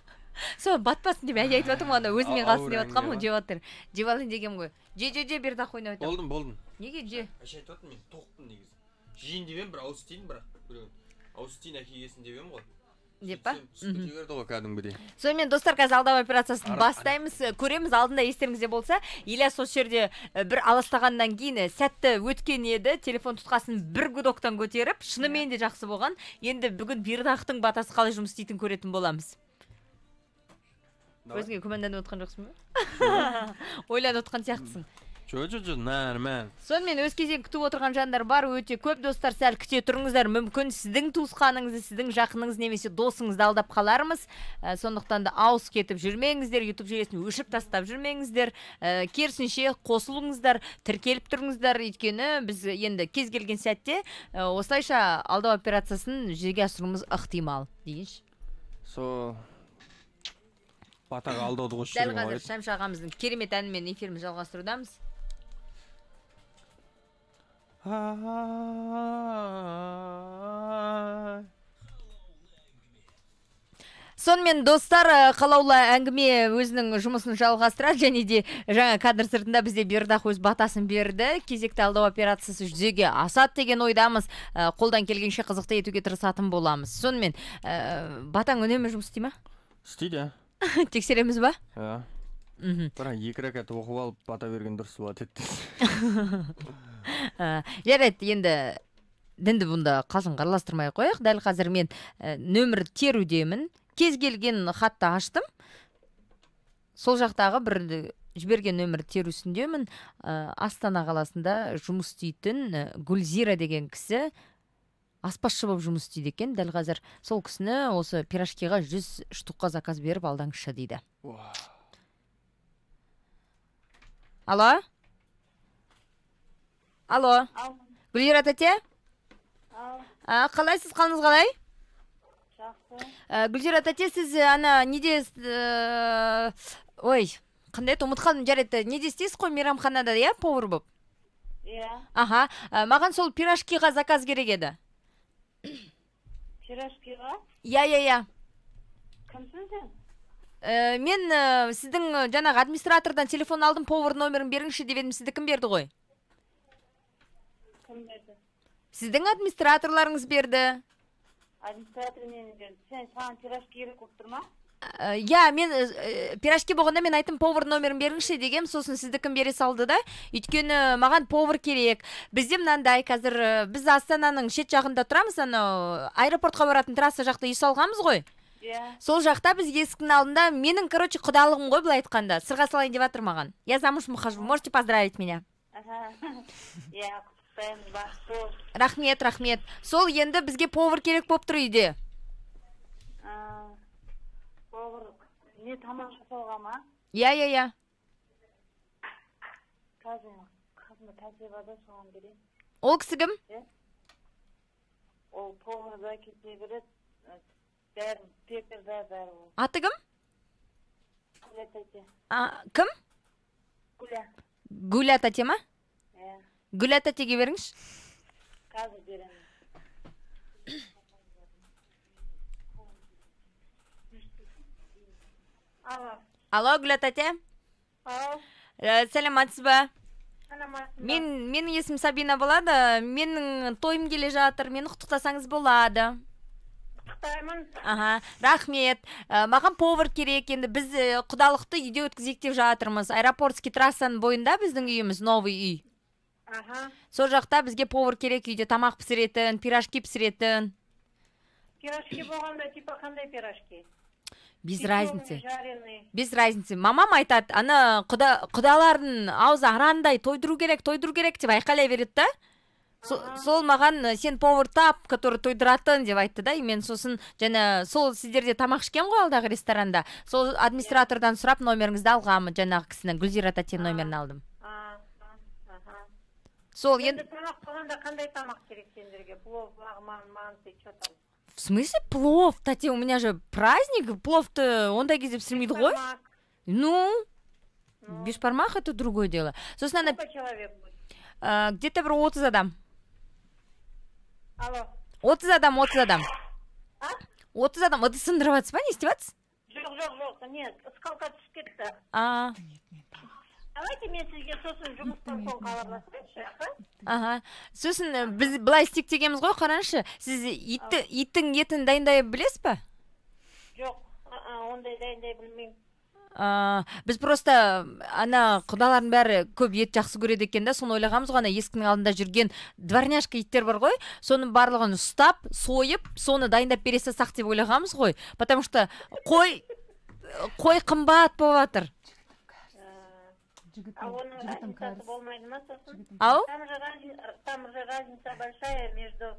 Сол батпасын деп айтып жатырмын, анда өзіме қалсын деп жатқанмын, ғой, жеп жатыр. Жеп алайын дегенмін ғой. Же Бердақ ойнап отыр. Болдым. Неге же? Әше айтып жатырмын, мен тоқпын негізі. Жейін деп едім, бір ауыз істейін, бірақ ауыз істейін әкелгесін деп едім ғой. Деп па? Берді ғой кәдімгідей. Сонымен достар, қазір алдау операциясын бастаймыз. Көреміз, алдында естеріңізде болса, Ильяс осы жерде бір аластағаннан кейін сәтті өткен еді. Телефон тұтқасын бір гудоктан көтеріп, шынымен де жақсы болған. Енді бүгін Бердақтың батасы қалай жұмыс істейтін көретін боламыз. Өзіңе күмәнданып отқан жоқсың ба? Ойланып отқан сияқтысың. Нормально. Сонымен өз кезегін күтіп отырған жандар бар, өте көп. Достар, сәл күте тұрыңыздар. Мүмкін сіздің туысқаныңызды, сіздің жақыныңыз немесе досыңызды алдап қалармыз. Сондықтан да ауыз кетіп жүрмеңіздер, YouTube желісін өшіріп тастап жүрмеңіздер. Керісінше қосылыңыздар, тіркеліп тұрыңыздар. Өйткені біз енді кез келген сәтте осылайша алдау операциясын жүзеге асыруымыз ықтимал дейінші. Батаға алдауды қосып жүрген ғой. Дәл қазір Шәмші ағамыздың керемет әнімен эфирімізді жалғастырудамыз. Сонымен достар, қалаулы әңгіме өзінің жұмысын жалғастырады, және де жаңа кадр сыртында бізде Бердақ өз батасын берді. Кезекті алдау операциясы жүзеге асады деген ойдамыз. Қолдан келгенше қызықты етуге тырысатын боламыз. Сонымен батаң үнемі жұмыс істей ме? Істейді. Тексереміз ба? Иә. Бірақ екі рәкат оқып алып бата берген дұрыс болады еді. Жарайды, енді дінді бұнда қалжыңға араластырмай қояйық. Дәл қазір мен нөмір терудемін. Кез келген хатты аштым. Сол жақтағы бір жіберген нөмір терусіндемін. Астана қаласында жұмыс істейтін Гүлзира деген кісі аспазшы болып жұмыс істейді екен. Дәл қазір сол кісіні осы пирожкиға 100 штукқа заказ беріп алдаңызшы дейді. Алло? Алло? Гүлзира тәте? Қалайсыз, қалыңыз қалай? Жақсы. Гүлзира тәте, сіз ана неде қандай еді, ұмыт қалдым, жарайды. Неде істейсіз қой, мейрамханада, иә, повар болып? Иә. Аха, маған сол пирожкиға заказ керек еді. Пирожкиға? Иә. Кімсің сен? Мен сіздің жаңағы администратордан телефон алдым, повар номерін беріңізші деп едім, сізді кім берді ғой? Кім берді? Сіздің администраторларыңыз берді. Администратор мен берді. Саған пирожки керек болып тұр ма? Я, мен пирожки болғанда мен айттым, повар номерін беріңізші дегем, сосын сізді кім бере салды да. Өйткені маған повар керек. Бізде мынандай, қазір біз Астананың шет жағында тұрамыз, аэропортқа баратын трасса жақта үй салғанбыз ғой. Сол жақта біз есіктің алдында, менің, құдалығым ғой, былай айтқанда. Сырға салайын деп жатыр маған. Я замуж выхожу, можете поздравить меня. Рахмет, рахмет. Сол енді бізге повар керек болып тұр үйде. Повар не тамақ жасауға ма? Я. Қазір тәжірибада соған берейін. Ол кісі кім? Ол поварда кете береді. Бәрін пекарда бәрі. Аты кім? Гүля тәте. Кім? Гүля. Гүля тәте ма? Гүля тәтеге беріңіз. Қазір беремін. Алло, Гүля тәте. Сәлематсыз ба? Менің есім Сабина болады. Менің тойым келе жатыр. Мені құттықтасаңыз болады. Құттықтаймын. Рахмет. Маған повар керек. Енді біз құдалықты үйде өткізейік деп жатырмыз. Аэропортский трассаның бойында біздің үйіміз, новый үй. Сол жақта бізге повар керек, үйде тамақ пісіретін, пирожки пісіретін. Пирожки болғанда, типа қандай пирожки? Без разницы. Без разницы. Мамам айтады, ана құдалардың аузы арандай тойдыру керек деп айқайлай береді да. Сол маған сен повар тап, который тойдыратын деп айтты да. Мен сосын жаңа сол сіздерде тамақ ішкен ғой алдағы ресторанда. Сол администратордан сұрап номеріңізді алғамын, жаңағы кісінің Гүлзира тәте номерін алдым. Сол енді тамақ болғанда қандай тамақ керек сендерге? Плов, манты, что там? В смысле плов? Тәте, у меня же праздник, плов-то ондай кезде пісірмейді ғой? Ну, бешбармақ это другое дело. Сколько человек будет? Где-то бір 30 адам. Алло. 30 адам. 30 адам. Ыды сындырып атсыз ба, не істеп? Жоқ, нет, скалка түсіп кетті. Давайте мен сізге сосын жұмыстан соң хабарласайыншы. Сосын біз былай істейік дегенбіз ғой, қараңызшы. Сіз иттің етін дайындай білесіз ба? Жоқ, ондай дайындай білмеймін. Біз просто ана құдалардың бәрі көп ет жақсы көреді екен да, соны ойлағанбыз ғой, ана есіктің алдында жүрген дворняшка иттер бар ғой, соның барлығын ұстап, сойып, соны дайындап бере салсақ деп ойлағанбыз ғой. Потому что қой қымбат болып жатыр. А оның разницасы болмайды ма сосын? Ау? Там же разница большая между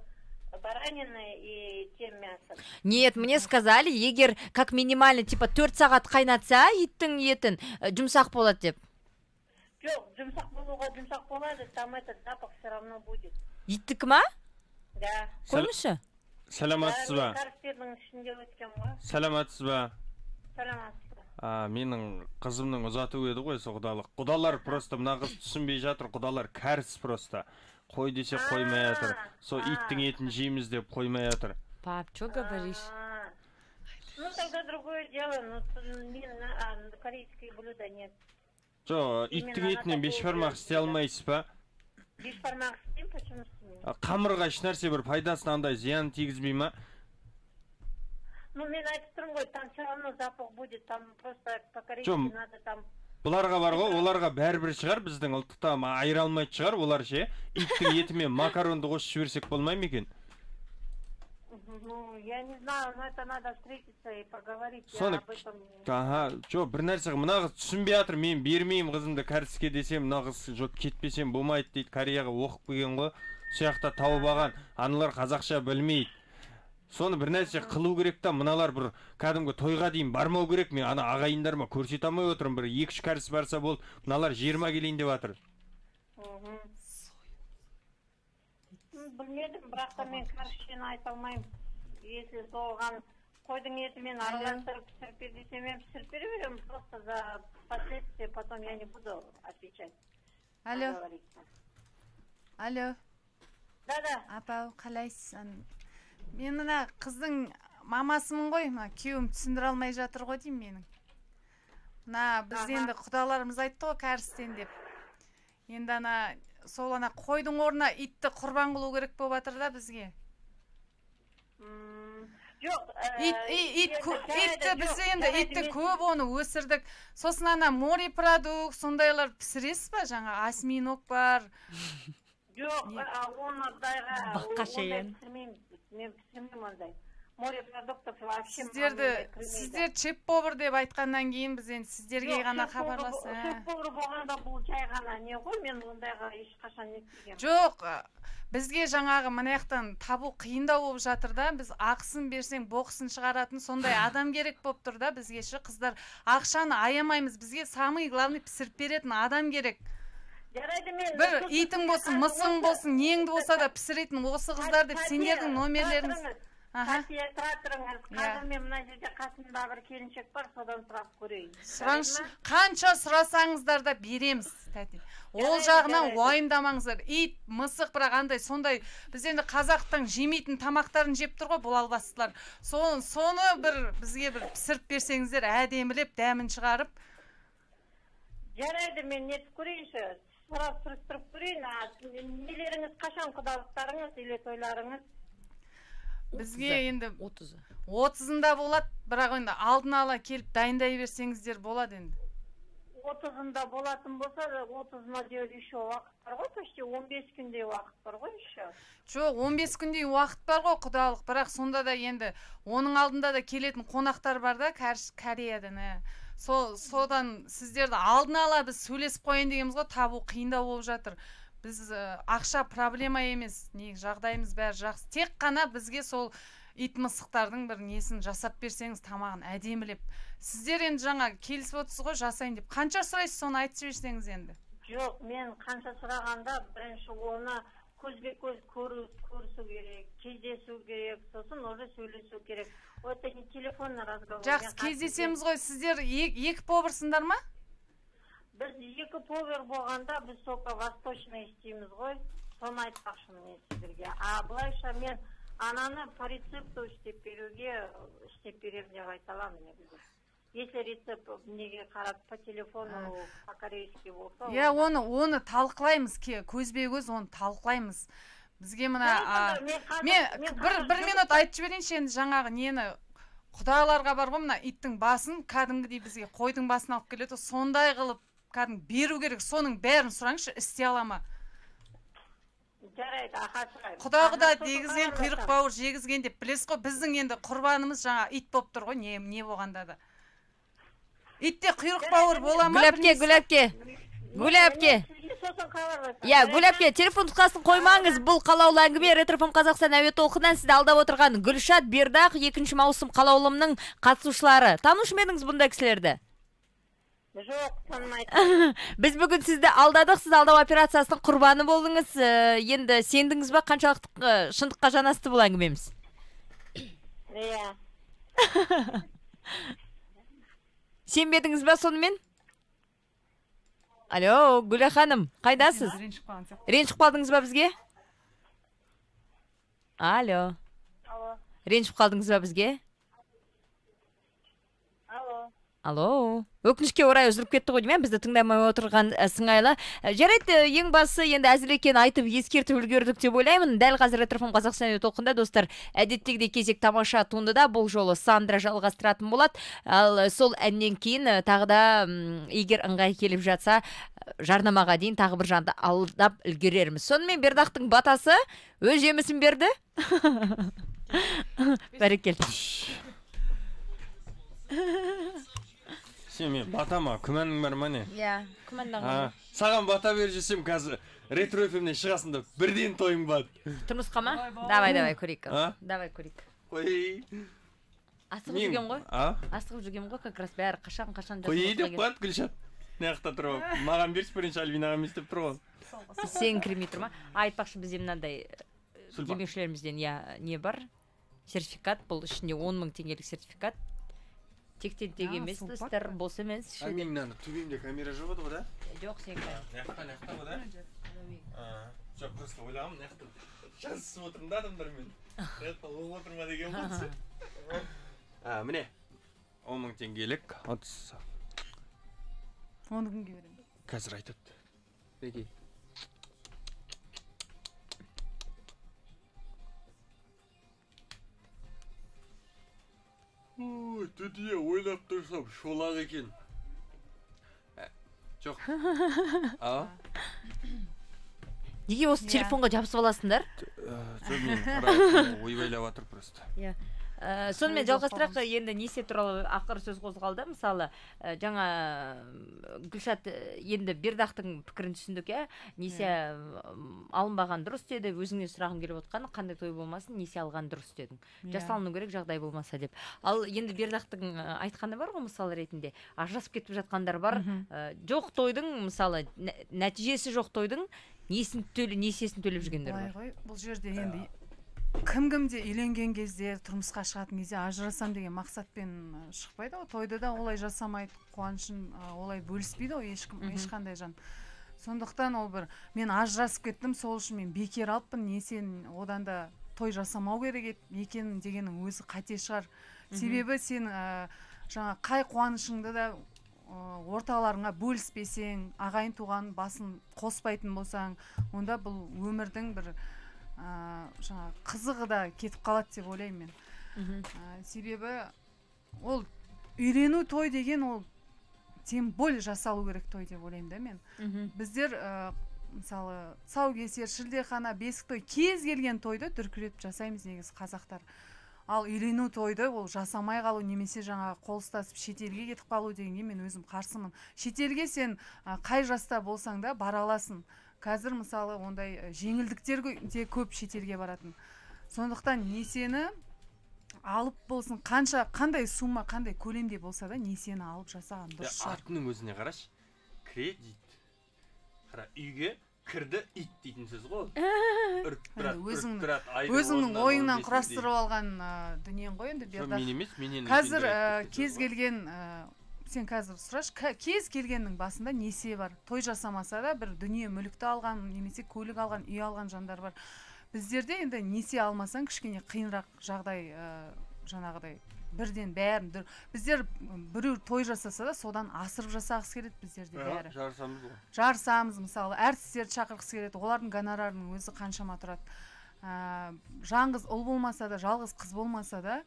бараниной и тем мясом. Нет, мне сказали, егер как минимально типа 4 сағат қайнатса иттің етін жұмсақ болады деп. Жоқ, жұмсақ болуға жұмсақ болады, там этот запах все равно будет. Иттікі ма? Да. Қоймышы? Сәлематсыз ба? Карыстердің ішінде өткен ғой. Сәлематсыз ба? Сәлематсыз. Менің қызымның ұзату еді ғой, со құдалық. Құдалар просто мына қыз түсінбей жатыр, құдалар кәріс просто. Қой десе қоймай жатыр. Со иттің етін жейміз деп қоймай жатыр. Пап, что говоришь? Ну тогда другое дело, но корейские блюда нет. Жо, иттің етінен бешбармақ істей алмайсыз ба? Бешбармақ істеймін, почему істеймін? Қамырға ешнәрсе бір пайдасын андай зиян тигізбей ма? Ну, мен айтып тұрмын ғой, там все равно запах будет, там просто по-корейски надо там... Бұларға бар ғой, оларға бәрібір шығар, біздің ұлттықта айыра алмайды шығар, олар ше, иттің етімен макаронды қосып жіберсек болмай ма екен? Ну, я не знаю, но это надо встретиться и поговорить. Я об этом... Жо, бір нәрсе, мына қыз түсінбей жатыр, мен бермеймін қызымды кәріске десем, мына қыз жоқ кетпесем болмайды дейді, Кореяға оқып келген ғой, сияқта тауып алған, аналар қазақша білмейді. Соны бір нәрсе қылу керек та, мыналар бір кәдімгі тойға дейін бармау керек. Мен ана ағайындарыма көрсете алмай отырмын, бір 2-3 кәріс барса болды, мыналар 20 келейін деп жатыр. Білмедім, бірақ та мен кәрісшені айта алмаймын. Если соған қойдың етімен араластырып пісіріп бер десем, мен пісіріп бере беремін, просто за последствия потом я не буду отвечать. Алло. Да. Апа, қалайсың? Мен мына қыздың мамасымын ғой, күйеуім түсіндіре алмай жатыр ғой деймін менің. біз енді құдаларымыз айтты ғой кәрістен деп. Енді сол қойдың орнына итті құрбан қылу керек болып жатыр да бізге. Жоқ, итті біз енді итті көп оны өсірдік. Сосын морепродукт сондайлар пісіресіз ба? Жаңа осьминог бар. Жоқ, ондайға Баққаша мен пісірмеймін ондай. Морепродуктов вообще сіздер чеф-повар деп айтқаннан кейін біз енді сіздерге ғана хабарласып. Чеф-повар болғанда бұл жай ғана не ғой, мен ондайға ешқашан нетпегенмін. Жоқ, бізге жаңағы мына жақтан табу қиындау болып жатыр да, біз ақысын берсең боқсын шығаратын сондай адам керек болып тұр да бізге ше қыздар. Ақшаны аямаймыз, бізге самый главный пісіріп беретін адам керек. Бір итің болсын, мысың болсын, неңді болса да пісіретін осы қыздар деп сендердің номерлеріңіз. Қасия тұра тұрыңыз, қазір мен мына жерде қасымда бір келіншек бар, содан сұрап көрейін. Сұраңызшы, қанша сұрасаңыздар да береміз, тәте. Ол жағынан уайымдамаңыздар. Ит, мысық, бірақ андай сондай біз енді қазақтың жемейтін тамақтарын жеп тұр ғой бұл албастылар. Соны бізге бір пісіріп берсеңіздер, әдемілеп, дәмін шығарып. Жарайды, мен нетіп көрейінші, сұрап тұрып көрейін. Нелеріңіз қашан құдалықтарыңыз, или тойларыңыз? Бізге енді 30-ында болады, бірақ енді алдын ала келіп дайындай берсеңіздер болады енді. 30-ында болатын болса, 30-ына дейін еще уақыт бар ғой, почти 15 күндей уақыт бар ғой еще. Жоқ, 15 күндей уақыт бар ғой құдалық, бірақ сонда да енді оның алдында да келетін қонақтар бар да, Кореядан. Содан сіздерді алдын ала біз сөйлесіп қойын дегеніміз ғой, табу қиындау болып жатыр. Біз ақша проблема емес, жағдайымыз бәрі жақсы. Тек қана бізге сол ит мысықтардың бір несін жасап берсеңіз тамағын әдемілеп. Сіздер енді жаңа келісіп отырсыз ғой жасайын деп. Қанша сұрайсыз, соны айтып жіберсеңіз енді. Жоқ, мен қанша сұрағанда бірінші оны көзбе-көз көрісу керек, кездесу керек, сосын уже сөйлесу керек. Это не телефонный разговор. Жақсы, кездесеміз ғой. Сіздер екі поварсыңдар ма? Біз екі повар болғанда біз соқа восточный істейміз ғой, соны айтпақшымын мен сіздерге. Былайша мен ананы по рецепту істеп беремін деп айта аламын негізі. Если рецепт неге қарап по телефону по-корейски болса. Оны талқылаймыз, көзбе-көз оны талқылаймыз. Бізге мына бір минут айтып жіберейінші енді жаңағы нені құдаларға бар ғой, мына иттің басын кәдімгідей бізге қойдың басын алып келеді, сондай қылып кәдімгі беру керек, соның бәрін сұраңызшы, істей ала ма? Жарайды, аха сұраймын. Құдағыда дегізген құйрық бауыр жегізген деп білесіз ғой, біздің енді құрбанымыз жаңа ит болып тұр ғой, не болғанда да. Итте құйрық бауыр бола ма? Гүләпке. Я, Гүләпке, телефон тұтқасын қоймаңыз. Бұл қалаулы әңгіме Ретрофм Қазақстан әуе толқынынан сізді алдап отырған Гүлшат Бердақ 2 маусым қалаулымның қатысушылары. Таныш ма едіңіз бұндай кісілерді? Жоқ, танымайтын. Біз бүгін сізді алдадық, сіз алдау операциясының құрбаны болдыңыз. Енді сендіңіз ба, қаншалықты шындыққа жанасты бұл әңгімеміз? Иә. Сенбедіңіз ба сонымен? Алло, Гүлә ханым, қайдасыз? Ренжіп қалдыңыз ба бізге? Алло. Ренжіп қалдыңыз ба бізге? Алло. Өкінішке орай үзіліп кетті ғой деймін, бізді тыңдамай отырған сыңайлы. Жарайды, ең басы енді әзілекен айтып ескертіп үлгердік деп ойлаймын. Дәл қазір Ретрофм Қазақстан әуе толқынында достар, әдеттегідей кезек тамаша туындыда бұл жолы Сандра жалғастыратын болады. Ал сол әннен кейін тағы да егер ыңғай келіп жатса, жарнамаға дейін тағы бір жанды алдап үлгерерміз. Сонымен Бердақтың батасы өз жемісін берді. Бәрекелді. Мен батама күмәнің бар ма не? Иә, күмәнданған. Саған бата бер жесем қазір Ретро FM-нен шығасында бірден тойың бар. Тұрмысқа ма? Давай көрейік. Давай көрейік. Қой. Асығып жүргем ғой? Асығып жүргем ғой, как раз бәрі қашан қой деп қояды Гүлшат. Неқта тұрып, маған берші бірінші Альбинаға емес деп тұр ғой. Сен кірмей тұр ма? Айтпақшы бізде мынандай демеушілерімізден не бар? Сертификат, бұл ішінде 10 000 теңгелік сертификат. Тектен тег емес, достар, бос емес. Мен мынаны төбемде камера жоқ еді ғой да? Жоқ, сен қай. Неқта ғой да? Жоқ, просто ойлағым, неқта жазысып отырмын да адамдармен. Неқта оғып отырма деген болсы. Міне, 10 000 теңгелік Оны кімге беремін? Қазір айтады. Беки. Дүние ойлап тұрсам шолақ екен. Жоқ. Неге осы телефонға жабысып аласыңдар? Жоқ, мен қарап ойбайлап жатыр просто. Сонымен жалғастырақ, енді несие туралы ақыр сөз қозғалды. Мысалы, жаңа Гүлшат енді Бердақтың пікірін түсіндік, несие алынбаған дұрыс деді, өзіңнен сұрағым келіп отқаны, қандай той болмасын, несие алған дұрыс дедің. Жасалыну керек жағдай болмаса деп. Ал енді Бердақтың айтқаны бар ғой, мысалы ретінде, ажырасып кетіп жатқандар бар. Жоқ тойдың, мысалы, нәтижесі жоқ тойдың несиесін төлеп жүргендер бар. Бұл жерде енді кім-кімде үйленген кезде, тұрмысқа шығатын кезде ажырасам деген мақсатпен шықпайды ғой. Тойды да олай жасамайды, қуанышын олай бөліспейді ғой ешқандай жан. Сондықтан ол бір мен ажырасып кеттім, сол үшін мен бекер алыппын, несен одан да той жасамау керек екенін дегеннің өзі қате шығар. Себебі сен жаңа қай қуанышыңды да орталарыңа бөліспесең, ағайын туған басын қоспайтын болсаң, онда бұл өмірдің бір жаңа қызығы да кетіп қалады деп ойлаймын мен. Себебі ол үйлену той деген ол тем более жасалу керек той деп ойлаймын да мен. Біздер мысалы тұсаукесер, шілдехана, бесік той, кез келген тойды дүркіретіп жасаймыз негізі қазақтар. Ал үйлену тойды ол жасамай қалу немесе жаңа қол ұстасып шетелге кетіп қалу дегенге мен өзім қарсымын. Шетелге сен қай жаста болсаң да бара аласың. Қазір мысалы ондай жеңілдіктер де көп шетелге баратын. Сондықтан несиені алып болсын, қандай сумма, қандай көлемде болса да несиені алып жасаған дұрыс шығар. Атының өзіне қараш, кредит. Қара, үйге кірді ит дейтін сөз ғой. Өзіңнің ойыңнан құрастырып алған дүниең ғой енді Бердақ. Қазір кез келген сен қазір сұраш, кез келгеннің басында несие бар. Той жасамаса да бір дүние мүлікті алған, немесе көлік алған, үй алған жандар бар. Біздерде енді несие алмасаң кішкене қиынрақ жағдай, жаңағыдай бірден бәрін. Біздер біреу той жасаса да содан асырып жасағысы келеді біздерде бәрі. Жарысамыз ғой. Жарысамыз, мысалы, әртістерді шақырғысы келеді, олардың гонорарының өзі қаншама тұрады. Жаңғыз ұл болмаса да, жалғыз қыз болмаса да,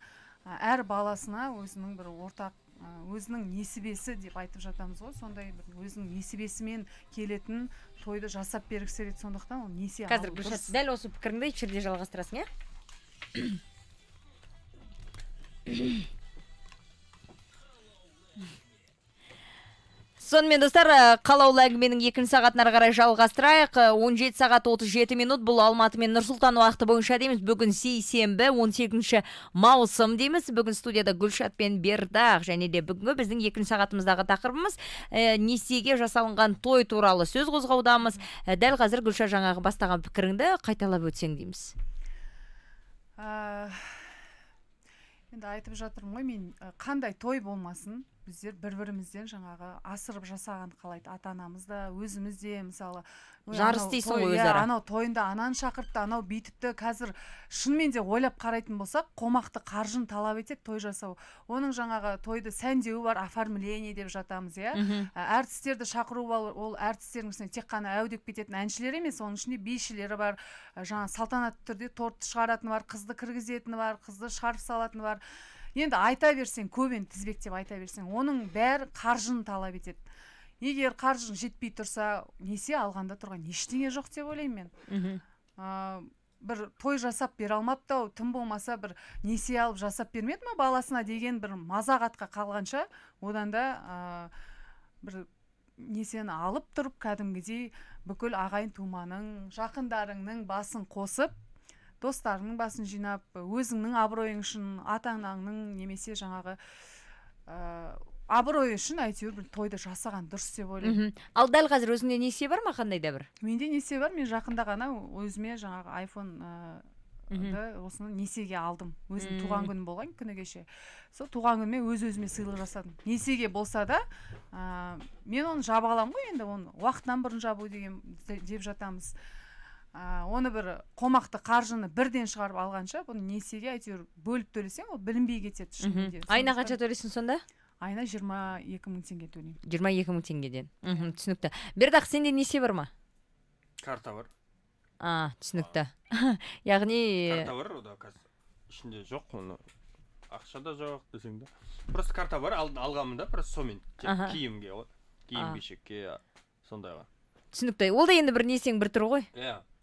әр баласына өзінің бір ортақ өзінің несібесі деп айтып жатамыз ғой, сондай бір өзінің несібесімен келетін тойды жасап бергісі келеді, сондықтан ол несие алу дұрыс. Қазір Гүлшат, дәл осы пікіріңді эфирде жалғастырасың, Сонымен достар, қалаулы әңгіменің екінші сағатын ары қарай жалғастырайық. 17 сағат 37 минут, бұл Алматы мен Нұрсұлтан уақыты бойынша дейміз. Бүгін сейсенбі 18 маусым дейміз. Бүгін студияда Гүлшат пен Бердақ, және де бүгінгі біздің екінші сағатымыздағы тақырыбымыз несиеге жасалынған той туралы сөз қозғаудамыз. Дәл қазір Гүлшат жаңағы бастаған пікіріңді қайталап өтсең дейміз. Енді айтып жатырмын ғой, мен қандай той болмасын, біздер бір-бірімізден жаңағы асырып жасаған қалайды. Ата-анамыз да, өзіміз де, мысалы, жарыс дейсің ғой өзара. Анау тойында ананы шақыртты, анау бүйтіпті. Қазір шынымен де ойлап қарайтын болсақ, қомақты қаржын талап етеді той жасау. Оның жаңағы тойды сәндеуі бар, оформление деп жатамыз, әртістерді шақыру бар, ол әртістердің тек қана әудеп кететін әншілер емес, оның ішінде бишілері бар, жаңа салтанатты түрде тортты шығаратыны бар, қызды кіргізетіні бар, қызды шығарып салатыны бар. Енді айта берсең, көбен тізбектеп айта берсең, оның бәрі қаржын талап етеді. Егер қаржын жетпей тұрса, несие алғанда тұрған ештеңе жоқ деп ойлаймын мен. Бір той жасап бере алмапты, тым болмаса бір несие алып жасап бермеді ме баласына деген бір мазағатқа қалғанша, одан да бір несиені алып тұрып, кәдімгідей бүкіл ағайын туманың, жақындарыңның басын қосып, достарының басын жинап, өзіңнің абыройың үшін, ата-анаңның немесе жаңағы абырой үшін әйтеуір бір тойды жасаған дұрыс деп ойлаймын. Ал дәл қазір өзіңде несие бар ма, қандай да бір? Менде несие бар, мен жақында ғана өзіме жаңағы iPhone осыны несиеге алдым. Өзім туған күнім болған күні кеше. Сол туған күніме өз-өзіме сыйлық жасадым. Несиеге болса да, мен оны жаба аламын ғой, енді оны уақытынан бұрын жабу деп жатамыз. Оны бір қомақты қаржыны бірден шығарып алғанша, бұны несиеге әйтеуір бөліп төлесең, ол білінбей кетеді шынымен де. Айына қанша төлейсің сонда? айына 22.000 теңге төлеймін. 22.000 теңгеден. Түсінікті. Бердақ, сенде несие бар ма? Карта бар. Түсінікті. Яғни карта бар, ода қазір ішінде жоқ, оны ақша да жоқ десең де. Просто карта бар, алғанмын да, просто сомен киімге ғой. Киім-кешекке сондайға. Түсінікті. Ол да енді бір несең бір тұр ғой.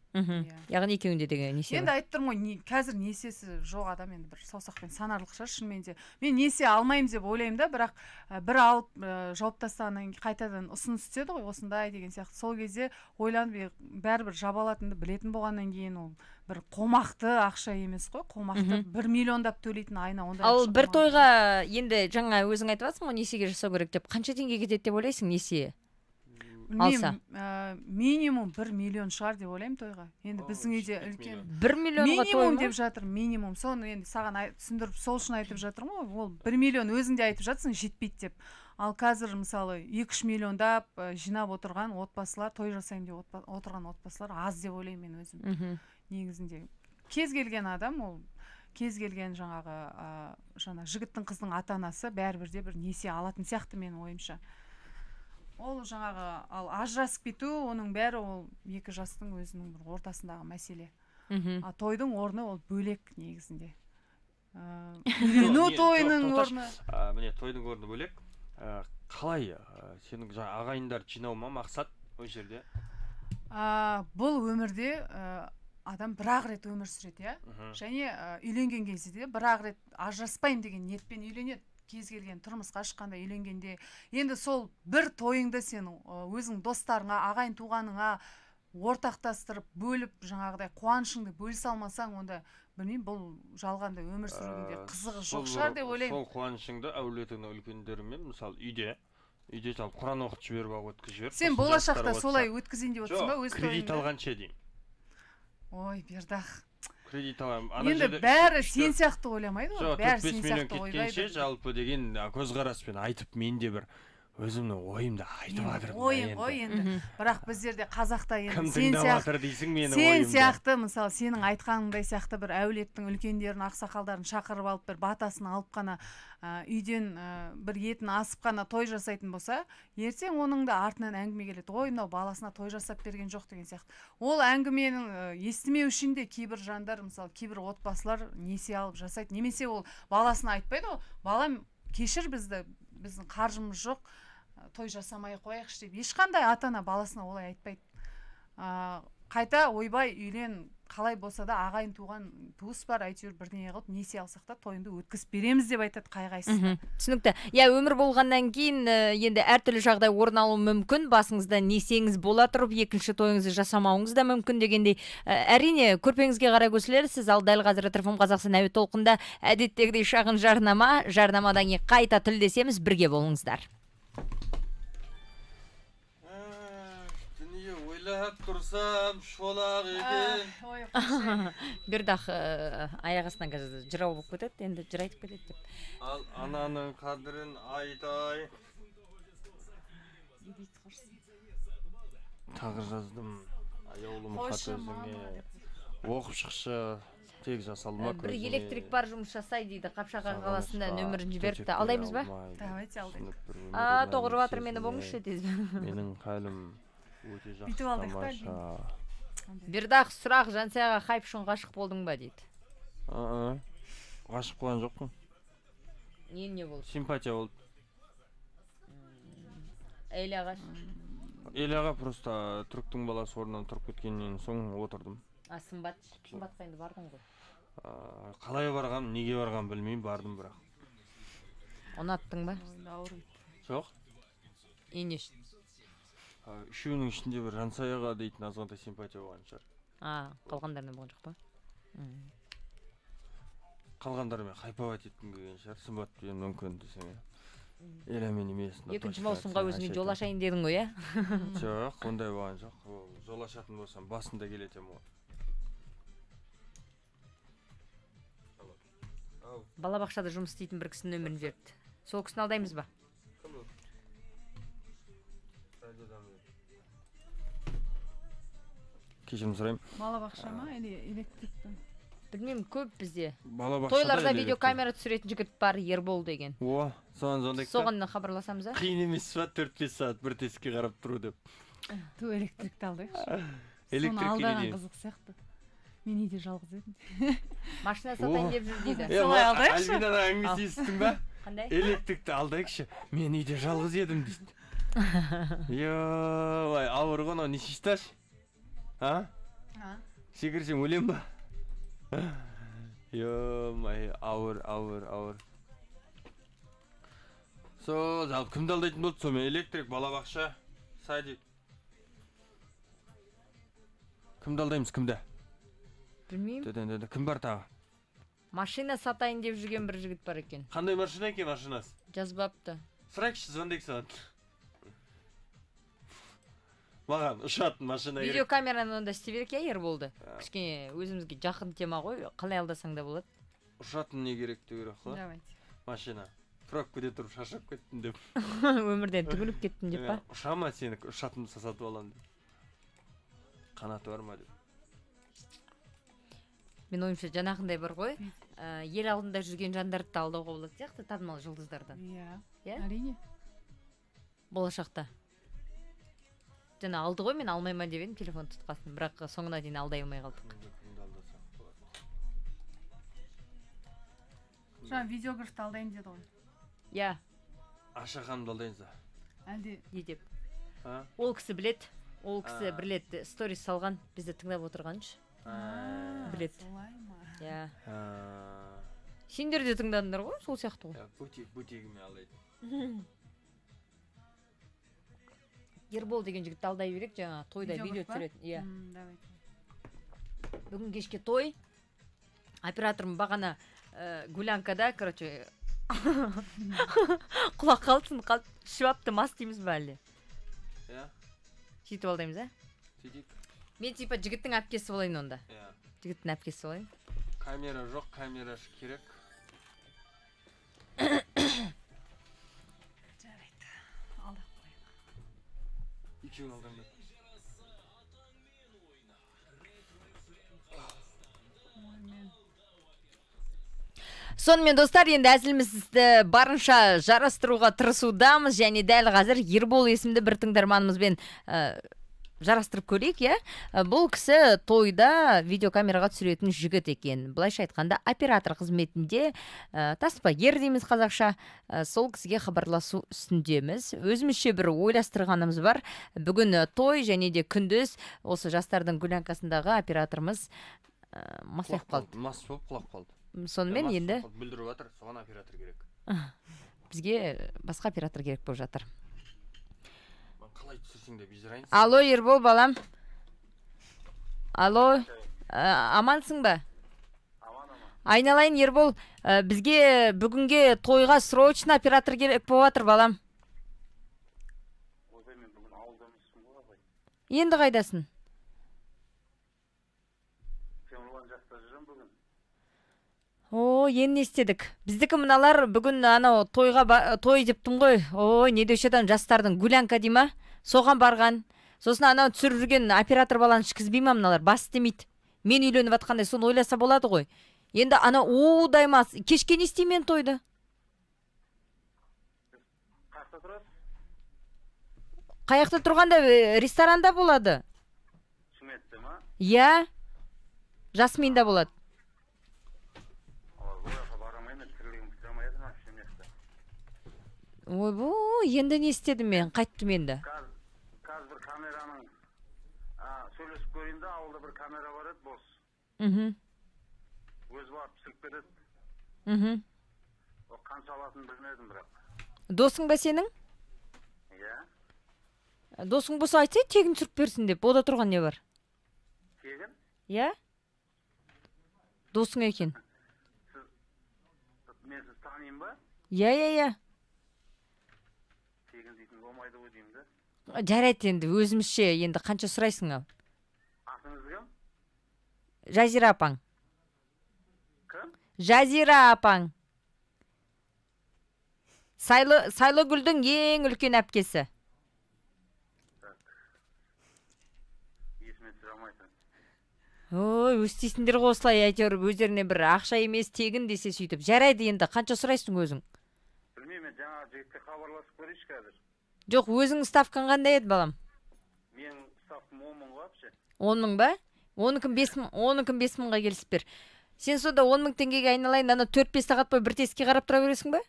Яғни екеуінде деген несие. Енді айтып тұрмын ғой, қазір несиесі жоқ адам енді бір саусақпен санарлық шығар шынымен де. Мен несие алмаймын деп ойлаймын да, бірақ бір алып жауып тастағаннан кейін қайтадан ұсыныс түседі ғой, осындай деген сияқты. Сол кезде ойланып, бәрібір жабалатынды білетін болғаннан кейін ол бір қомақты ақша емес қой, қомақты 1 миллиондап төлейтін айына ондай. Ал бір тойға енді жаңа өзің айтып жатсың ғой, несиеге жасау керек деп. Қанша теңге кетеді деп ойлайсың несие? Алса. Минимум 1 миллион шығар деп ойлаймын тойға. Енді біздің үйде үлкен 1 миллионға той минимум деп жатыр, минимум. Соны енді саған түсіндіріп сол үшін айтып жатырмын ғой. Ол 1 миллион өзің де айтып жатсың жетпейді деп. Ал қазір мысалы 2-3 миллиондап жинап отырған отбасылар, той жасаймын деп отырған отбасылар аз деп ойлаймын мен өзім. Негізінде кез келген адам, ол кез келген жаңағы жігіттің қыздың ата-анасы бәрібір де бір несие алатын сияқты менің ойымша. Ол жаңағы ал ажырасып кету, оның бәрі ол екі жастың өзінің бір ортасындағы мәселе. Тойдың орны ол бөлек негізінде. Үйлену тойының орны. Міне тойдың орны бөлек. Қалай сенің жаңа ағайындар жинау ма мақсат ол жерде? Бұл өмірде адам бір-ақ рет өмір сүреді, және үйленген кезде бір-ақ рет ажыраспаймын деген ниетпен үйленеді. Кез келген тұрмысқа шыққанда үйленгенде, енді сол бір тойыңды сен өзің достарыңа, ағайын туғаныңа ортақтастырып, бөліп, жаңағыдай қуанышыңды бөлісе алмасаң, онда білмеймін, бұл жалғанда өмір сүруінде қызығы жоқ шығар деп ойлаймын. Сол қуанышыңды әулетіңнің үлкендерімен, мысалы үйде салып Құран оқып жіберіп өткізіп жібер. Сен болашақта солай өткізейін деп отырсың ба өз тойыңды? Кредит алғанша деймін. Ой, Бердақ. Кредит аламын. Енді бәрі сен сияқты ойламайды ғой. Бәрі сен сияқты ойлайды. Жалпы деген көзқараспен айтып, мен де бір өзімнің ойымды айтып жатырмын. Ойың ғой енді. Бірақ біздерде қазақта енді сен сияқты, мысалы сенің айтқаныңдай сияқты бір әулеттің үлкендерін, ақсақалдарын шақырып алып, бір батасын алып қана үйден бір етін асып қана той жасайтын болса, ертең оның да артынан әңгіме келеді. Ой, мынау баласына той жасап берген жоқ деген сияқты. Ол әңгіменің естімеу үшін де кейбір жандар, мысалы кейбір отбасылар несие алып жасайды. Немесе ол баласына айтпайды ғой, балам кешір бізді, біздің қаржымыз жоқ, той жасамай қояйықшы деп ешқандай ата-ана баласына олай айтпайды. Қайта ойбай үйлен, қалай болса да ағайын туған туыс бар, әйтеуір бірдеңе қылып несие алсақ та тойыңды өткізіп береміз деп айтады қай-қайсысы. Түсінікті. Өмір болғаннан кейін енді әртүрлі жағдай орын алуы мүмкін, басыңызда несиеңіз бола тұрып, екінші тойыңызды жасамауыңыз да мүмкін дегендей. Әрине, көрпеңізге қарай көсілерсіз. Ал дәл қазір ТРФ Қазақстан әуе толқында әдеттегідей шағын жарнама, жарнамадан кейін қайта тілдесеміз, бірге болыңыздар. Тұрсам шолақ екен. Бердақ аяқ астынан қазір жырау болып кетеді, енді жыр айтып кетеді деп. Ал ананың қадірін айтай. Тағы жаздым. Аяулым хат өзіңе. Оқып шықшы. Тек жасалма көзіңе. Бір электрик бар жұмыс жасай дейді. Қапшағай қаласында нөмірін жіберіпті. Алдаймыз ба? Давайте алдаймыз. Тоғырып жатыр, мені болыңызшы тез. Менің қалым өте жақсы тамаша. Бердақ, сұрақ, Жансаяға хайп үшін ғашық болдың ба дейді. Ғашық болған жоқпын. Не болды? Симпатия болды. Әйел ағаш? Әйел аға просто түріктің баласы орнынан тұрып кеткеннен соң отырдым. Сымбатқа енді бардың ғой? Қалай барғам, неге барғам білмеймін, бардым бірақ. Ұнаттың ба? Жоқ. Не үшін? Үшеуінің ішінде бір Жансаяға дейтін азғантай симпатия болған шығар. Қалғандарынан болған жоқ па? Қалғандарымен хайповать еткім келген шығар, сымбатпен мүмкін десең. Еламен емес. Екінші маусымға өзіңе жол ашайын дедің ғой, Жоқ, ондай болған жоқ. Жол ашатын болсам басында келетем ғой. Балабақшада жұмыс істейтін бір кісінің нөмірін жіберіпті. Сол кісіні алдаймыз ба? Кешірім сұрайым. Балабақша ма, әлі электриктің? Білмеймін, көп бізде. Балабақшада Тойларда видеокамера түсіретін жігіт бар, Ербол деген. О, сондай. Соған хабарласамыз, а? Қиын емес па 4-5 сағат бір тесікке қарап тұру деп. Ту электрикті алдайықшы. Электрик Соны алдаған қызық сияқты. Мен үйде жалғыз едім. Машина сатайын деп жүр дейді. Солай алдайықшы. Альбинаның әңгімесі естің ба? Қандай? Электрикті алдайықшы. Мен үйде жалғыз едім дейді. Йой, ауыр ғой, не шешташ? А? Секірсең өлем ба? Йой, ауыр. Жалпы кімді алдайтын болды? Сомен электрик, балабақша, садик. Кімді алдаймыз, кімді? Білмеймін. Кім бар тағы? Машина сатайын деп жүрген бір жігіт бар екен. Қандай машина екен машинасы? Жазбапты. Сұрайықшы, звондайық саған. Маған ұшатын машина керек. Видеокамераны онда істей берек, я, Ерболды. Кішкене өзімізге жақын тема ғой, қалай алдасаң да болады. Ұшатын не керек деп керек қой? Давайте. Машина. Пробкада тұрып шаршап кеттім деп. Өмірден түңіліп кеттім деп па? Ұшама сені, ұшатынды сатып аламын деп. Қанаты бар ма деп. Мен ойымша жаңағындай бар ғой, ел алдында жүрген жандарды да алдауға болады сияқты, танымал жұлдыздардан. Иә, әрине. Болашақта. Жаңа алды ғой, мен алмайма деп едім телефон тұтқасын, бірақ соңына дейін алдай алмай қалдық. Жаңа видеографты алдайын деді ғой. Иә. Аша ханымды алдайыныз да. Әлде Не деп? Ол кісі білет, ол кісі бірлет сторис салған, бізді тыңдап отырғаншы. Білет. солай ма? Иә. Сендер де тыңдадыңдар ғой, сол сияқты ғой. Бутигіме алдайды. Ербол деген жігітті алдай берек, жаңа тойда видео түсіретін. Иә. Давайте. Бүгін кешке той. Операторым бағана гулянкада, короче, құлақ қалсын, шыбапты мас дейміз ба әлі? Иә. Сөйтіп алдаймыз, а? Сөйтейік. Мен типа жігіттің әпкесі болайын онда. Иә. Жігіттің әпкесі болайын. Камера жоқ, камера керек. Жарайды. Алдап қояйық. Екеуін алдым. Сонымен достар, енді әзілімізді барынша жарастыруға тырысудамыз, және дәл қазір Ербол есімді бір тыңдарманымызбен жарастырып көрейік, иә? Бұл кісі тойда видеокамераға түсіретін жігіт екен. Былайша айтқанда оператор қызметінде, таспагер дейміз қазақша, сол кісіге хабарласу үстіндеміз. Өзімізше бір ойластырғанымыз бар. Бүгін той және де күндіз осы жастардың гулянкасындағы операторымыз масайып қалды. Мас болып құлап қалды. Сонымен енді бүлдіріп жатыр, соған оператор керек. Бізге басқа оператор керек болып жатыр. Қалай түсірсең де бежірайын. Алло, Ербол балам. Алло, амансың ба? Айналайын, Ербол, бізге бүгінге тойға срочно оператор керек болып жатыр, балам. Ойбай, мен бүгін ауылда емеспін ғой, абай. Енді қайдасың? Темірлан жақта жүрем бүгін. О, енді естедік. Біздікі мыналар бүгін анау той дептім ғой. Ой, не деуші адам жастардың гулянка дей ма? Соған барған. Сосын анау түсіріп жүрген оператор баланы ішкізбей ма мыналар? Бас істемейді. Мен үйленіп атқандай соны ойласа болады ғой. Енді анау даймас. Кешке не істеймен тойды? Қақта тұрасыз? Қаяқта тұрғанда ресторанда болады. Шыметті ма? Иә. Жасминда болады. Ой, енді не істедім мен? Қайттым енді. Қазір бір камераның сөйлесіп көрейін да, ауылда бір камера бар еді, бос. Өз барып түсіріп береді. Қанша алатынын білмедім бірақ. Досың ба сенің? Иә. Досың болса айтсай, тегін түсіріп берсін деп. Ода тұрған не бар? Тегін? Иә? Досың екен. Мен сіз танайын ба? Иә. Тегін дейтін болмайды ғой деймін де. Жарайды енді, өзімізше енді қанша сұрайсың ал? Атыңыз кім? Жазира апаң. Кім? Жазира апаң. Сайлыгүлдің ең үлкен әпкесі. Есіме түсіре алмайсың. Ой, өстейсіңдер ғой осылай, әйтеуір өздеріне бір ақша емес тегін десе сөйтіп. Жарайды енді, қанша сұрайсың өзің? Білмеймін, жаңа жігітке хабарласып көрейінші қазір. Жоқ, өзің ставкаң қандай еді, балам? Менің ставкам 10 мың вообще. 10 мың ба? 10 5 мыңға келісіп бер. Сен сонда 10 мың теңгеге айналайын, ана 4-5 сағат бойы бір тесікке қарап тұра бересің ба?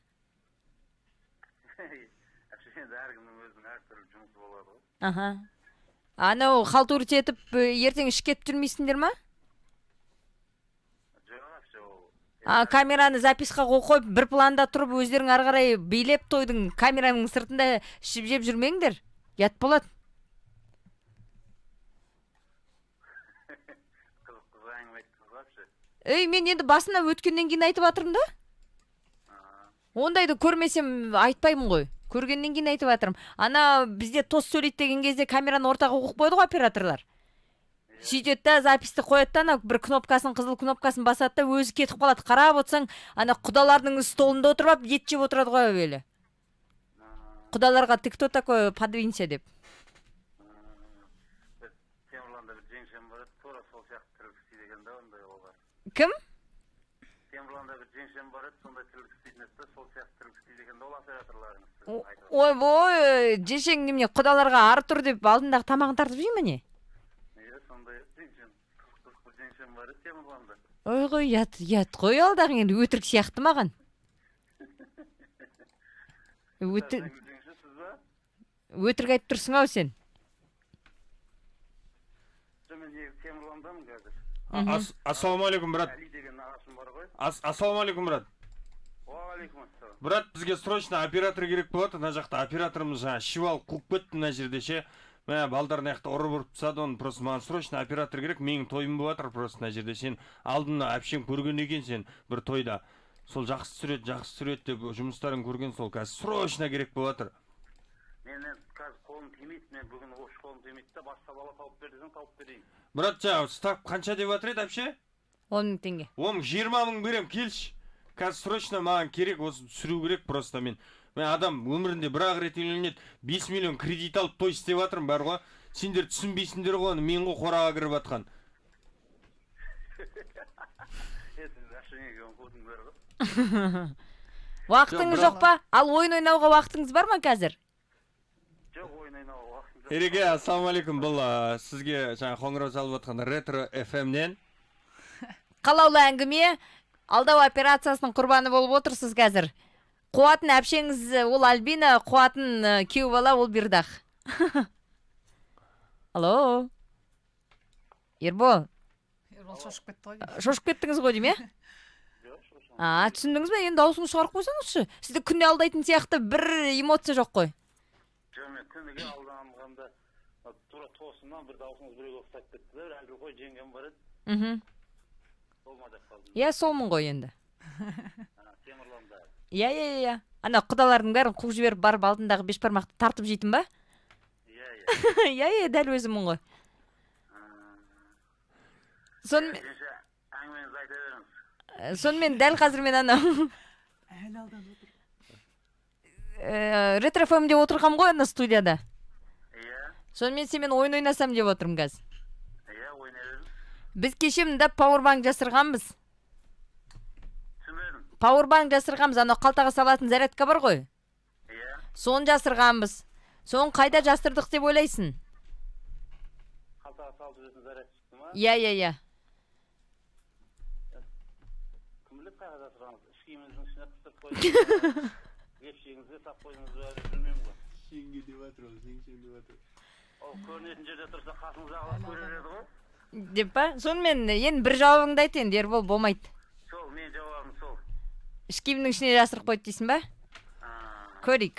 Енді әркімнің өзінің әртүрлі жұмысы болады ғой. Аха. Анау халтурить етіп, ертең ішіп кетіп жүрмейсіңдер ма? Камераны записқа қойып, бір планда тұрып, өздерің ары қарай билеп тойдың камераның сыртында ішіп жеп жүрмеңдер. Ят болады. Мен енді басына өткеннен кейін айтып атырмын да? Ондайды көрмесем айтпаймын ғой. Көргеннен кейін айтып атырмын. Ана бізде тос сөйлейді деген кезде камераны ортаға қойып қойды ғой операторлар. Сөйтеді да, записті қояды да, бір кнопкасын, қызыл кнопкасын басады да, өзі кетіп қалады. Қарап отырсаң, ана құдалардың столында отырып, ет жеп отырады ғой әуелі. Құдаларға ты кто такой, подвинься деп. Темірланда бір жеңшем бар, тура сол сияқты тірлік істейді екен да, ондай олар. Кім? Темірланда бір жеңшем бар, сондай тірлік істейтін еді, сол сияқты тірлік істейді екен да, ол операторларыңыз. Ой, жешең немене, құдаларға ары тұр деп алдындағы тамағын тартып жей ме не? Ой ғой, ят қой алдағы енді өтірік сияқты маған. Өтірік айтып тұрсың ау сен. Ассалаумалейкум, брат. Ассалаумалейкум, брат. Брат, бізге срочно оператор керек болады. Мына жақта операторымыз жаңа шивал қуып кетті мына жерде ше. Мә балдарын аяқта ұрып тастады, оны просто маған срочно оператор керек. Менің тойым болып жатыр просто мына жерде. Сен алдына әпшем көрген екен сен бір тойда. Сол жақсы сүрет деп жұмыстарын көрген, сол қазір срочно керек болып жатыр. Мен қазір қолым тимейді, мен бүгін ош қолым тимейді да, басқа бала тауып бер десең тауып берейін. Брат, жаңа став қанша деп жатыр еді әпше? 10 мың теңге. 20 мың берем, келші. Қазір срочно маған керек, осы сүру керек просто мен. Мен адам өмірінде бір-ақ рет үйленеді, 5 миллион кредит алып той істеп жатырмын бар ғой. Сендер түсінбейсіңдер ғой, мен ғой қораға кіріп жатқан. Уақытыңыз жоқ па? Ал ойын ойнауға уақытыңыз бар ма қазір? Жоқ, ойын ойнауға уақытым жоқ. Ереке, ассалаумалейкум, бұл сізге жаңа қоңырау салып жатқан Ретро FM-нен. Қалаулы әңгіме, алдау операциясының құрбаны болып отырсыз қазір. Қуатын әпшеңіз ол Альбина, қуатын кеу бала ол Бирдах. Алло. Ербол. Ербол шошып кетті ғой. Шошып кеттіңіз ғой дейм, түсіндіңіз бе? Енді даусыңыз шығарып қойсаңызшы. Сізді күнде алдайтын сияқты бір эмоция жоқ қой. Жоқ, мен күніге алданғанда тура тосыннан бір даусыңыз біреуге ұқсап кетті да, әлгі қой жеңгем бар еді. Болмады қалдым. Иә, солмын ғой енді. Темірланда. Иә. Ана құдалардың бәрін қуып жіберіп барып алдындағы бешбармақты тартып жейтін ба? Иә, дәл өзімін ғой. Сонымен дәл қазір мен ана Ретро FM-де отырғам ғой ана студияда. Сонымен семен ойын ойнасам деп отырмын қазір. Біз кеше мында пауэрбанк жасырғанбыз. Пауэрбанк жасырғанбыз, ана қалтаға салатын зарядка бар ғой. Соны жасырғанбыз. Соны қайда жасырдық деп ойлайсың? Қалтаға салып жүретін заряд шықты ма? Иә. Кім біліп қайда жасырғанбыз? Ішкиіміздің ішіне қыстырып қойдыңыз. Епшегіңізге сап қойдыңыз ба, білмеймін ғой. Шеңге деп жатыр ол, шең деп жатыр. Ол көрінетін жерде тұрса қасыңыздағы көрер еді ғой. Деп па? Сонымен енді бір жауабыңды айт енді, Ербол, болмайды. Сол, мен жауабым сол. Ішкиімнің ішіне жасырып қойды дейсің ба? Көрейік.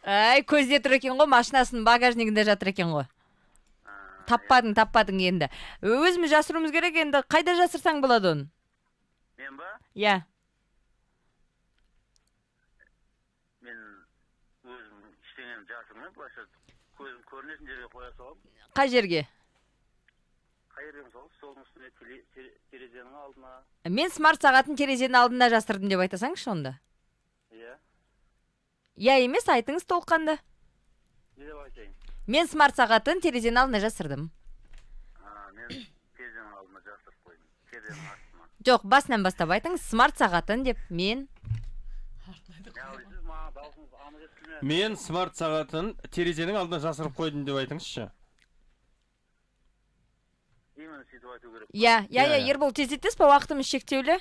Ай, көзде тұр екен ғой, машинасының багажнигінде жатыр екен ғой. Таппадың енді. Өзіміз жасыруымыз керек енді, қайда жасырсаң болады оны? Мен ба? Иә. Мен өзім іштеңем жасырмай, бұлаша көзім көрінетін жерге қоя салам. Қай жерге? Қай жерге мысалы, столдың үстіне, терезенің алдына. Мен смарт сағатын терезенің алдында жасырдым деп айтасаңшы онда? Иә. Иә емес, айтыңыз толыққанда. Не деп айтайын? Мен смарт сағатын терезенің алдына жасырдым. Мен терезенің алдына жасырып қойдым. Терезенің астына. Жоқ, басынан бастап айтыңыз, смарт сағатын деп мен. Мен смарт сағатын терезенің алдына жасырып қойдым деп айтыңызшы. Именно сөйтіп айту керек. Иә, Ербол тездетесіз ба, уақытымыз шектеулі?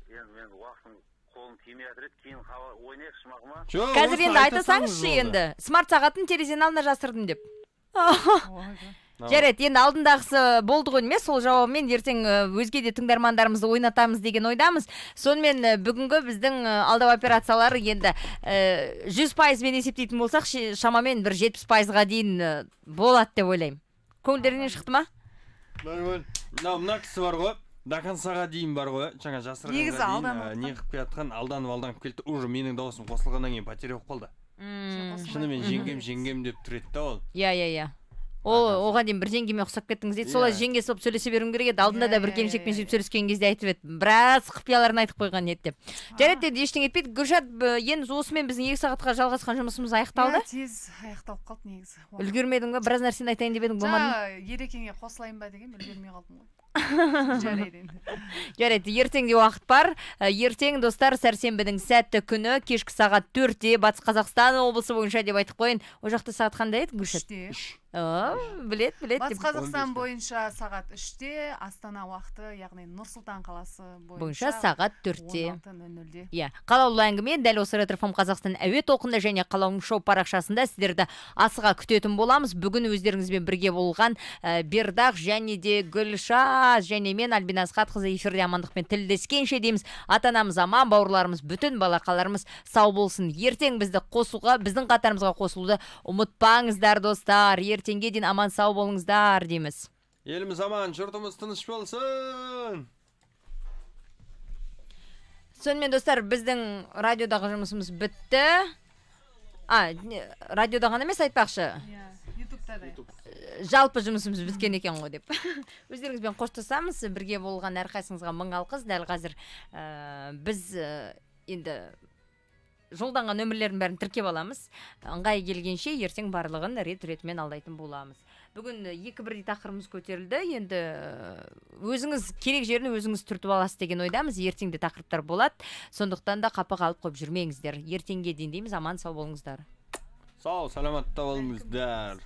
Енді уақытым қолым тимей жатыр еді, кейін ойнайықшы мақыма. Қазір енді айтасаңызшы енді. Смарт сағатын терезенің алдына жасырдым деп. Жарайды, енді алдындағысы болды ғой емес, сол жауабымен ертең өзге де тыңдармандарымызды ойнатамыз деген ойдамыз. Сонымен бүгінгі біздің алдау операциялары енді 100%-мен есептейтін болсақ, шамамен бір 70%-ға дейін болады деп ойлаймын. Көңілдерінен шықты ма? Мына кісі бар ғой, до концаға дейін бар ғой, жаңа жасырғанға дейін не қып келатқан, алданып келді, уже менің дауысым қосылғаннан кейін потеря болып қалды. Шынымен жеңгем деп тұреді да ол. Иә. Оған дейін бір жеңгеме ұқсап кеттіңіз дейді. Солай жеңгесі болып сөйлесе беруім керек еді. Алдында да бір келіншекпен сөйтіп сөйлескен кезде айтып еді. Біраз құпияларын айтып қойған еді деп. Жарайды, деді, ештеңе етпейді. Гүлшат, енді осымен біздің 2 сағатқа жалғасқан жұмысымыз аяқталды. Тез аяқталып қалды негізі. Үлгермедің ба? Біраз нәрсені айтайын деп едің, болмады. Ерекеңе қосылайын ба деген, үлгермей қалдым ғой. Жарайды, ертеңде уақыт бар. Ертең достар, сәрсенбінің сәтті күні кешкі сағат 4-те Батыс Қазақстан облысы бойынша деп айтып қойын. О жақта сағат қандай еді, Гүлшат? 3-те. Білет. Батыс Қазақстан бойынша сағат 3-те, Астана уақыты, яғни Нұр-Сұлтан қаласы бойынша сағат 4-те. 16:00-де. Иә, қалаулы әңгіме дәл осы Ретрофм Қазақстан әуе толқынында және қалаулы шоу парақшасында сіздерді асыға күтетін боламыз. Бүгін өздеріңізбен бірге болған Бердақ және де Гүлшат және мен Альбина Асхатқызы эфирде амандықпен тілдескенше дейміз. Ата-анамыз аман, бауырларымыз, бүтін балақаларымыз сау болсын. Ертең біздің қатарымызға қосылуды ұмытпаңыздар достар. Ертеңге дейін аман сау болыңыздар дейміз. Еліміз аман, жұртымыз тыныш болсын. Сонымен достар, біздің радиодағы жұмысымыз бітті. Радиода ғана емес, айтпақшы. Ютубта да. Жалпы жұмысымыз біткен екен ғой деп. Өздеріңізбен қоштасамыз, бірге болған әрқайсыңызға мың алғыс. Дәл қазір біз енді жолданған нөмірлерін бәрін тіркеп аламыз. Ыңғай келгенше ертең барлығын рет-ретімен алдайтын боламыз. Бүгін 2-1 тақырыбымыз көтерілді. Енді өзіңіз керек жерін өзіңіз түртіп аласыз деген ойдамыз. Ертеңде тақырыптар болады. Сондықтан да қапы қалып қойып жүрмеңіздер. Ертеңге дейін дейміз, аман сау болыңыздар. Сау, саламатта болыңыздар.